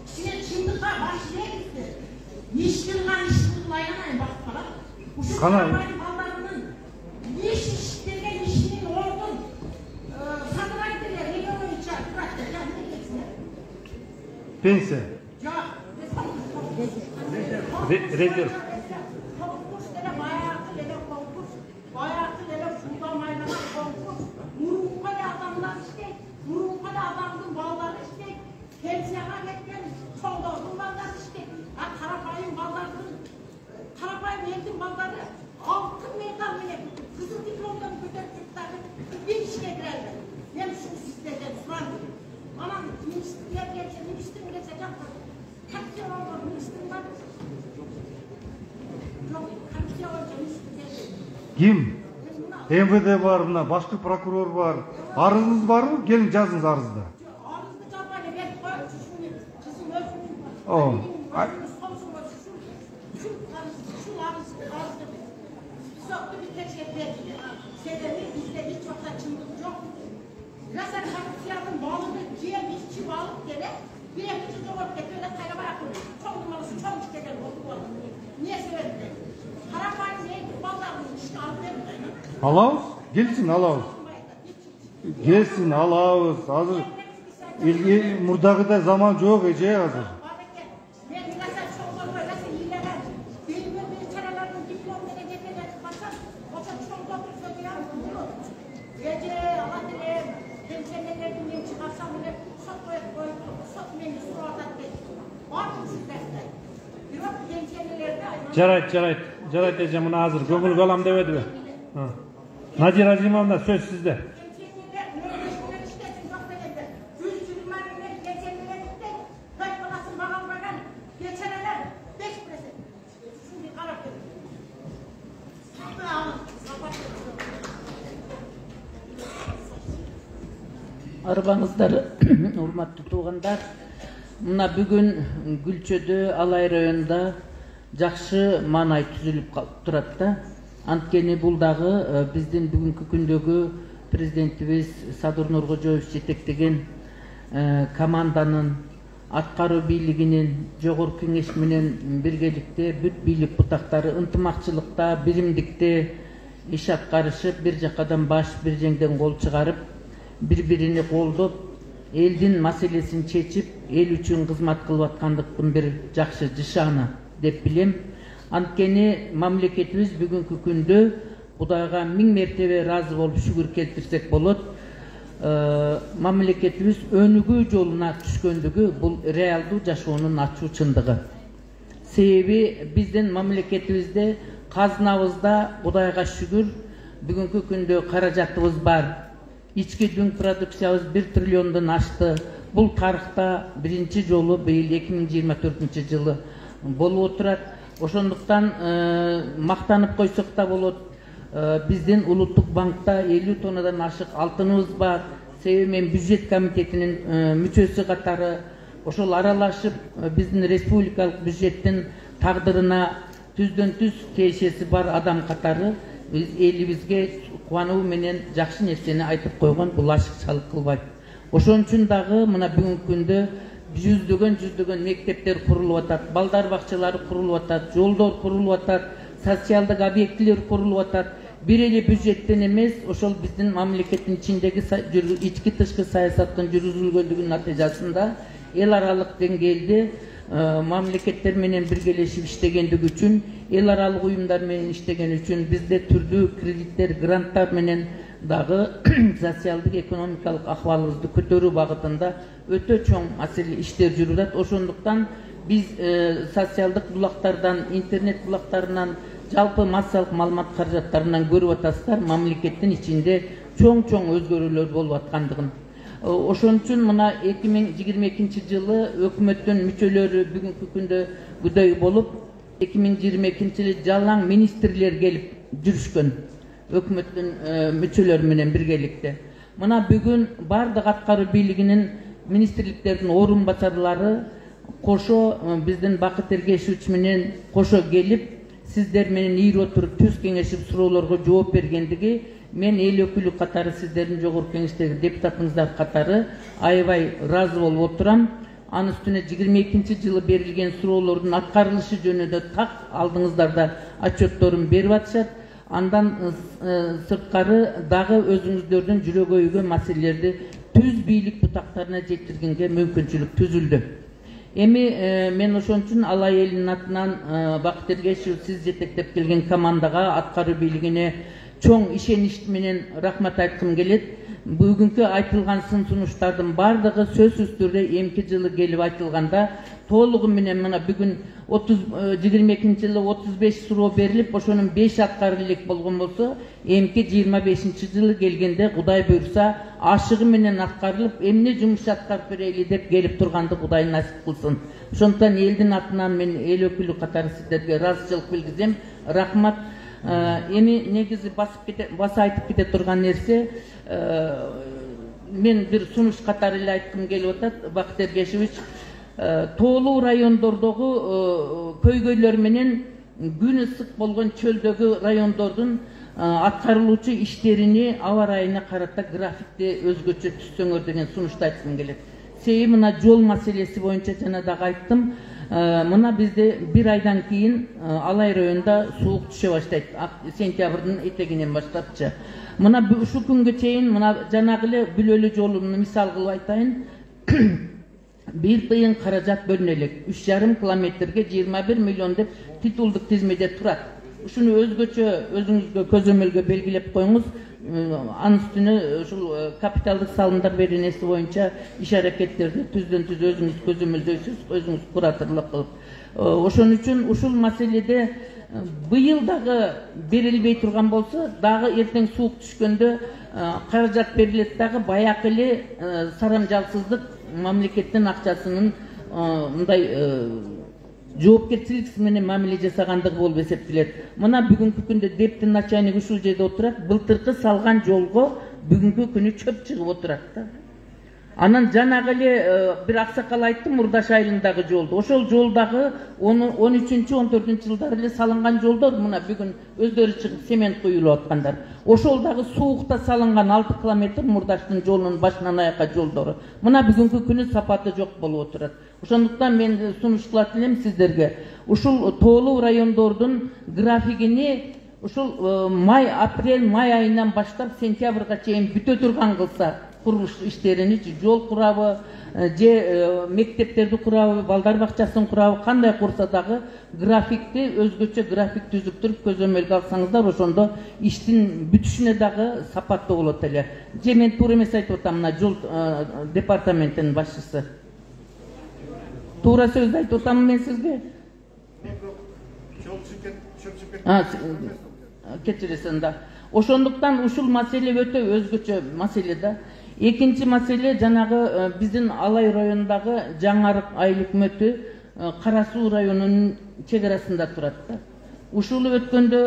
Speaker 24: Кичине чындыкка баш ийгизди. Иш кылган иш кылбай гана багып калат. Ушу карапайым балдарынын иш иштеген ишинин ордун сатылайт деле эме боюнча турат да
Speaker 1: пенсия.
Speaker 24: Жок.
Speaker 3: Резерв.
Speaker 24: Конкурс деле баягы эле конкурс, баягы эле шулдамайдаган конкурс. Мурунку эле адамдар иштейт, мурунку эле адамдын балдары иштейт, пенсияга кеткен чоңдордун балдары иштейт. А карапайым балдардын, карапайым элдин балдары алтын медаль менен кызыл дипломдон көтөрүп чыкты. Бир ишке кире албайт. Мен ушул сиздерден сурандым. Анан министрлер келсе, министр келсе жакта капитан болгон министр бар. Жок, капитан болгон министр келди.
Speaker 1: Ким? эм вэ дэ бар, мына башкы прокурор бар. Арызыңыз барбы? Келиң жазыңыз арызды.
Speaker 24: Арызды жабайлы берип коюп, ушуну кызым өзүнүн
Speaker 1: О.
Speaker 24: ушул арыз арызды сотто бир текшерип берди. Себеби бизде эч убакта чындык жок. Раса коррупциянын балыгы жеп ичип алып келет, бир эки жыл жоготуп кетип эле кайра барат. Чоңдун баласы чоң иштеген болуп калды. Эмне себептен? Карапайым элдин балдарын ишке алып берди.
Speaker 1: Алабыз? Келсин алабыз. Келсин алабыз. Азыр элге мурдагыдай заман жок эже азыр.
Speaker 24: Мен раса чоңдорбой, раса ыйланам. Бир-бир бир чаралардын диплом менен жетелетип калсам, ошо чоңдотуп сөзүнөн болот. Эже ала деле пенсионерлерди мен чыгарсам эле сот коюп коюп, сот мени сурап атат дейт. Бардым сиздерде. Бирок пенсионерлерди
Speaker 3: Жарайт, жарайт. Жарайт эже, мына азыр көңүл алам дебедиби? Надира Азимовна, сөз сизде.
Speaker 24: пенсионерлер нөлдеш менен иштесин жок дегенде, жүз жыйырма миңден пенсионерлер иштейт, той баласын бага албаган бечаралар беш процент. Ушуну карап көрүң. Сатып алып, сапат
Speaker 7: Арбаңыздар, урматтуу туугандар. Мына бүгүн Гүлчөдө, Алай районунда жакшы маанай түзүлүп турат да. Анткени бул дагы биздин бүгүнкү күндөгү президентибиз Садыр Нуркожоевич жетектеген команданын, аткаруу бийлигинин, жогорку кеңеш менен биргеликте бүт бийлик бутактары ынтымакчылыкта, биримдикте иш аткарышып, бир жакадан баш, бир жеңден кол чыгарып, бири-биrini колдоп, элдин маселесин чечип, эл үчүн кызмат кылып аткандыктын бир жакшы жышааны деп билем. Анткени мамлекетибиз бүгүнкү күндө Кудайга миң мертебе ыраазы болуп шүгүр келтирсек болот. Мамлекетибиз өнүгүү жолуна түшкөндүгү бул реалдуу жашоонун ачуу чындыгы. Себеби биздин мамлекетибизде казынабызда Кудайга шүгүр бүгүнкү күндө каражатыбыз бар. Ички дүң продукциябыз бир триллиондон ашты. Бул тарыхта биринчи жолу быйыл эки миң жыйырма төртүнчү жылы болуп отурат. Ошондуктан мактанып койсок да болот. Биздин улуттук банкта элүү тоннадан ашык алтыныбыз бар. Себеби мен бюджет комитетинин мүчөсү катары ошол аралашып биздин республикалык бюджеттин тагдырына түздөн түз тиешеси бар адам катары биз элибизге кубануу менен жакшы нерсени айтып койгон, бул ашыкчалык кылбайт. Ошон үчүн дагы мына бүгүнкү күндө жүздөгөн жүздөгөн мектептер курулуп атат, балдар бакчалары курулуп атат, жолдор курулуп атат, социалдык объектилер курулуп атат. Бир эле бюджеттен эмес, ошол биздин мамлекеттин ичиндеги ички тышкы саясаттын жүргүзүлгөндүгүнүн натыйжасында эл аралык деңгээлде мамлекеттер менен биргелешип иштегендиги үчүн, эл аралык уюмдар менен иштеген үчүн бизде түрдүү кредиттер, гранттар менен дагы социалдык экономикалык акыбалыбызды көтөрүү багытында өтө чоң маселе иштер жүрүп атат. Ошондуктан биз социалдык булактардан, интернет булактарынан, жалпы массалык маалымат каражаттарынан көрүп атасыздар, мамлекеттин ичинде чоң-чоң өзгөрүүлөр болуп аткандыгын. Ошон үчүн мына эки миң жыйырма экинчи жылы өкмөттүн мүчөлөрү бүгүнкү күндө күдөй болуп, эки миң жыйырма экинчи жылы жалаң министрлер келип жүрүшкөн, өкмөттүн мүчөлөрү менен биргеликте. Мына бүгүн бардык аткаруу бийлигинин министрликтердин орун басарлары кошо биздин Бакыт Эргешевич менен кошо келип, сиздер менен ийри отуруп түз кеңешип суроолорго жооп бергендиги мен эл өкүлү катары сиздердин жогорку кеңештеги депутатыңыздар катары аябай ыраазы болуп отурам. Анын үстүнө жыйырма экинчи жылы берилген суроолордун аткарылышы жөнүндө так алдыңыздар да отчетторун берип атышат. Андан сырткары дагы өзүңүздөрдүн жүрөгү өйгөн маселелерди түз бийлик бутактарына жеткиргенге мүмкүнчүлүк түзүлдү. Эми мен ошон үчүн Алай элинин атынан Бакыт Эргешев сиз жетектеп келген командага, аткаруу бийлигине чоң ишенич менен рахмат айткым келет. Бүгүнкү айтылган сын сунуштардын бардыгы сөзсүз түрдө эмки жылы келип айтылганда толугу менен мына бүгүн жыйырма экинчи жылы отуз беш суроо берилип, ошонун беш аткарып элек болгон болсо, эмки жыйырма бешинчи жылы келгенде Кудай буйрса ашыгы менен аткарылып, эмне жумуш аткарып берели деп келип турганды Кудай насип кылсын. Ошондуктан элдин атынан мен эл өкүлү катары сиздерге ыраазычылык билгизем. Рахмат. Эми негизи басып кете, баса айтып кете турган нерсе, мен бир сунуш катары эле айткым келип атат, Бакыт Эргешевич, тоолуу райондордогу көйгөйлөр менен күн ысык болгон чөлдөгү райондордун аткарылуучу иштерини аба ырайына карата графикти өзгөчө түзсөңөр деген сунушту айткым келет. Себеби мына жол маселеси боюнча жана дагы айттым. Мына бизде бир айдан кийин Алай районунда суук түшө баштайт. Сентябрдын этегинен баштапчы. Мына ушул күнгө чейин мына жанагы эле Бүлөлү жолун мисал кылып айтайын. Бир тыйын каражат бөлүнө элек. үч жарым километрге жыйырма бир миллион деп титулдук тизмеде турат. Ушуну өзгөчө өзүңүзгө көзөмөлгө белгилеп коюңуз. Анын үстүнө ушул капиталдык салымдар беренеси боюнча иш аракеттерди түздөн түз өзүңүз көзөмөлдөйсүз, өзүңүз кураторлук кылып. Ошон үчүн ушул маселеде быйыл дагы берилбей турган болсо, дагы эртең суук түшкөндө каражат берилет дагы баягы эле сарамжалсыздык мамлекеттин акчасынын мындай жоопкерчиликсиз менен мамиле жасагандыгы болуп эсептелет. Мына бүгүнкү күндө дептин начальниги ушул жерде отурат, былтыркы салган жолго бүгүнкү күнү чөп чыгып отурат да. Анан жанагы эле бир аксакал айтты Мурдаш айылындагы жолду. Ошол жолдагы он үчүнчү он төртүнчү жылдары эле салынган жолдор мына бүгүн өздөрү чыгып цемент куюлуп аткандар. Ошол дагы суукта салынган алты километр Мурдаштын жолунун башынан аякка жолдору. Мына бүгүнкү күнү сапаты жок болуп отурат. Ошондуктан мен сунуштулат элем сиздерге. Ушул тоолуу райондордун графигини ушул май, апрель, май айынан баштап сентябрга чейин бүтө турган кылса, курулуш иштерини, жол курабы, же мектептерди курабы, балдар бакчасын курабы, кандай курса дагы графикти өзгөчө график түзүп туруп көзөмөлгө алсаңыздар, ошондо иштин бүтүшүнө дагы сапаттуу болот эле. Же мен туура эмес айтып атам, мына жол департаментинин башчысы. Туура сөз айтып атамбы мен сизге? Кечиресиң да. Ошондуктан ушул маселе өтө өзгөчө маселе да. Экинчи маселе жанагы биздин Алай районундагы Жаңарык айыл өкмөтү Кара Суу районунун чек арасында турат да. Ушул өткөндө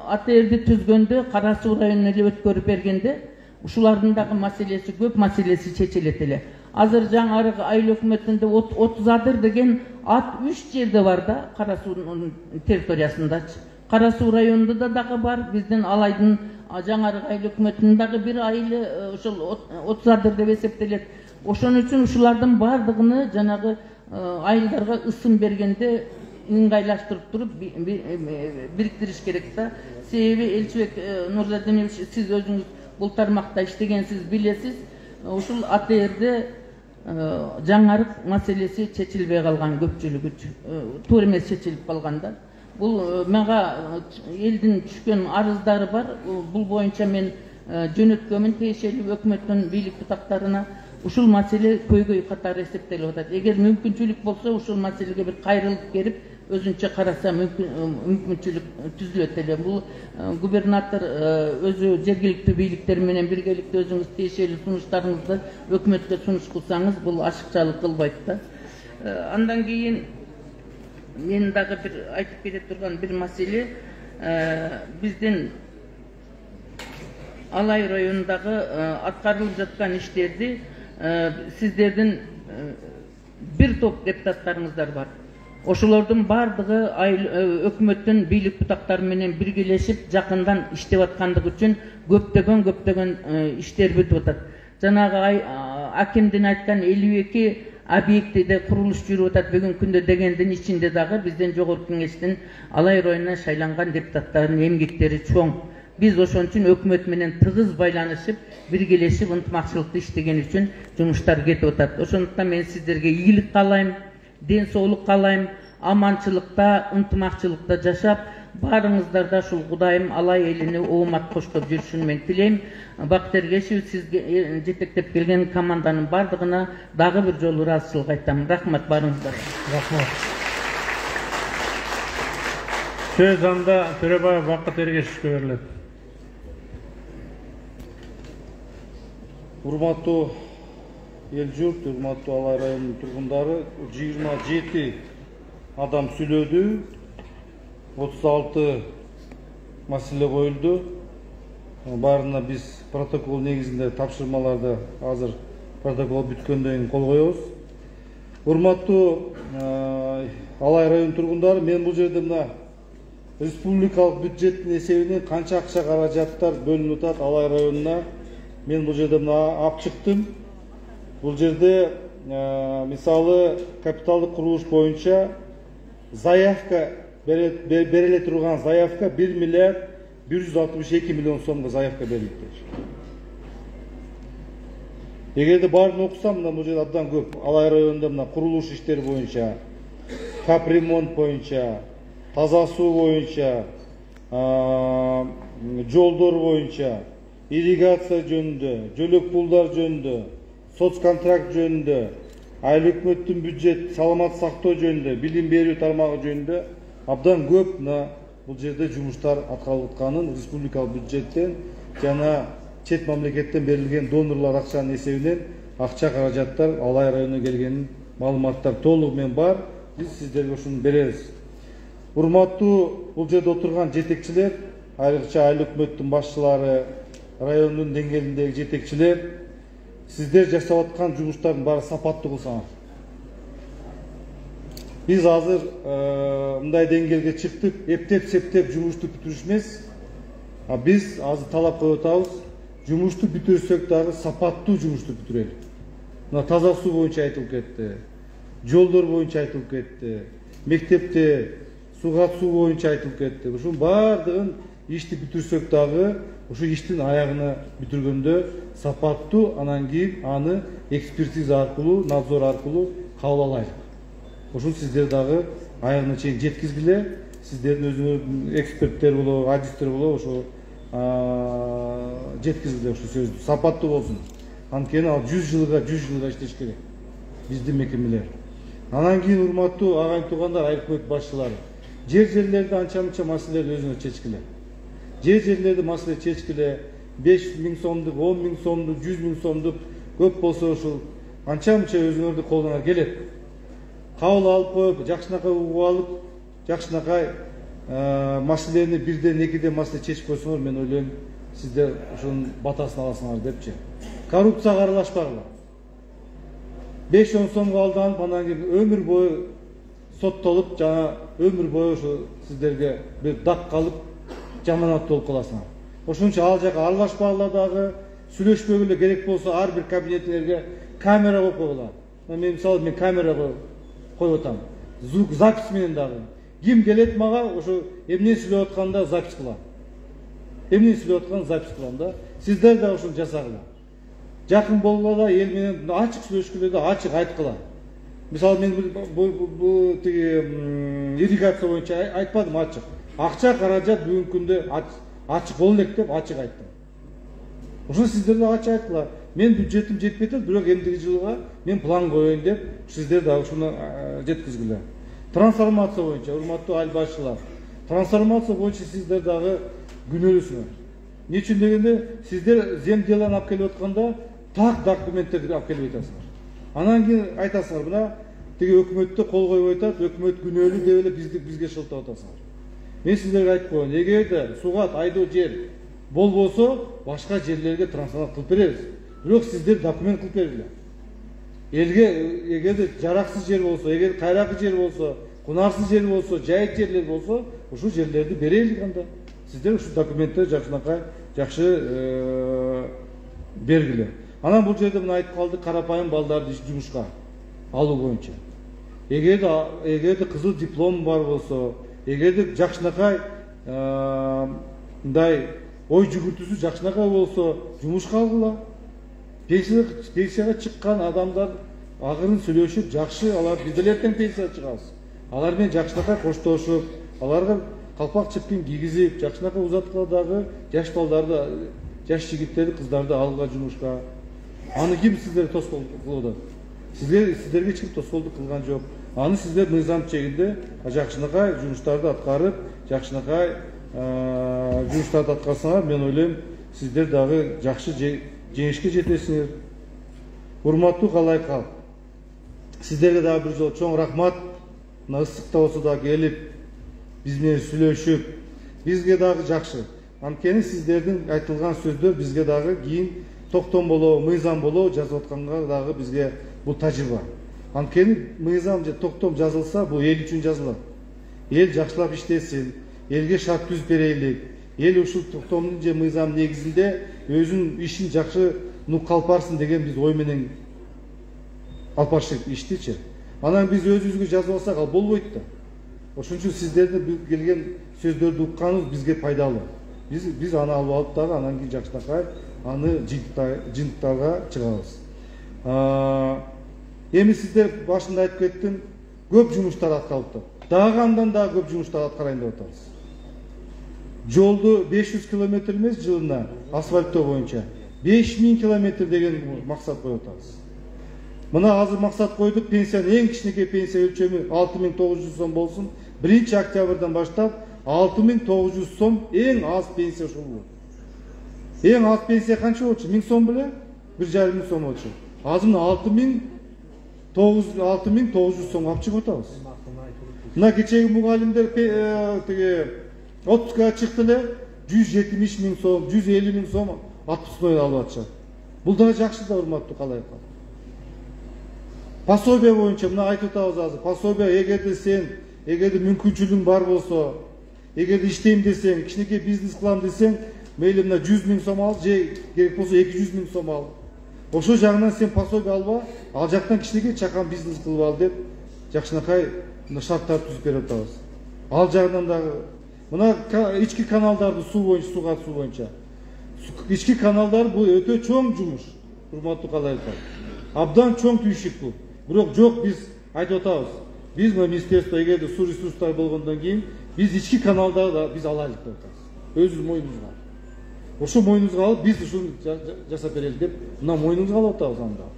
Speaker 7: АТРди түзгөндө Кара Суу районуна эле өткөрүп бергенде ушулардын дагы маселеси көп, маселеси чечилет эле. Азыр Жаңарык айыл өкмөтүндө отуз адыр деген ат үч жерде бар да, Кара Суунун территориясындачы. Кара Суу районунда да дагы бар, биздин Алайдын Жаңарык айыл өкмөтүнүн дагы бир айылы ошол отуз адыр деп эсептелет. Ошон үчүн ушулардын бардыгыны жанагы айылдарга ысым бергенде ыңгайлаштырып туруп бириктириш керек да. Себеби Элчибек Нурзадинович, сиз өзүңүз бул тармакта иштегенсиз, билесиз. Ушул АТРде Жаңарык маселеси чечилбей калган, көпчүлүгү туура эмес чечилип калган да. Бул мага элдин түшкөн арыздары бар. Бул боюнча мен жөнөткөмүн тиешелүү өкмөттүн бийлик бутактарына. Ушул маселе көйгөй катары эсептелип атат. Эгер мүмкүнчүлүк болсо, ушул маселеге бир кайрылып келип, өзүнчө караса мүмкүнчүлүк түзүлөт эле. Бул губернатор өзү жергиликтүү бийликтер менен биргеликте өзүңүз тиешелүү сунуштарыңызды өкмөткө сунуш кылсаңыз, бул ашыкчалык кылбайт да. Андан кийин мен дагы бир айтып кете турган бир маселе, биздин Алай районундагы аткарылып жаткан иштерди сиздердин бир топ депутаттарыңыздар бар. ошолордун баардыгы өкмөттүн бийлик бутактары менен биргелешип жакындан иштеп аткандыгы үчүн көптөгөн көптөгөн иштерди бүтүп атат. Жанагы акимдин айткан элүү эки объектиде курулуш жүрүп атат бүгүнкү күндө дегендин ичинде дагы бизден жогорку кеңештин алай районуна шайланган депутаттардын эмгектери чоң. Биз ошон үчүн өкмөт менен тыгыз байланышып, биргелешип, ынтымакчылыкта иштеген үчүн жумуштар кетип атат. Ошондуктан мен сиздерге ийгилик каалайм, ден соолук каалайм, аманчылыкта, ынтымакчылыкта жашап, баарыңыздарда ушул Кудайым алай элине оомат коштоп жүрүшүн мен тилейм. Бакыт Эргешев, сизге жетектеп келген команданын бардыгына дагы бир жолу ыраазычылык айтам. Рахмат баарыңыздарга.
Speaker 3: Рахмат. Сөз анда Төрөбаев Бакыт Эргешевке берилет.
Speaker 1: Урматтуу эл журт, урматтуу Алай районунун тургундары, жыйырма жети адам сүйлөдү, отуз алты маселе коюлду. Баарына биз протокол негизинде тапшырмаларды азыр протокол бүткөндөн кийин кол коебуз. Урматтуу Алай районунун тургундары, мен бул жерде мына республикалык бюджеттин эсебинен канча акча каражаттар бөлүнүп атат Алай районуна, мен бул жерде мына алып чыктым. Бул жерде мисалы капиталдык курулуш боюнча заявка бериле турган заявка бир миллиард бир жүз алтымыш эки миллион сомго заявка берилиптир. Эгерде баарын окусам, мына бул жерде абдан көп. Алай районунда мына курулуш иштери боюнча, капремонт боюнча, таза суу боюнча, жолдор боюнча, ирригация жөнүндө, жөлөк пулдар жөнүндө, соцконтракт жөнүндө, айыл өкмөттүн бюджет, саламат сактоо жөнүндө, билим берүү тармагы жөнүндө абдан көп мына бул жерде жумуштар аткарылып атканын, республикалык бюджеттен жана чет мамлекеттен берилген донорлор акчанын эсебинен акча каражаттар Алай районуна келгенин маалыматтар толугу менен бар. Биз сиздерге ушуну беребиз. Урматтуу бул жерде отурган жетекчилер, айрыкча айыл өкмөттүн башчылары, райондун деңгээлиндеги жетекчилер, сиздер жасап аткан жумуштардын баары сапаттуу кылсаңар. Биз азыр мындай деңгээлге чыктык, эптеп-септеп жумушту бүтүрүш эмес. Биз азыр талап коюп атабыз, жумушту бүтүрсөк дагы сапаттуу жумушту бүтүрөлү. Мына таза суу боюнча айтылып кетти, жолдор боюнча айтылып кетти, мектепте суга суу боюнча айтылып кетти. Ушунун баардыгын ишти бүтүрсөк дагы ушу иштин аягына бүтүргөндө сапаттуу, анан кийин аны экспертиза аркылуу, надзор аркылуу кабыл алайлык. Ушун сиздер дагы аягына чейин жеткизгиле. Сиздердин өзүңөр эксперттер болобу, адистер болобу, ошо жеткизгиле ушу сөздү. Сапаттуу болсун. Анткени ал жүз жылга, жүз жылга иштеш керек. Биздин мекемелер. Анан кийин урматтуу агайын туугандар, айыл өкмөт башчылары, жер-жерлерди анча-мынча маселелерди өзүңөр чечкиле. Жер-жерлерди маселе чечкиле. беш миң сомдук, он миң сомдук, жүз миң сомдук көп болсо ушул анча-мынча өзүңөрдүн колуңар келет. Кабыл алып коюп, жакшынакай угуп алып, жакшынакай маселени бирден экиден маселе чечип койсоңор, мен ойлойм, сиздер ушунун батасын аласыңар депчи. Коррупцияга аралашпагыла. беш он сомго алданып, анан кийин өмүр бою соттолуп, жана өмүр бою ошо сиздерге бир дак калып, жаманат болуп каласыңар. Ошон үчүн ал жака аралашпагыла дагы, сүйлөшпөгүлө, керек болсо ар бир кабинетиңерге камера коюп койгула. Мен мисалы мен камера коюп атам. Звук запись менен дагы. Ким келет мага, ошо эмне сүйлөп атканда запись кылам. Эмне сүйлөп атканын запись кылам да. Сиздер да ушуну жасагыла. Жакын болгула, эл менен ачык сүйлөшкүлө да, ачык айткыла. Мисалы мен бул тиги ирригация боюнча айтпадым, ачык. Акча каражат бүгүнкү күндө ачык боло элек деп ачык айттым. Ошо сиздер да ачык айткыла. Мен бюджетим жетпей атат, бирок эмдиги жылга мен план коеюн деп сиздер да ушуну жеткизгиле. Трансформация боюнча, урматтуу айыл башчылар, трансформация боюнча сиздер дагы күнөөлүсүңөр. Эмне үчүн дегенде, сиздер земделаны алып келип атканда так документтерди алып келбей атасыңар. Анан кийин айтасыңар, мына тиги өкмөттө кол коюп атат, өкмөт күнөөлүү деп эле бизди бизге шылтап атасыңар. Мен сиздерге айтып коеюн, эгерде сугат, айдоо жер болбосо, башка жерлерге трансформация кылып беребиз. Бирок сиздер документ кылып бергиле. Элге эгерде жараксыз жер болсо, эгер кайракы жер болсо, кунарсыз жер болсо, жайык жерлер болсо, ушул жерлерди берелик анда. Сиздер ушул документтерди жакшынакай жакшы бергиле. Анан бул жерде мына айтып калды, карапайым балдарды жумушка алуу боюнча. Эгерде эгерде кызыл диплом бар болсо, эгерде жакшынакай мындай ой жүгүртүүсү жакшынакай болсо, жумушка алгыла. Пенсияга чыккан адамдар агырын сүйлөшүп, жакшы, алар биз деле эртең пенсияга чыгабыз. Алар менен жакшынакай коштошуп, аларга калпак чепкин кийгизип, жакшынакай узаткаладагы жаш балдарды, жаш жигиттерди, кыздарды алга жумушка. Аны ким сиздерге тоскоол кылып атат? Сиздер сиздерге эч ким тоскоолдук кылган жок. Аны сиздер мыйзам чегинде жакшынакай жумуштарды аткарып, жакшынакай жумуштарды аткарсаңар, мен ойлойм, сиздер дагы жакшы жеңишке жетесиңер. Урматтуу калай калк. Сиздерге дагы бир жолу чоң рахмат. Мына ысыкта болсо да келип, биз менен сүйлөшүп, бизге дагы жакшы. Анткени сиздердин айтылган сөздөр бизге дагы кийин токтом болобу, мыйзам болобу жазып атканга дагы бизге бул тажрыйба. Анткени мыйзам же токтом жазылса, бул эл үчүн жазылат. Эл жакшылап иштесин, элге шарт түзүп берелик. Эл ушул токтомдун же мыйзам негизинде өзүнүн ишин жакшы нук калпарсын деген биз ой менен алып барышык иштичи. Анан биз өзүбүзгө жазып алсак, ал болбойт да. Ошон үчүн сиздердин келген сөздөрдү укканыбыз бизге пайдалуу. Биз биз аны алып алып дагы анан кийин жакшынакай аны жыйынтыктарга чыгабыз. Эми сиздер башында айтып кеттим, көп жумуштар аткарылып. Дагы андан дагы көп жумуштар аткарайын деп атабыз. Жолду беш жүз километр эмес жылына асфальттоо боюнча беш миң километр деген максат коюп атабыз. Мына азыр максат койдук, пенсиянын эң кичинекей пенсия өлчөмү алты миң тогуз жүз сом болсун. биринчи октябрдан баштап алты миң тогуз жүз сом эң аз пенсия ушул болот. Эң аз пенсия канча болчу? миң сом беле? бир жарым миң сом болчу. Азыр мына алты миң тогуз жүз сом алып чыгып атабыз. Мына кечеги мугалимдер тиги отпускага чыкты эле, жүз жетимиш миң сом, жүз элүү миң сом отпускной алып атышат. Бул да жакшы да, урматтуу калайкалар. Пособие боюнча мына айтып атабыз азыр. Пособие эгерде сен, эгерде мүмкүнчүлүгүң бар болсо, эгерде иштейм десең, кичинекей бизнес кылам десең, мейли мына жүз миң сом ал, же керек болсо эки жүз миң сом ал. Ошол жагынан сен пособие алба, ал жактан кичинекей чакан бизнес кылып ал деп жакшынакай шарттар түзүп берип атабыз. Ал жагынан дагы мына ички каналдарды суу боюнча, суу катуу боюнча. Ички каналдар бул өтө чоң жумуш. Урматтуу калайкалар. Абдан чоң түйшүк бул. Бирок жок, биз айтып атабыз. Биз мына министерство эгерде суу ресурстары болгондон кийин биз ички каналдарды биз алайлык деп атабыз. Өзүбүз мойнубузга. Ошо мойнубузга алып биз ушуну жасап берели деп мына мойнубузга алып атабыз анда.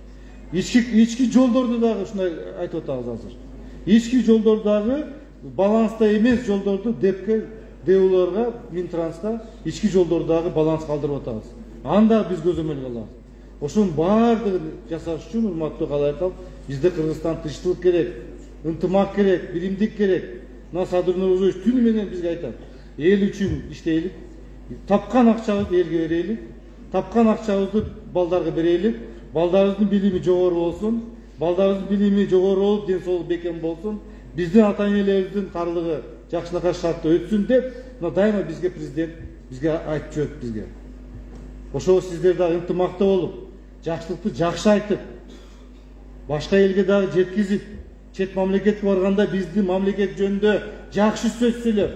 Speaker 1: Ички ички жолдорду дагы ушундай айтып атабыз азыр. Ички жолдор дагы баланста эмес жолдорду депке, деуларга, Минтранска ички жолдорду дагы баланс калтырып атабыз. Анда биз көзөмөлгө алабыз. Ошонун баардыгын жасаш үчүн, урматтуу калайкалар, бизде Кыргызстан тынчтык керек, ынтымак керек, биримдик керек. Мына Садыр Нурузович түнү менен бизге айтат. Эл үчүн иштейлик, тапкан акчабызды элге берелик, тапкан акчабызды балдарга берелик, балдарыбыздын билими жогору болсун, балдарыбыздын билими жогору болуп, ден соолугу бекем болсун, биздин ата энелерибиздин карлыгы жакшынакай шартта өтсүн деп, мына дайыма бизге президент бизге айтып жүрөт бизге. Ошо сиздер дагы ынтымакта болуп, жакшылыкты жакшы айтып, башка элге дагы жеткизип, чет мамлекетке барганда биздин мамлекет жөнүндө жакшы сөз сүйлөп,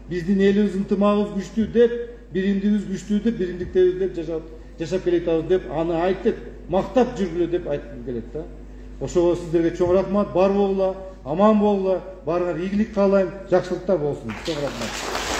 Speaker 1: биздин элибиз ынтымагыбыз күчтүү деп, биримдигибиз күчтүү деп, биримдиктерибиз деп жашап жашап келатабыз деп, аны айтып, мактап жүргүлө деп айткым келет да. Ошого сиздерге чоң рахмат, бар болгула, аман болгула, баарыңар ийгилик каалайм, жакшылыктар болсун. Чоң рахмат.